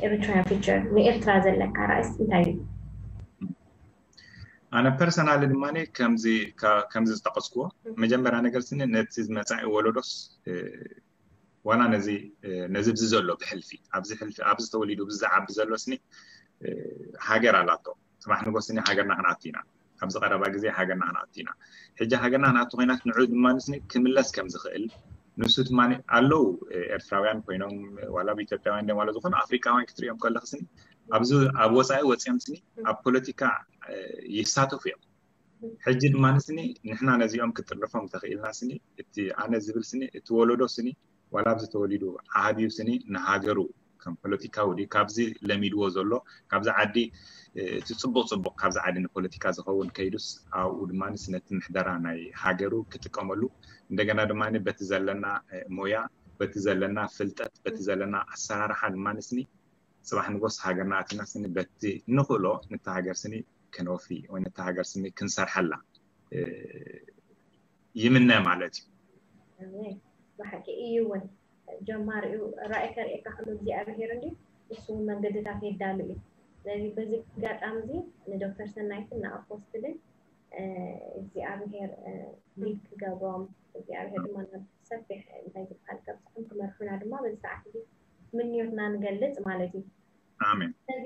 ኤሪትራያን ፊቸር ንኤርትራ ዘለካ ራእይስ እንታይ እዩ? ኣነ ፐርሰናሊ ድማ ከምዚ ዝጠቀስክዎ መጀመርያ ነገር ስኒ ነቲ መፃኢ ወለዶስ ዋላ ነዚ ነዚ ብዚ ዘሎ ብሕልፊ ኣብዚ ሕልፊ ኣብዚ ተወሊዱ ብዚ ዝዓቢ ዘሎ ስኒ ሃገር ኣላቶ። ፅባሕ ንጎ ስኒ ሃገርና ክንኣቱ ኢና። ኣብዚ ቀረባ ግዜ ሃገርና ክንኣቱ ኢና። ሕጂ ሃገርና ክንኣቱ ኮይናት ንዑ ድማ ንስኒ ክምለስ ከም ዝኽእል ንሱ ድማ ኣለዉ ኤርትራውያን ኮይኖም ዋላ ኢትዮጵያውያን ደ ዋላ ዝኾኑ ኣፍሪካውያን ክትሪኦም ከለክ ስኒ ኣብዚ ኣብ ወፃኢ ወፂኦም ስኒ ኣብ ፖለቲካ ይሳተፉ እዮም። ሕጂ ድማ ንስኒ ንሕና ነዚኦም ክጥርፎም ተኽኢልና ስኒ እቲ ኣነ ዝብል ስኒ እቲ ወለዶ ስኒ ዋላ ኣብዚ ተወሊዱ ዓብዩ ስኒ ንሃገሩ ከም ፖለቲካዊ ድዩ ካብዚ ለሚድዎ ዘሎ ካብዚ ዓዲ እቲ ፅቡቅ ፅቡቅ ካብዚ ዓዲ ንፖለቲካ ዝኸውን ከይዱስ ኣብኡ ድማ ነቲ ምሕደራ ናይ ሃገሩ ክጥቀመሉ እንደገና ድማ በቲ ዘለና ሞያ በቲ ዘለና ፍልጠት በቲ ዘለና ኣሰራርሓ ድማ ንስኒ ፅባሕ ንጎስ ሃገርና ኣቲና ስኒ በቲ ንኽእሎ ነቲ ሃገር ስኒ ከነወፊ ወይ ነቲ ሃገር ስኒ ክንሰርሐላ ይምነ ማለት እዩ። ብሓቂ እዩ እውን ጀማሪኡ ራእይ ከርእየካ ከሎ እግዚኣብሄር እንዲ እሱ እውን መንገድታት የዳሉ እዩ። ስለዚ በዚ ኣጋጣሚ እዚ ንዶክተር ሰናይትን ንኣፖስትልን እግዚኣብሄር ሊድ ክገብሮም እግዚኣብሄር ድማ ናብ ሰፊሕ እንታይ ዝበሃል ከብፅሖም ክመርሑና ድማ በዚ ሰዓት እዚ ምንዮትና ንገልፅ ማለት እዩ። ኣሜን። ስለዚ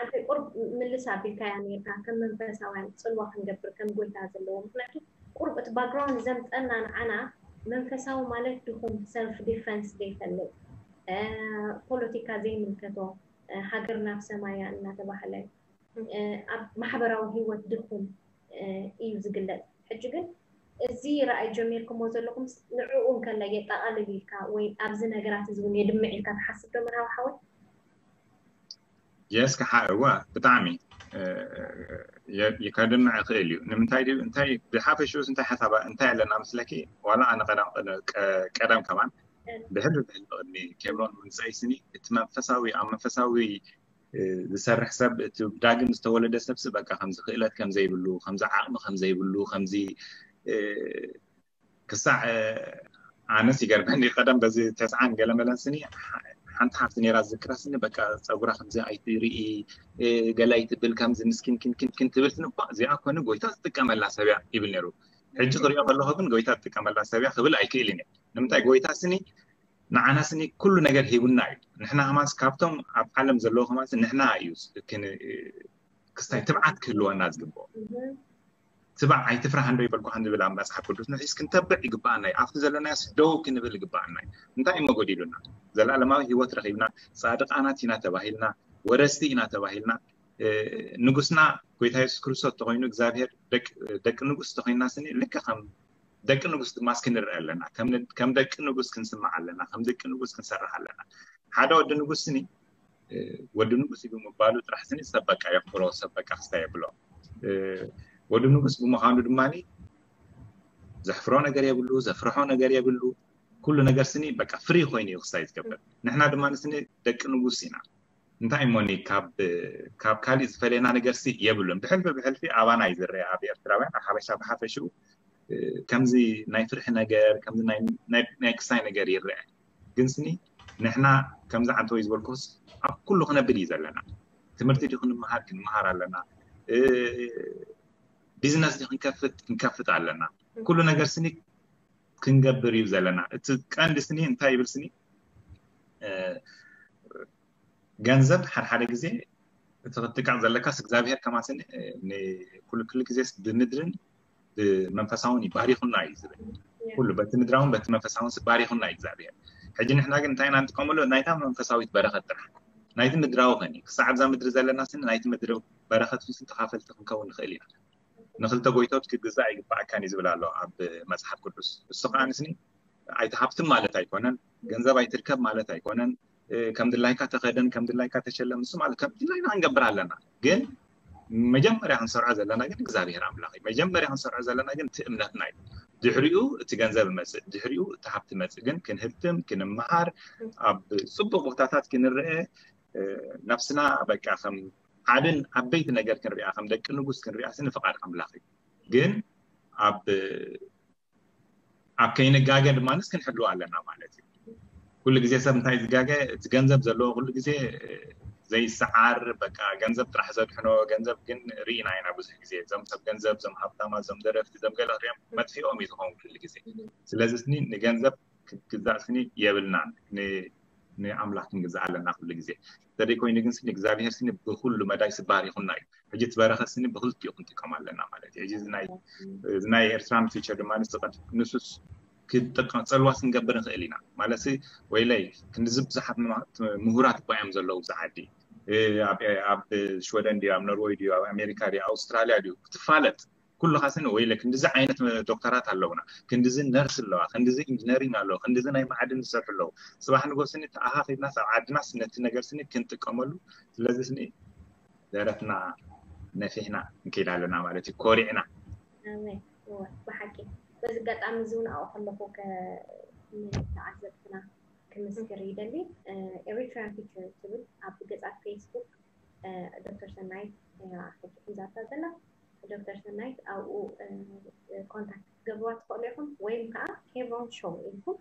ኣንተ ቁርብ ምልስ ኣቢልካያ ነርካ ከም መንፈሳውያን ፅልዋ ክንገብር ከም ጎይታ ዘለዎ ምክንያቱ ቁርብ እቲ ባክግራውንድ ዘምፀና ንዓና መንፈሳዊ ማለት ድኹም ሰልፍ ዲፈንስ ዘይፈልጥ ፖለቲካ ዘይምልከቶ ሃገር ናብ ሰማያ እናተባህለ ኣብ ማሕበራዊ ህይወት ድኹም እዩ ዝግለፅ። ሕጂ ግን እዚ ራእይ ጀሚርኩሞ ዘለኹም ንዕኡ እንከላ የጠቓልል ኢልካ ወይ ኣብዚ ነገራት እዚ እውን የድምዕ ኢልካ ትሓስብ ዶ መርሃዊ ሓወይ? የስ ከዓ እወ ብጣዕሚ ከድምዕ ይኽእል እዩ። ንምንታይ ድዩ እንታይ ብሓፈሽኡስ እንታይ ሓሳብ እንታይ ኣለና ምስለኪ ዋላ ኣነ ቀደም ከማን ብሕልፊ ብሕልፊ ቅድሚ ኬብሮን ምምፀይ ስኒ እቲ መንፈሳዊ ኣብ መንፈሳዊ ዝሰርሕ ሰብ እቲ ዳግም ዝተወለደ ሰብሲ በቃ ከምዚ ክእለት ከምዘይብሉ ከምዚ ዓቕሚ ከምዘይብሉ ከምዚ ክሳዕ ኣነስ ይገርመኒ ቀደም በዚ ተስዓን ገለመለን ስኒ ሓንቲ ሓፍቲ ነራ ዝክራ ስኒ በቃ ፀጉራ ከምዚ ኣይትርኢ ገለ ኣይትብል ከምዚ ምስኪን ኪንኪንኪን ትብል ስኒ እኳ እዚኣ ኮነ ጎይታ ዝጥቀመላ ሰብያ ይብል ነሩ። ሕጂ ክሪኦ ከለኹ ግን ጎይታ ዝጥቀመላ ሰብያ ክብል ኣይክእልን እየ። ንምንታይ ጎይታ ስኒ ንዓና ስኒ ኩሉ ነገር ሂቡና እዩ። ንሕና ከማንስ ካብቶም ኣብ ዓለም ዘለዉ ከማንስ ንሕና እዩ ክስታይ ትብዓት ክህልወና ዝግብኦ። ትባዕ ኣይትፍራህ እንዶ ይበልኩ ከም ዝብል ኣብ መጽሓፍ ቅዱስ ንሒዝ ክንተብዕ ይግባኣና እዩ። ኣብቲ ዘለናዮ ደው ክንብል ይግባኣና እዩ። እንታይ እሞ ጎዲሉና? ዘላለማዊ ህይወት ረኺብና፣ ጻድቃናት ኢና ተባሂልና፣ ወረስቲ ኢና ተባሂልና፣ ንጉስና ጎይታ የሱስ ክርስቶስ ተኮይኑ እግዚኣብሔር ደቂ ንጉስ ተኮይና ስኒ ልክ ከም ደቂ ንጉስ ድማ እስኪ ንርአ ኣለና። ከም ደቂ ንጉስ ክንስማዕ ኣለና። ከም ደቂ ንጉስ ክንሰርሕ ኣለና። ሓደ ወዲ ንጉስ ስኒ ወዲ ንጉስ እዩ ብምባሉ ጥራሕ ስኒ ሰብ በቃ የኽብሮ፣ ሰብ በቃ ክስታይ የብሎ። ወዲ ንጉስ ብምዃኑ ድማ ዘሕፍሮ ነገር የብሉ፣ ዘፍርሖ ነገር የብሉ። ኩሉ ነገር ስኒ በቃ ፍሪ ኮይኑ እዩ ክስታይ ዝገብር። ንሕና ድማ ስኒ ደቂ ንጉስ ኢና። እንታይ እሞኒ ካብ ካልእ ዝፈለየና ነገር ሲ የብሉን። ብሕልፊ ብሕልፊ ኣባና እዩ ዝረአ ኣብ ኤርትራውያን ኣብ ሓበሻ ብሓፈሽኡ ከምዚ ናይ ፍርሒ ነገር ከምዚ ናይ ክስታይ ነገር ይረአ። ግን ስኒ ንሕና ከምዚ ዓንተወይ ዝበልኩስ ኣብ ኩሉ ክነብል እዩ ዘለና። ትምህርቲ ድዩ ክንመሃር ክንመሃር ኣለና። ቢዝነስ ድዩ ክንከፍት ክንከፍት ኣለና። ኩሉ ነገር ስኒ ክንገብር እዩ ዘለና። እቲ ቀንዲ ስኒ እንታይ ይብል ስኒ ገንዘብ ሓደ ሓደ ግዜ እቲ ክትጥቀቕ ዘለካስ እግዚኣብሔር ከማስን ኩሉ ግዜ ብምድርን ብመንፈሳውን ይባሪኹና እዩ ዝብል። ኩሉ በቲ ምድራውን በቲ መንፈሳውን ባሪኹና እዩ እግዚኣብሔር። ሕጂ ንሕና ግን እንታይ ኢና ንጥቀመሉ? ናይታ መንፈሳዊት በረኸት ጥራሕ። ናይቲ ምድራዊ ኸኒ ክሳዕ ኣብዛ ምድሪ ዘለና ስኒ ናይቲ ምድሪ በረኸት ምስ ተኻፈልቲ ክንከውን ንኽእል ኢና። ንክልተ ጎይቶት ክግዛእ ይግባኣካን እዩ ዝብል ኣሎ ኣብ መፅሓፍ ቅዱስ። እሱ ከዓ ንስኒ ኣይትሃብትም ማለት ኣይኮነን፣ ገንዘብ ኣይትርከብ ማለት ኣይኮነን። ከም ድላይካ ተኸደን ከም ድላይካ ተሸለም እሱ ማለት ከም ድላይና ክንገብር ኣለና። ግን መጀመርያ ክንሰርዖ ዘለና ግን እግዚኣብሔር ኣምላኽ እዩ። መጀመርያ ክንሰርዖ ዘለና ግን እቲ እምነትና እዩ። ድሕሪኡ እቲ ገንዘብ መፅእ፣ ድሕሪኡ እቲ ሃብቲ መፅእ። ግን ክንህብትም ክንመሃር ኣብ ፅቡቅ ቦታታት ክንርአ ነብስና በቃ ከም ዓብን ዓበይቲ ነገር ክንሪኣ ከም ደቂ ንጉስ ክንሪኣ ስኒ ፍቃድ ኣምላኽ እዩ። ግን ኣብ ኣብ ከይንጋገ ድማ ክንሕልው ኣለና ማለት እዩ። ኩሉ ግዜ ሰብ እንታይ ዝጋገ እቲ ገንዘብ ዘለዎ ኩሉ ግዜ ዘይሰዓር በቃ ገንዘብ ጥራሕ ዘድሕኖ ገንዘብ ግን ርኢና ኢና ብዙሕ ግዜ እዞም ሰብ ገንዘብ እዞም ሃብታማ እዞም ደረፍቲ እዞም ገለ ክሪኦም መጥፊኦም እዩ ዝኸውን ኩሉ ግዜ። ስለዚ ስኒ ንገንዘብ ክግዛእ ስኒ የብልናን። ንኣምላኽ ክንግዛእ ኣለና ኩሉ ግዜ። እንተደይ ኮይኑ ግን ስኒ እግዚኣብሔር ስኒ ብኩሉ መዳይ ስባር ይኹና እዩ። ሕጂ እቲ በረኸት ስኒ ብክልቲኡ ክንጥቀም ኣለና ማለት እዩ። ሕጂ እዚ ናይ ኤርትራን ፊቸር ድማ ንስቀድ ንሱስ ክጥቀም ፀልዋ ክንገብር ንኽእል ኢና ማለት ወይለይ ክንድዚ ብዙሓት ምሁራት እኳ እዮም ዘለዉ ብዛ ዓዲ ኣብ ሽወደን ድዩ ኣብ ኖርወይ ድዩ ኣብ ኣሜሪካ ድዩ ኣውስትራልያ ድዩ ክትፋለጥ ኩሉ ካስኒ ወይለ ክንድዚ ዓይነት ዶክተራት ኣለውና፣ ክንድዚ ነርስ ኣለዋ፣ ክንድዚ ኢንጂነሪንግ ኣለዋ፣ ክንድዚ ናይ ማዕድን ዝሰርሑ ኣለዉ። ፅባሕ ንጎስኒ ተኣኻኺብናስ ኣብ ዓድናስ ነቲ ነገር ስኒ ክንጥቀመሉ ስለዚ ስኒ ደረትና ነፊሕና ንከይድ ኣለና ማለት እዩ። ኮሪዕና ብሓቂ በዚ ኣጋጣሚ እዚ እውን ኣብኡ ከለኹ ንተዓዘብትና ክምስክር ይደሊ። ኤሪትሪያን ፊቸር ትብል ኣብ ገፃት ፌስቡክ ዶክተር ሰናይት ሕጂ ሒዛታ ዘላ ዶክተር ሰናይት ኣብኡ ኮንታክት ክትገብርዋ ትኽእሉ ኢኹም፣ ወይም ከዓ ኬብሮን ሾው ኢልኩም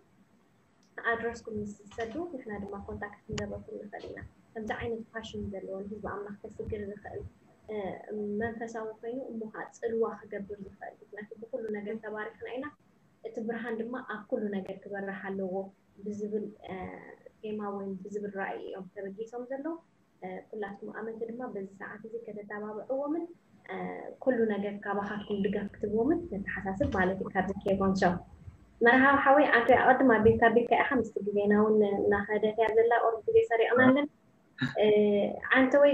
ኣድረስኩም ምስ ትሰዱ ንሕና ድማ ኮንታክት ክንገብረኩም ንኽእል ኢና። ከምዚ ዓይነት ፓሽን ዘለዎ ንህዝቢ ኣምላኽ ከስግር ዝኽእል መንፈሳዊ ኮይኑ እሞ ከዓ ፅልዋ ክገብር ዝኽእል፣ ምክንያቱ ብኩሉ ነገር ተባሪኽና ኢና፣ እቲ ብርሃን ድማ ኣብ ኩሉ ነገር ክበርህ ኣለዎ ብዝብል ቴማ ወይም ብዝብል ራእይ እዮም ተበጊሶም ዘለዉ። ኩላትኩም ኣመንቲ ድማ በዚ ሰዓት እዚ ከተተባብዕዎምን ኩሉ ነገር ካባኻትኩም ድጋፍ ክትብዎምን ነተሓሳስብ ማለት እዩ። ካብዚ ኬቦን ሾው መርሃዊ ሓወይ ኣንተ ኣቐድም ኣቢልካ ኣቢልካ ኢኻ ምስቲ ግዜና እውን እናኸደት እያ ዘላ ቁሩብ ግዜ ሰሪቕናለን። ኣንተ ወይ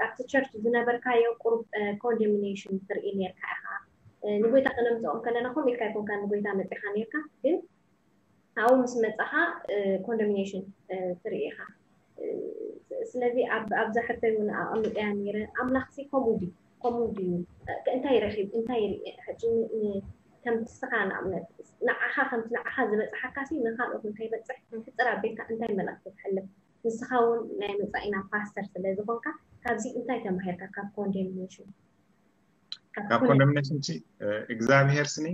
ኣብቲ ቸርች ዝነበርካዮ ቁሩብ ኮንዶሚኔሽን ትርኢ ነርካ ኢኻ። ንጎይታ ከነምፅኦም ከለና ከምኡ ኢልካ ኣይኮንካ ንጎይታ መፂኻ ነርካ ግን ኣብኡ ምስ መፃኻ ኮንዶሚኔሽን ትርኢ ኢኻ። ስለዚ ኣብዛ ሕቶይ እውን ኣቐሚጠያ ነይረ ኣምላኽሲ ከምኡ ድዩ ከምኡ ድዩ እንታይ ረኺብ እንታይ ርኢ ሕጂ ከምቲ ስኻ ንኣብነት ንዓኻ ከምቲ ንዓኻ ዝበፅሓካሲ ንካልኦት ንከይበፅሕ ክትፅር ኣቢልካ እንታይ መልእኽቲ ተሕልፍ? ንስኻ እውን ናይ መፃኢና ፓስተር ስለ ዝኾንካ ካብዚ እንታይ ተማሂርካ ካብ ኮንዶሚኔሽን? ካብ ኮንዶሚኔሽን ሲ እግዚኣብሄር ስኒ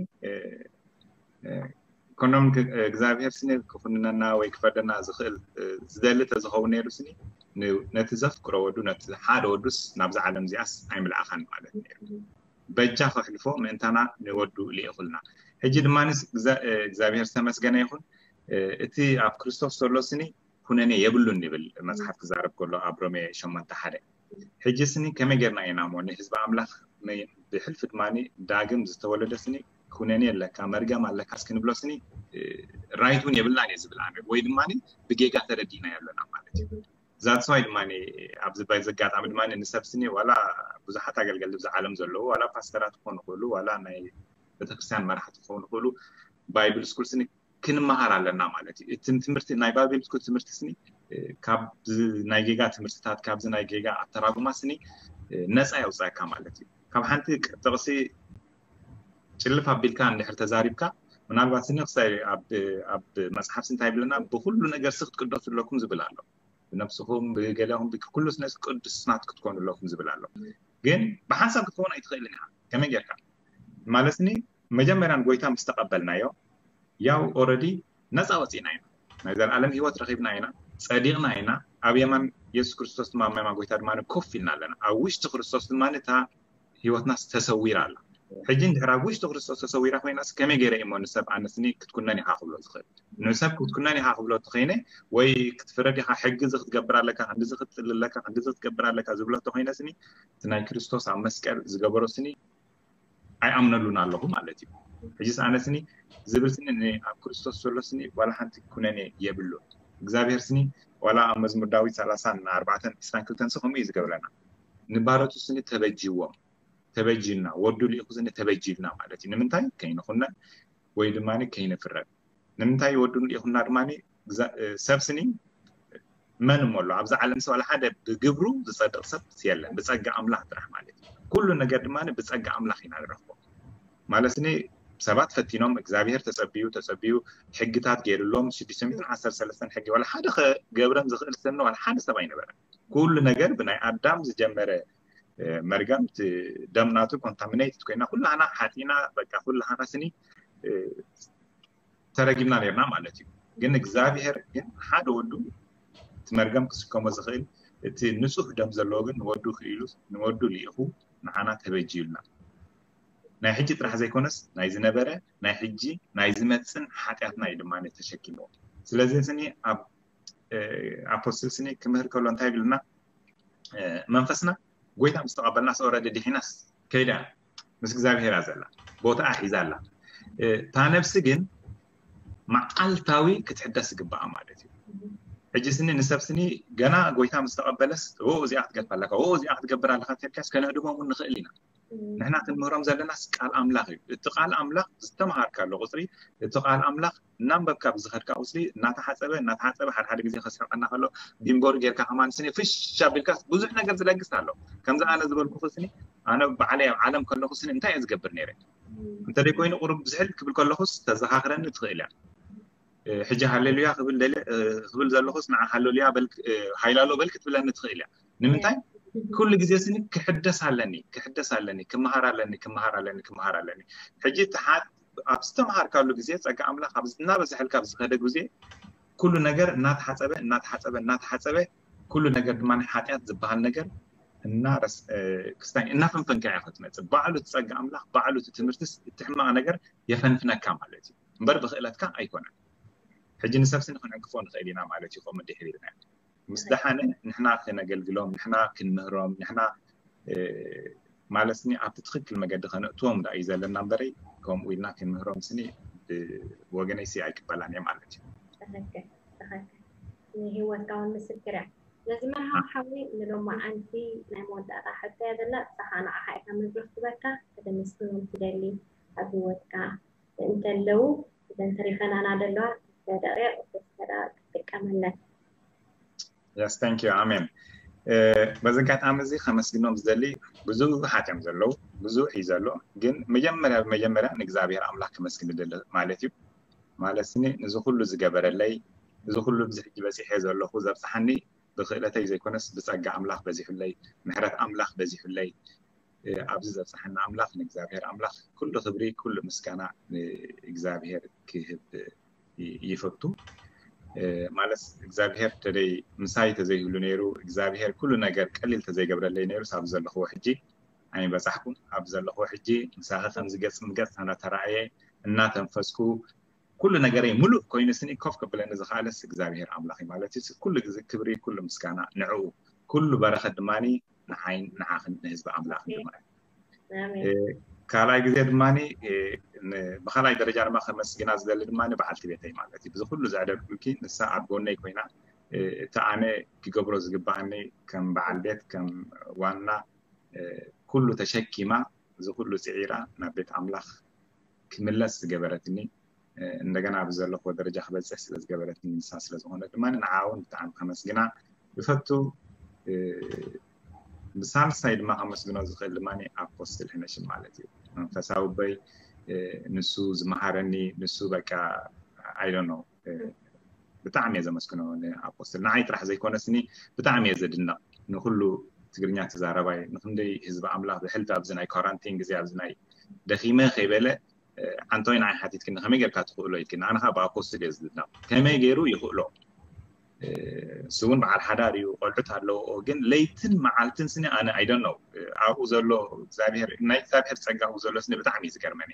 ኮንዶም እግዚኣብሄር ስኒ ክኹንነና ወይ ክፈርደና ዝኽእል ዝደሊ ተዝኸውን ነይሩ ስኒ ነቲ ዘፍቅሮ ወዱ ነቲ ሓደ ወዱስ ናብዛ ዓለም እዚኣስ ኣይምልኣኻን ማለት ነይሩ። በጃ ከሕልፎ ምእንታና ንወዱ ልኢኹልና። ሕጂ ድማ እግዚኣብሄር ዝተመስገነ ይኹን። እቲ ኣብ ክርስቶስ ዘሎ ስኒ ኩነኔ የብሉን ይብል መፅሓፍ ክዛረብ ከሎ ኣብ ሮሜ ሸሞንተ ሓደ። ሕጂ ስኒ ከመይ ጌርና ኢና እሞ ንህዝቢ ኣምላኽ ብሕልፊ ድማ ዳግም ዝተወለደ ስኒ ኩነኔ ኣለካ፣ መርገም ኣለካ እስክንብሎ ስኒ ራይት እውን የብልናን እየ ዝብል ኣነ። ወይ ድማ ብጌጋ ተረዲእና ኣለና ማለት እዩ። ዛትስዋይ ድማ ኣብዚ ባይ ዘጋጣሚ ድማ ንሰብ ስኒ ዋላ ብዙሓት ኣገልገልቲ ብዚ ዓለም ዘለዉ ዋላ ፓስተራት ክኾኑ ይኽእሉ ዋላ ናይ ቤተክርስትያን መራሕቲ ክኾኑ ይኽእሉ ባይብል ስኩል ስኒ ክንመሃር ኣለና ማለት እዩ። እቲ ትምህርቲ ናይ ባይብል ስኩል ትምህርቲ ስኒ ካብ ናይ ጌጋ ትምህርትታት ካብዚ ናይ ጌጋ ኣተራጉማ ስኒ ነፃ የውፃካ ማለት እዩ። ካብ ሓንቲ ጥቕሲ ጭልፍ ኣቢልካ እንድሕር ተዛሪብካ ምናልባት ስኒ ክሳይ ኣብ መፅሓፍ ስንታይ ይብለና ብኩሉ ነገር ሲ ክትቅደሱ ኣለኩም ዝብል ኣሎ። ብነብስኹም ብገለኹም ብኩሉ ስነስ ቅዱስናት ክትኮኑ ኣለኩም ዝብል ኣሎ። ግን ብሓንሳብ ክትኸውን ኣይትኽእልን ኢኻ። ከመይ ጌርካ ማለት ስኒ መጀመርያ ንጎይታ ምስ ተቐበልናዮ ያው ኦረዲ ነፃ ወፂእና ኢና። ናይ ዘለኣለም ህይወት ረኺብና ኢና፣ ፀዲቕና ኢና። ኣብ የማን የሱስ ክርስቶስ ድማ ኣብ የማን ጎይታ ድማ ኮፍ ኢልና ኣለና። ኣብ ውሽጢ ክርስቶስ ድማ እታ ህይወትና ተሰዊራ ኣላ። ሕጂ እንድሕር ኣብ ውሽጢ ክርስቶስ ተሰዊራ ኮይናስ ከመይ ገይረ እሞ ንሰብ ኣነስኒ ክትኩነን ኢኻ ክብሎ ዝኽእል? ንሰብ ክትኩነን ኢኻ ክብሎ ተኸይነ ወይ ክትፍረድ ኢኻ ሕጊ እዚ ክትገብር ኣለካ ክንዲዚ ክትጥል ኣለካ ክንዲዚ ክትገብር ኣለካ ዝብሎ ተኾይነ ስኒ እቲ ናይ ክርስቶስ ኣብ መስቀል ዝገበሮ ስኒ ኣይኣምነሉን ኣለኹ ማለት እዩ። ሕጂስ ኣነ ስኒ ዝብል ስኒ ኣብ ክርስቶስ ዘሎ ስኒ ዋላ ሓንቲ ኩነኔ የብሉን። እግዚኣብሔር ስኒ ዋላ ኣብ መዝሙር ዳዊት ሰላሳን ኣርባዕተን ዕስራን ክልተን ሲ ከምኡ እዩ ዝገብረና። ንባሮቱ ስኒ ተበጅዎም ተበጅልና ወዱ ልኢኹ ስኒ ተበጅልና ማለት እዩ። ንምንታይ ከይንኹነን ወይ ድማ ከይንፍረድ። ንምንታይ ወዱ ልኢኹና ድማ ሰብ ስኒ መን እሞ ኣሎ ኣብዚ ዓለም ሰብ ሓደ ብግብሩ ዝጸድቕ ሰብ የለን ብጸጋ ኣምላኽ ጥራሕ ማለት እዩ። ኩሉ ነገር ድማ ብጸጋ ኣምላኽ ኢና ንረኽቦ ማለት ስኒ ሰባት ፈቲኖም እግዚኣብሔር ተጸብዩ ተጸብዩ ሕግታት ገይሩሎም ሽዱሽተ ሚእትን ዓሰርተ ሰለስተን ሕጊ ዋላ ሓደ ገብረም ዝኽእል ሰብ ዋላ ሓደ ሰብ ኣይነበረን። ኩሉ ነገር ብናይ ኣዳም ዝጀመረ መርገም ደምናቱ ኮንታሚኔትድ ኮይና ኩላና ሓጢና በቃ ኩላና ስኒ ተረጊምና ነርና ማለት እዩ። ግን እግዚኣብሔር ግን ሓደ ወዱ እቲ መርገም ክስከሞ ዝኽእል እቲ ንጹህ ደም ዘለዎ ግን ንወዱ ክኢሉ ንወዱ ልኢኹ ንዓና ተበጅዩልና። ናይ ሕጂ ጥራሕ ዘይኮነስ ናይ ዝነበረ ናይ ሕጂ ናይ ዝመፅን ሓጢኣትና እዩ ድማ ተሸኪምዎ። ስለዚ ስኒ ኣብ ኣፖስትል ስኒ ክምህር ከሎ እንታይ ይብልና? መንፈስና ጎይታ ምስ ተቐበልናስ ኦረዲ ድሒናስ ከይዳ ምስ እግዚኣብሔር እያ ዘላ ቦታኣ ሒዛ ኣላ። እታ ነብሲ ግን መዓልታዊ ክትሕደስ ዝግባኣ ማለት እዩ። ሕጂ ስኒ ንሰብ ስኒ ገና ጎይታ ምስ ተቐበለስ እዚኣ ክትገድፍ ኣለካ እዚኣ ክትገብር ኣለካ ተልካስ ከነህድሞም ንኽእል ኢና። ንሕና ክንምህሮም ዘለናስ ቃል ኣምላኽ እዩ። እቲ ቃል ኣምላኽ ዝተምሃርካሉ ቁፅሪ እቲ ቃል ኣምላኽ እናንበብካ ብዝኸድካ ቁፅሪ እናተሓፀበ እናተሓፀበ ሓደ ሓደ ግዜ ከስሕቀና ከሎ ቢምቦር ጌርካ ከማን ስኒ ፍሽ ኣቢልካ ብዙሕ ነገር ዝለግስ ኣሎ። ከምዚ ኣነ ዝበልኩ ስኒ ኣነ ባዕለይ ኣብ ዓለም ከለኹ ስኒ እንታይ እየ ዝገብር ነይረ እንተደይ ኮይኑ ቁሩብ ብዝሕል ክብል ከለኹስ ተዘኻኽረኒ ትኽእል እያ። ሕጂ ሃሌሉያ ክብል ደለ ክብል ዘለኹስ ንዓ ሃሌሉያ በል ሃይላሎ በል ክትብለኒ ትኽእል እያ። ንምንታይ ኩሉ ግዜ ስኒ ክሕደስ ኣለኒ ክሕደስ ኣለኒ ክመሃር ኣለኒ ክመሃር ኣለኒ ክመሃር ኣለኒ። ሕጂ ተሓት ኣብ ዝተምሃርካሉ ግዜ ጸጋ ኣምላኽ ኣብ እናበዝሐልካ ኣብ ዝኸደ ግዜ ኩሉ ነገር እናተሓጸበ እናተሓጸበ እናተሓጸበ ኩሉ ነገር ድማ ናይ ሓጢኣት ዝበሃል ነገር እናረስ ክስታይ እናፈንፈንካ እያ ክትመጽእ። ባዕሉ እቲ ጸጋ ኣምላኽ ባዕሉ እቲ ትምህርትስ እቲ ሕማቕ ነገር የፈንፍነካ ማለት እዩ እምበር ብኽእለትካ ኣይኮነን። ሕጂ ንሰብሲ ንክንዕንቅፎ ንኽእል ኢና ማለት እዩ። ከምኡ እንድሕር ኢልና ምስ ደሓነ ንሕና ክነገልግሎም ንሕና ክንምህሮም ንሕና ማለት ስኒ ኣብቲ ትኽክል መገዲ ከነእትዎም ዳ እዩ ዘለና እምበረይ ከምኡ ኢልና ክንምህሮም ስኒ ብወገነይ ሲ ኣይቅበላን እየ ማለት እዩ። ንህይወትካ እውን ምስክር እያ። ነዚ መርሃዊ ሓዊ ንሎማዓንቲ ናይ መወዳእታ ሕቶ እያ ዘላ። ንስኻ ንዓኻ ኢኻ መድረኽ ትበካ ከተመስግኖም ትደሊ ኣብ ህይወትካ እንተለዉ እዘን ተሪፈናና ዘለዋ ክልተ ደቂቕ ክልተ ደቂቕ ክትጥቀመለን። Yes, thank you. ኣሜን። በዚ ኣጋጣሚ እዚ ከመስግኖም ዝደሊ ብዙሓት እዮም ዘለዉ፣ ብዙሕ እዩ ዘሎ። ግን መጀመርያ ብመጀመርያ ንእግዚኣብሔር ኣምላኽ ከመስግን ይደሊ ማለት እዩ። ማለት ስኒ ንዚ ኩሉ ዝገበረለይ፣ እዚ ኩሉ ብዚ ሕጂ በጺሐ ዘለኹ ዘብጽሓኒ ብክእለተይ ዘይኮነስ ብጸጋ ኣምላኽ በዚሑለይ፣ ምሕረት ኣምላኽ በዚሑለይ፣ ኣብዚ ዘብጽሓና ኣምላኽ ንእግዚኣብሔር ኣምላኽ ኩሉ ክብሪ ኩሉ ምስጋና ንእግዚኣብሔር ክህብ ይፈቱ። ማለት እግዚኣብሔር ተደይ ምሳይ ተዘይህሉ ነይሩ እግዚኣብሔር ኩሉ ነገር ቀሊል ተዘይገብረለይ ነይሩ ኣብ ዘለኽዎ ሕጂ ኣይበጻሕኩን ኣብ ዘለኽዎ ሕጂ ምሳኺ ከምዚ ገጽ ንገጽ እናተረኣየ እናተንፈስኩ ኩሉ ነገረይ ሙሉእ ኮይኑ ስኒ ኮፍ ከብለኒ ዝኸኣለስ እግዚኣብሔር ኣምላኽ እዩ ማለት እዩ። ኩሉ ግዜ ክብሪ ኩሉ ምስጋና ንዕኡ ኩሉ በረኸት ድማ ንዓይን ንዓኽን ንህዝቢ ኣምላኽን ድማ እዩ። ካልኣይ ግዜ ድማ ብካልኣይ ደረጃ ድማ ከመስግና ዝደሊ ድማ በዓልቲ ቤተይ ማለት እዩ። ብዚ ኩሉ ዘዕደልኩልኪ ንሳ ኣብ ጎነይ ኮይና እቲ ኣነ ክገብሮ ዝግባኣኒ ከም በዓል ቤት ከም ዋና ኩሉ ተሸኪማ እዚ ኩሉ ፅዒራ ናብ ቤት ኣምላኽ ክምለስ ዝገበረትኒ እንደገና ኣብዚ ዘለኹዎ ደረጃ ክበፅሕ ስለ ዝገበረትኒ ንሳ ስለ ዝኾነት ድማ ንዓ እውን ብጣዕሚ ከመስግና ይፈቱ። ብሳልሳይ ድማ ከመስግኖ ዝኽእል ድማ ኣፖስትል ሕነሽም ማለት እዩ። መንፈሳዊ በይ ንሱ ዝመሃረኒ ንሱ በቃ ኣይዶኖ ብጣዕሚ እየ ዘመስግኖ ንኣፖስትል። ንዓይ ጥራሕ ዘይኮነስኒ ብጣዕሚ እየ ዘድንቕ ንኩሉ ትግርኛ ተዛረባይ ንክንደይ ህዝቢ ኣምላኽ ብሕልፊ ኣብዚ ናይ ኳራንቲን ግዜ ኣብዚ ናይ ደኺመ ከይበለ ኣንቶይ ንዓይ ሓቲትክኒ ከመይ ጌርካ ትኽእሎ ኢልክኒ። ኣነ ከዓ ብኣፖስትል እየ ዝድነቕ ከመይ ገይሩ ይኽእሎ። እሱ እውን በዓል ሓዳር እዩ፣ ቆልዑት ኣለዎ። ግን ለይትን መዓልትን ስኒ ኣነ ኣይደነው ኣብኡ ዘሎ እግዚኣብሔር ናይ እግዚኣብሔር ፀጋ ኣብኡ ዘሎ ስኒ ብጣዕሚ እዩ ዝገርመኒ።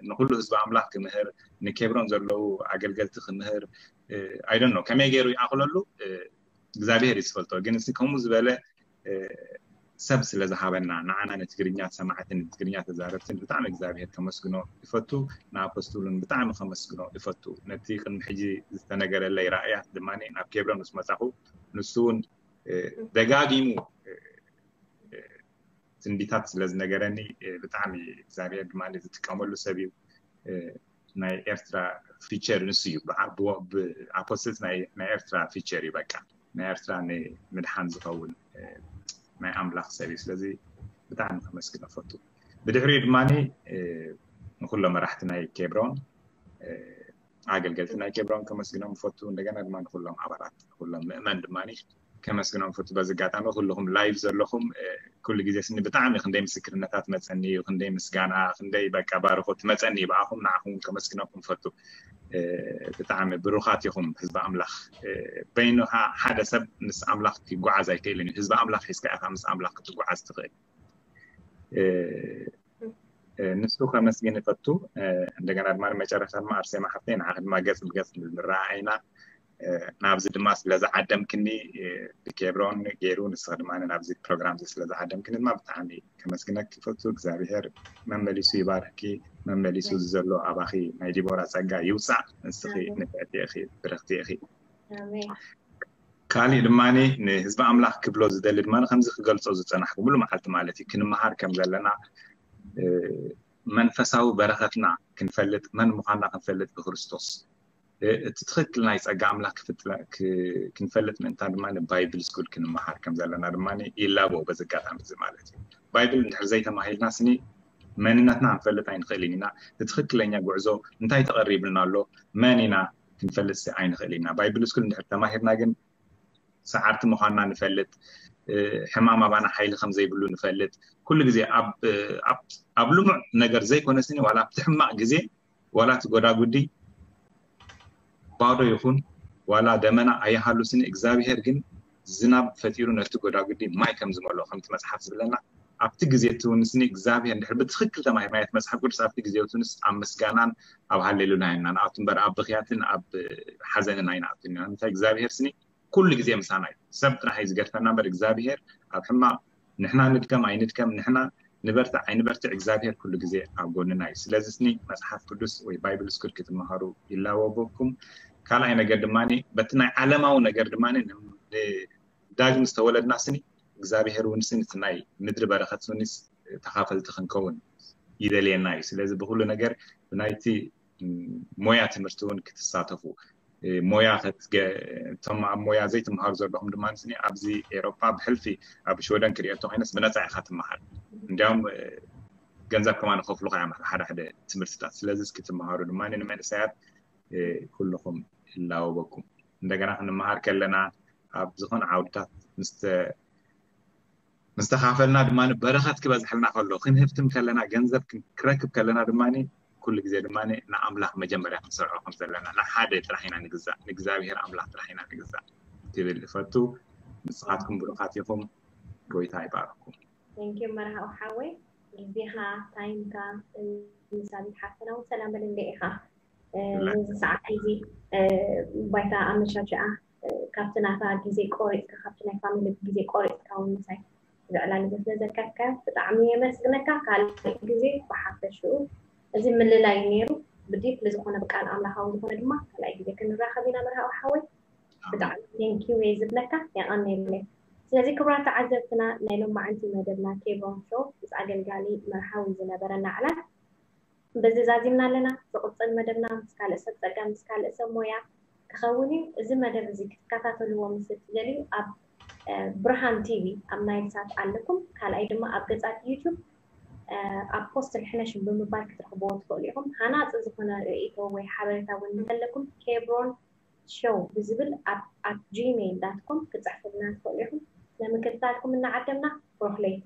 ንኩሉ ህዝቢ ኣምላኽ ክምህር ንኬብሮን ዘለዉ ኣገልገልቲ ክምህር ኣይደነው ከመይ ገይሩ ይኣኽለሉ እግዚኣብሔር እዩ ዝፈልጦ። ግን እዚ ከምኡ ዝበለ ሰብ ስለ ዝሃበና ንዓና ንትግርኛ ሰማዕትን ንትግርኛ ተዛረብትን ብጣዕሚ እግዚኣብሔር ከመስግኖ ይፈቱ። ንኣፖስቱሉን ብጣዕሚ ከመስግኖ ይፈቱ። ነቲ ቅድሚ ሕጂ ዝተነገረለይ ራእያት ድማ ናብ ኬብሮን ምስ መጻኹ ንሱ እውን ደጋጊሙ ትንቢታት ስለ ዝነገረኒ ብጣዕሚ እግዚኣብሔር ድማ ዝጥቀመሉ ሰብ እዩ። ናይ ኤርትራ ፊቸር ንሱ እዩ። ኣፖስትልስ ናይ ኤርትራ ፊቸር እዩ። በቃ ናይ ኤርትራ ንምድሓን ዝኸውን ናይ ኣምላኽ ሰብ እዩ። ስለዚ ብጣዕሚ ከመስግኖ ፈቱ። ብድሕሪኡ ድማ ንኩሎም መራሕቲ ናይ ኬብሮን ኣገልገልቲ ናይ ኬብሮን ከመስግኖም ፈቱ። እንደገና ድማ ንኩሎም ኣባላት ንኩሎም ምእመን ድማ ከመስግኖም ፈቱ። በዚ ኣጋጣሚ ኩልኹም ላይቭ ዘለኹም ኩሉ ግዜ ስኒ ብጣዕሚ ክንደይ ምስክርነታት መፀኒ እዩ፣ ክንደይ ምስጋና፣ ክንደይ በቃ ባርኮት መፀኒ እዩ። ብኣኹም ንዓኹም ከመስግነኩም ፈቱ። ብጣዕሚ ብሩኻት ኢኹም ህዝቢ ኣምላኽ። በይንኻ ሓደ ሰብ ምስ ኣምላኽ ክጓዓዝ ኣይክእልን እዩ። ህዝቢ ኣምላኽ ሒዝካ ኢኻ ምስ ኣምላኽ ክትጓዓዝ ትኽእል። ንሱ ከመስግን ይፈቱ። እንደገና ድማ መጨረሻ ድማ ኣርሴማ ሓፍተይ ንዓኺ ድማ ገፅ ብገፅ ንረኣይና ናብዚ ድማ ስለ ዝዓደምክኒ ብኬብሮን ገይሩ ንስኺ ድማ ናብዚ ፕሮግራም እዚ ስለ ዝዓደምክኒ ድማ ብጣዕሚ ከመስግነኪ ይፈቱ። እግዚኣብሔር መመሊሱ ይባርኪ። መመሊሱ ዘሎ ኣባኺ ናይ ዲቦራ ፀጋ ይውፃእ። ንስኺ ንፍዕቲ ኢኺ፣ ብርኽቲ ኢኺ። ካሊእ ድማ ንህዝቢ ኣምላኽ ክብሎ ዝደሊ ድማ ከምዚ ክገልፆ ዝፀናሕኩ ሙሉ መዓልቲ ማለት እዩ ክንመሃር ከም ዘለና መንፈሳዊ በረኸትና ክንፈልጥ መን ምዃንና ክንፈልጥ ብክርስቶስ እቲ ትኽክል ናይ ጸጋ ኣምላኽ ክንፈልጥ ምእንታን ድማ ባይብል ስኩል ክንመሃር ከም ዘለና ድማ ይላቦ በዚ ኣጋጣሚ እዚ ማለት እዩ። ባይብል እንድሕር ዘይተማሂልና ስኒ መንነትና ክንፈልጥ ኣይንኽእልን ኢና። እቲ ትኽክለኛ ጉዕዞ እንታይ ተቐሪብልና ኣሎ መን ኢና ክንፈልጥ ኣይንኽእል ኢና። ባይብል ስኩል እንድሕር ተማሂርና ግን ሰዓርቲ ምዃንና ንፈልጥ፣ ሕማም ኣባና ሓይሊ ከም ዘይብሉ ንፈልጥ። ኩሉ ግዜ ኣብ ልሙዕ ነገር ዘይኮነ ስኒ ዋላ ኣብቲ ሕማቕ ግዜ ዋላ እቲ ጎዳጉዲ ባዶ ይኹን ዋላ ደመና ኣይሃሉ ስኒ እግዚኣብሄር ግን ዝናብ ፈጢሩ ነቲ ጎዳጉዲ ማይ ከም ዝመልኦ ከምቲ መፅሓፍ ዝብለና ኣብቲ ግዜ እቲ እውን ስኒ እግዚኣብሄር እንድሕር ብትኽክል ተማሂርናዮ እቲ መፅሓፍ ቅዱስ ኣብቲ ግዜ እቲ ንስ ኣብ ምስጋናን ኣብ ሃሌሉያን ኢና ንኣቱ እምበር ኣብ ብኽያትን ኣብ ሓዘንን ኣይንኣቱን ኢና ንምንታይ እግዚኣብሄር ስኒ ኩሉ ግዜ ምሳና እዩ። ሰብ ጥራሕ እዩ ዝገድፈና እምበር እግዚኣብሄር ኣብ ሕማቕ ንሕና ንድከም ኣይንድከም ንሕና ንበርትዕ ኣይንበርትዕ እግዚኣብሄር ኩሉ ግዜ ኣብ ጎንና እዩ። ስለዚ ስኒ መፅሓፍ ቅዱስ ወይ ባይብል ስኩል ክትመሃሩ ይላበወኩም። ካልኣይ ነገር ድማ በቲ ናይ ዓለማዊ ነገር ድማ ዳግም ዝተወለድና ስኒ እግዚኣብሄር እውን ስኒ እቲ ናይ ምድሪ በረኸት ስኒ ተኻፈልቲ ክንከውን ይደልየና እዩ። ስለዚ ብኩሉ ነገር ብናይቲ ሞያ ትምህርቲ እውን ክትሳተፉ ሞያ እቶም ኣብ ሞያ ዘይትምሃሩ ዘለኹም ድማ ስኒ ኣብዚ ኤሮፓ ብሕልፊ ኣብ ሽወደን ክሪኦ እንተኮይነስ ብነፃ ኢካ ትመሃር እንዲያውም ገንዘብ ከማን ከፍሉካ እዮም ሓደ ሓደ ትምህርትታት ስለዚ እስኪ ትመሃሩ ድማ ንመንእሰያት ኩልኹም ይላወበኩም እንደገና ክንመሃር ከለና ኣብ ዝኾነ ዓውድታት ምስ ተኻፈልና ድማ በረኸት ክበዝሐልና ከሎ ክንህፍትም ከለና ገንዘብ ክረክብ ከለና ድማ ኩሉ ግዜ ድማ ንኣምላኽ መጀመርያ ክንሰርዖ ከም ዘለና ንሓደ ጥራሕ ኢና ንግዛእ ንእግዚኣብሔር ኣምላኽ ጥራሕ ኢና ንግዛእ ክብል እፈቱ ንስኻትኩም ብሩኻት ኢኹም ጎይታ ይባርኩም ቴንኪዩ መርሃዊ ሓወይ ግዜኻ ታይምካ ንሳቢት ሓፍትና እውን ሰላም በል እንደ ኢኻ ነዚ ሰዓት እዚ ባይታ ኣመሻሽኣ ካብቲ ናታ ግዜ ቆሪፅካ ካብቲ ናይ ፋሚሊ ግዜ ቆሪፅካ እውን ምሳይ እዚ ዕላል እዚ ስለ ዘካትካዮ ብጣዕሚ የመስግነካ። ካልእ ግዜ ብሓፈሽኡ እዚ ምልላይ ነይሩ ብዲፕሊ ዝኾነ ብቃል ኣምላኻዊ ዝኾነ ድማ ካልኣይ ግዜ ክንራኸብ ኢና መርሃዊ ሓወይ። ብጣዕሚ ቴንኪዩ እየ ዝብለካ፣ የቐንየለይ። ስለዚ ክቡራት ተዓዘብትና ናይ ሎማዓንቲ መደብና ኬብሮን ሾው ምስ ኣገልጋሊ መርሃዊ ዝነበረና ዕላል በዚ ዛዚምና ኣለና። ዝቕፅል መደብና ምስ ካልእ ሰብ ፀጋ ምስ ካልእ ሰብ ሞያ ክኸውን እዩ። እዚ መደብ እዚ ክትከታተልዎ ምስ እትደልዩ ኣብ ብርሃን ቲቪ ኣብ ናይል ሳት ኣለኩም። ካልኣይ ድማ ኣብ ገፃት ዩቱብ ኣብ ፖስት ልሕነሽም ብምባል ክትረኽብዎ ትኽእሉ ኢኹም። ሃናፂ ዝኾነ ርእይቶ ወይ ሓበሬታ እውን እንተለኩም ኬብሮን ሾው ብዝብል ኣብ ኣት ጂሜይል ዳት ኮም ክፅሕፍልና ትኽእሉ ኢኹም። ንምክትታልኩም እናዓደምና ብሩኽ ለይቲ።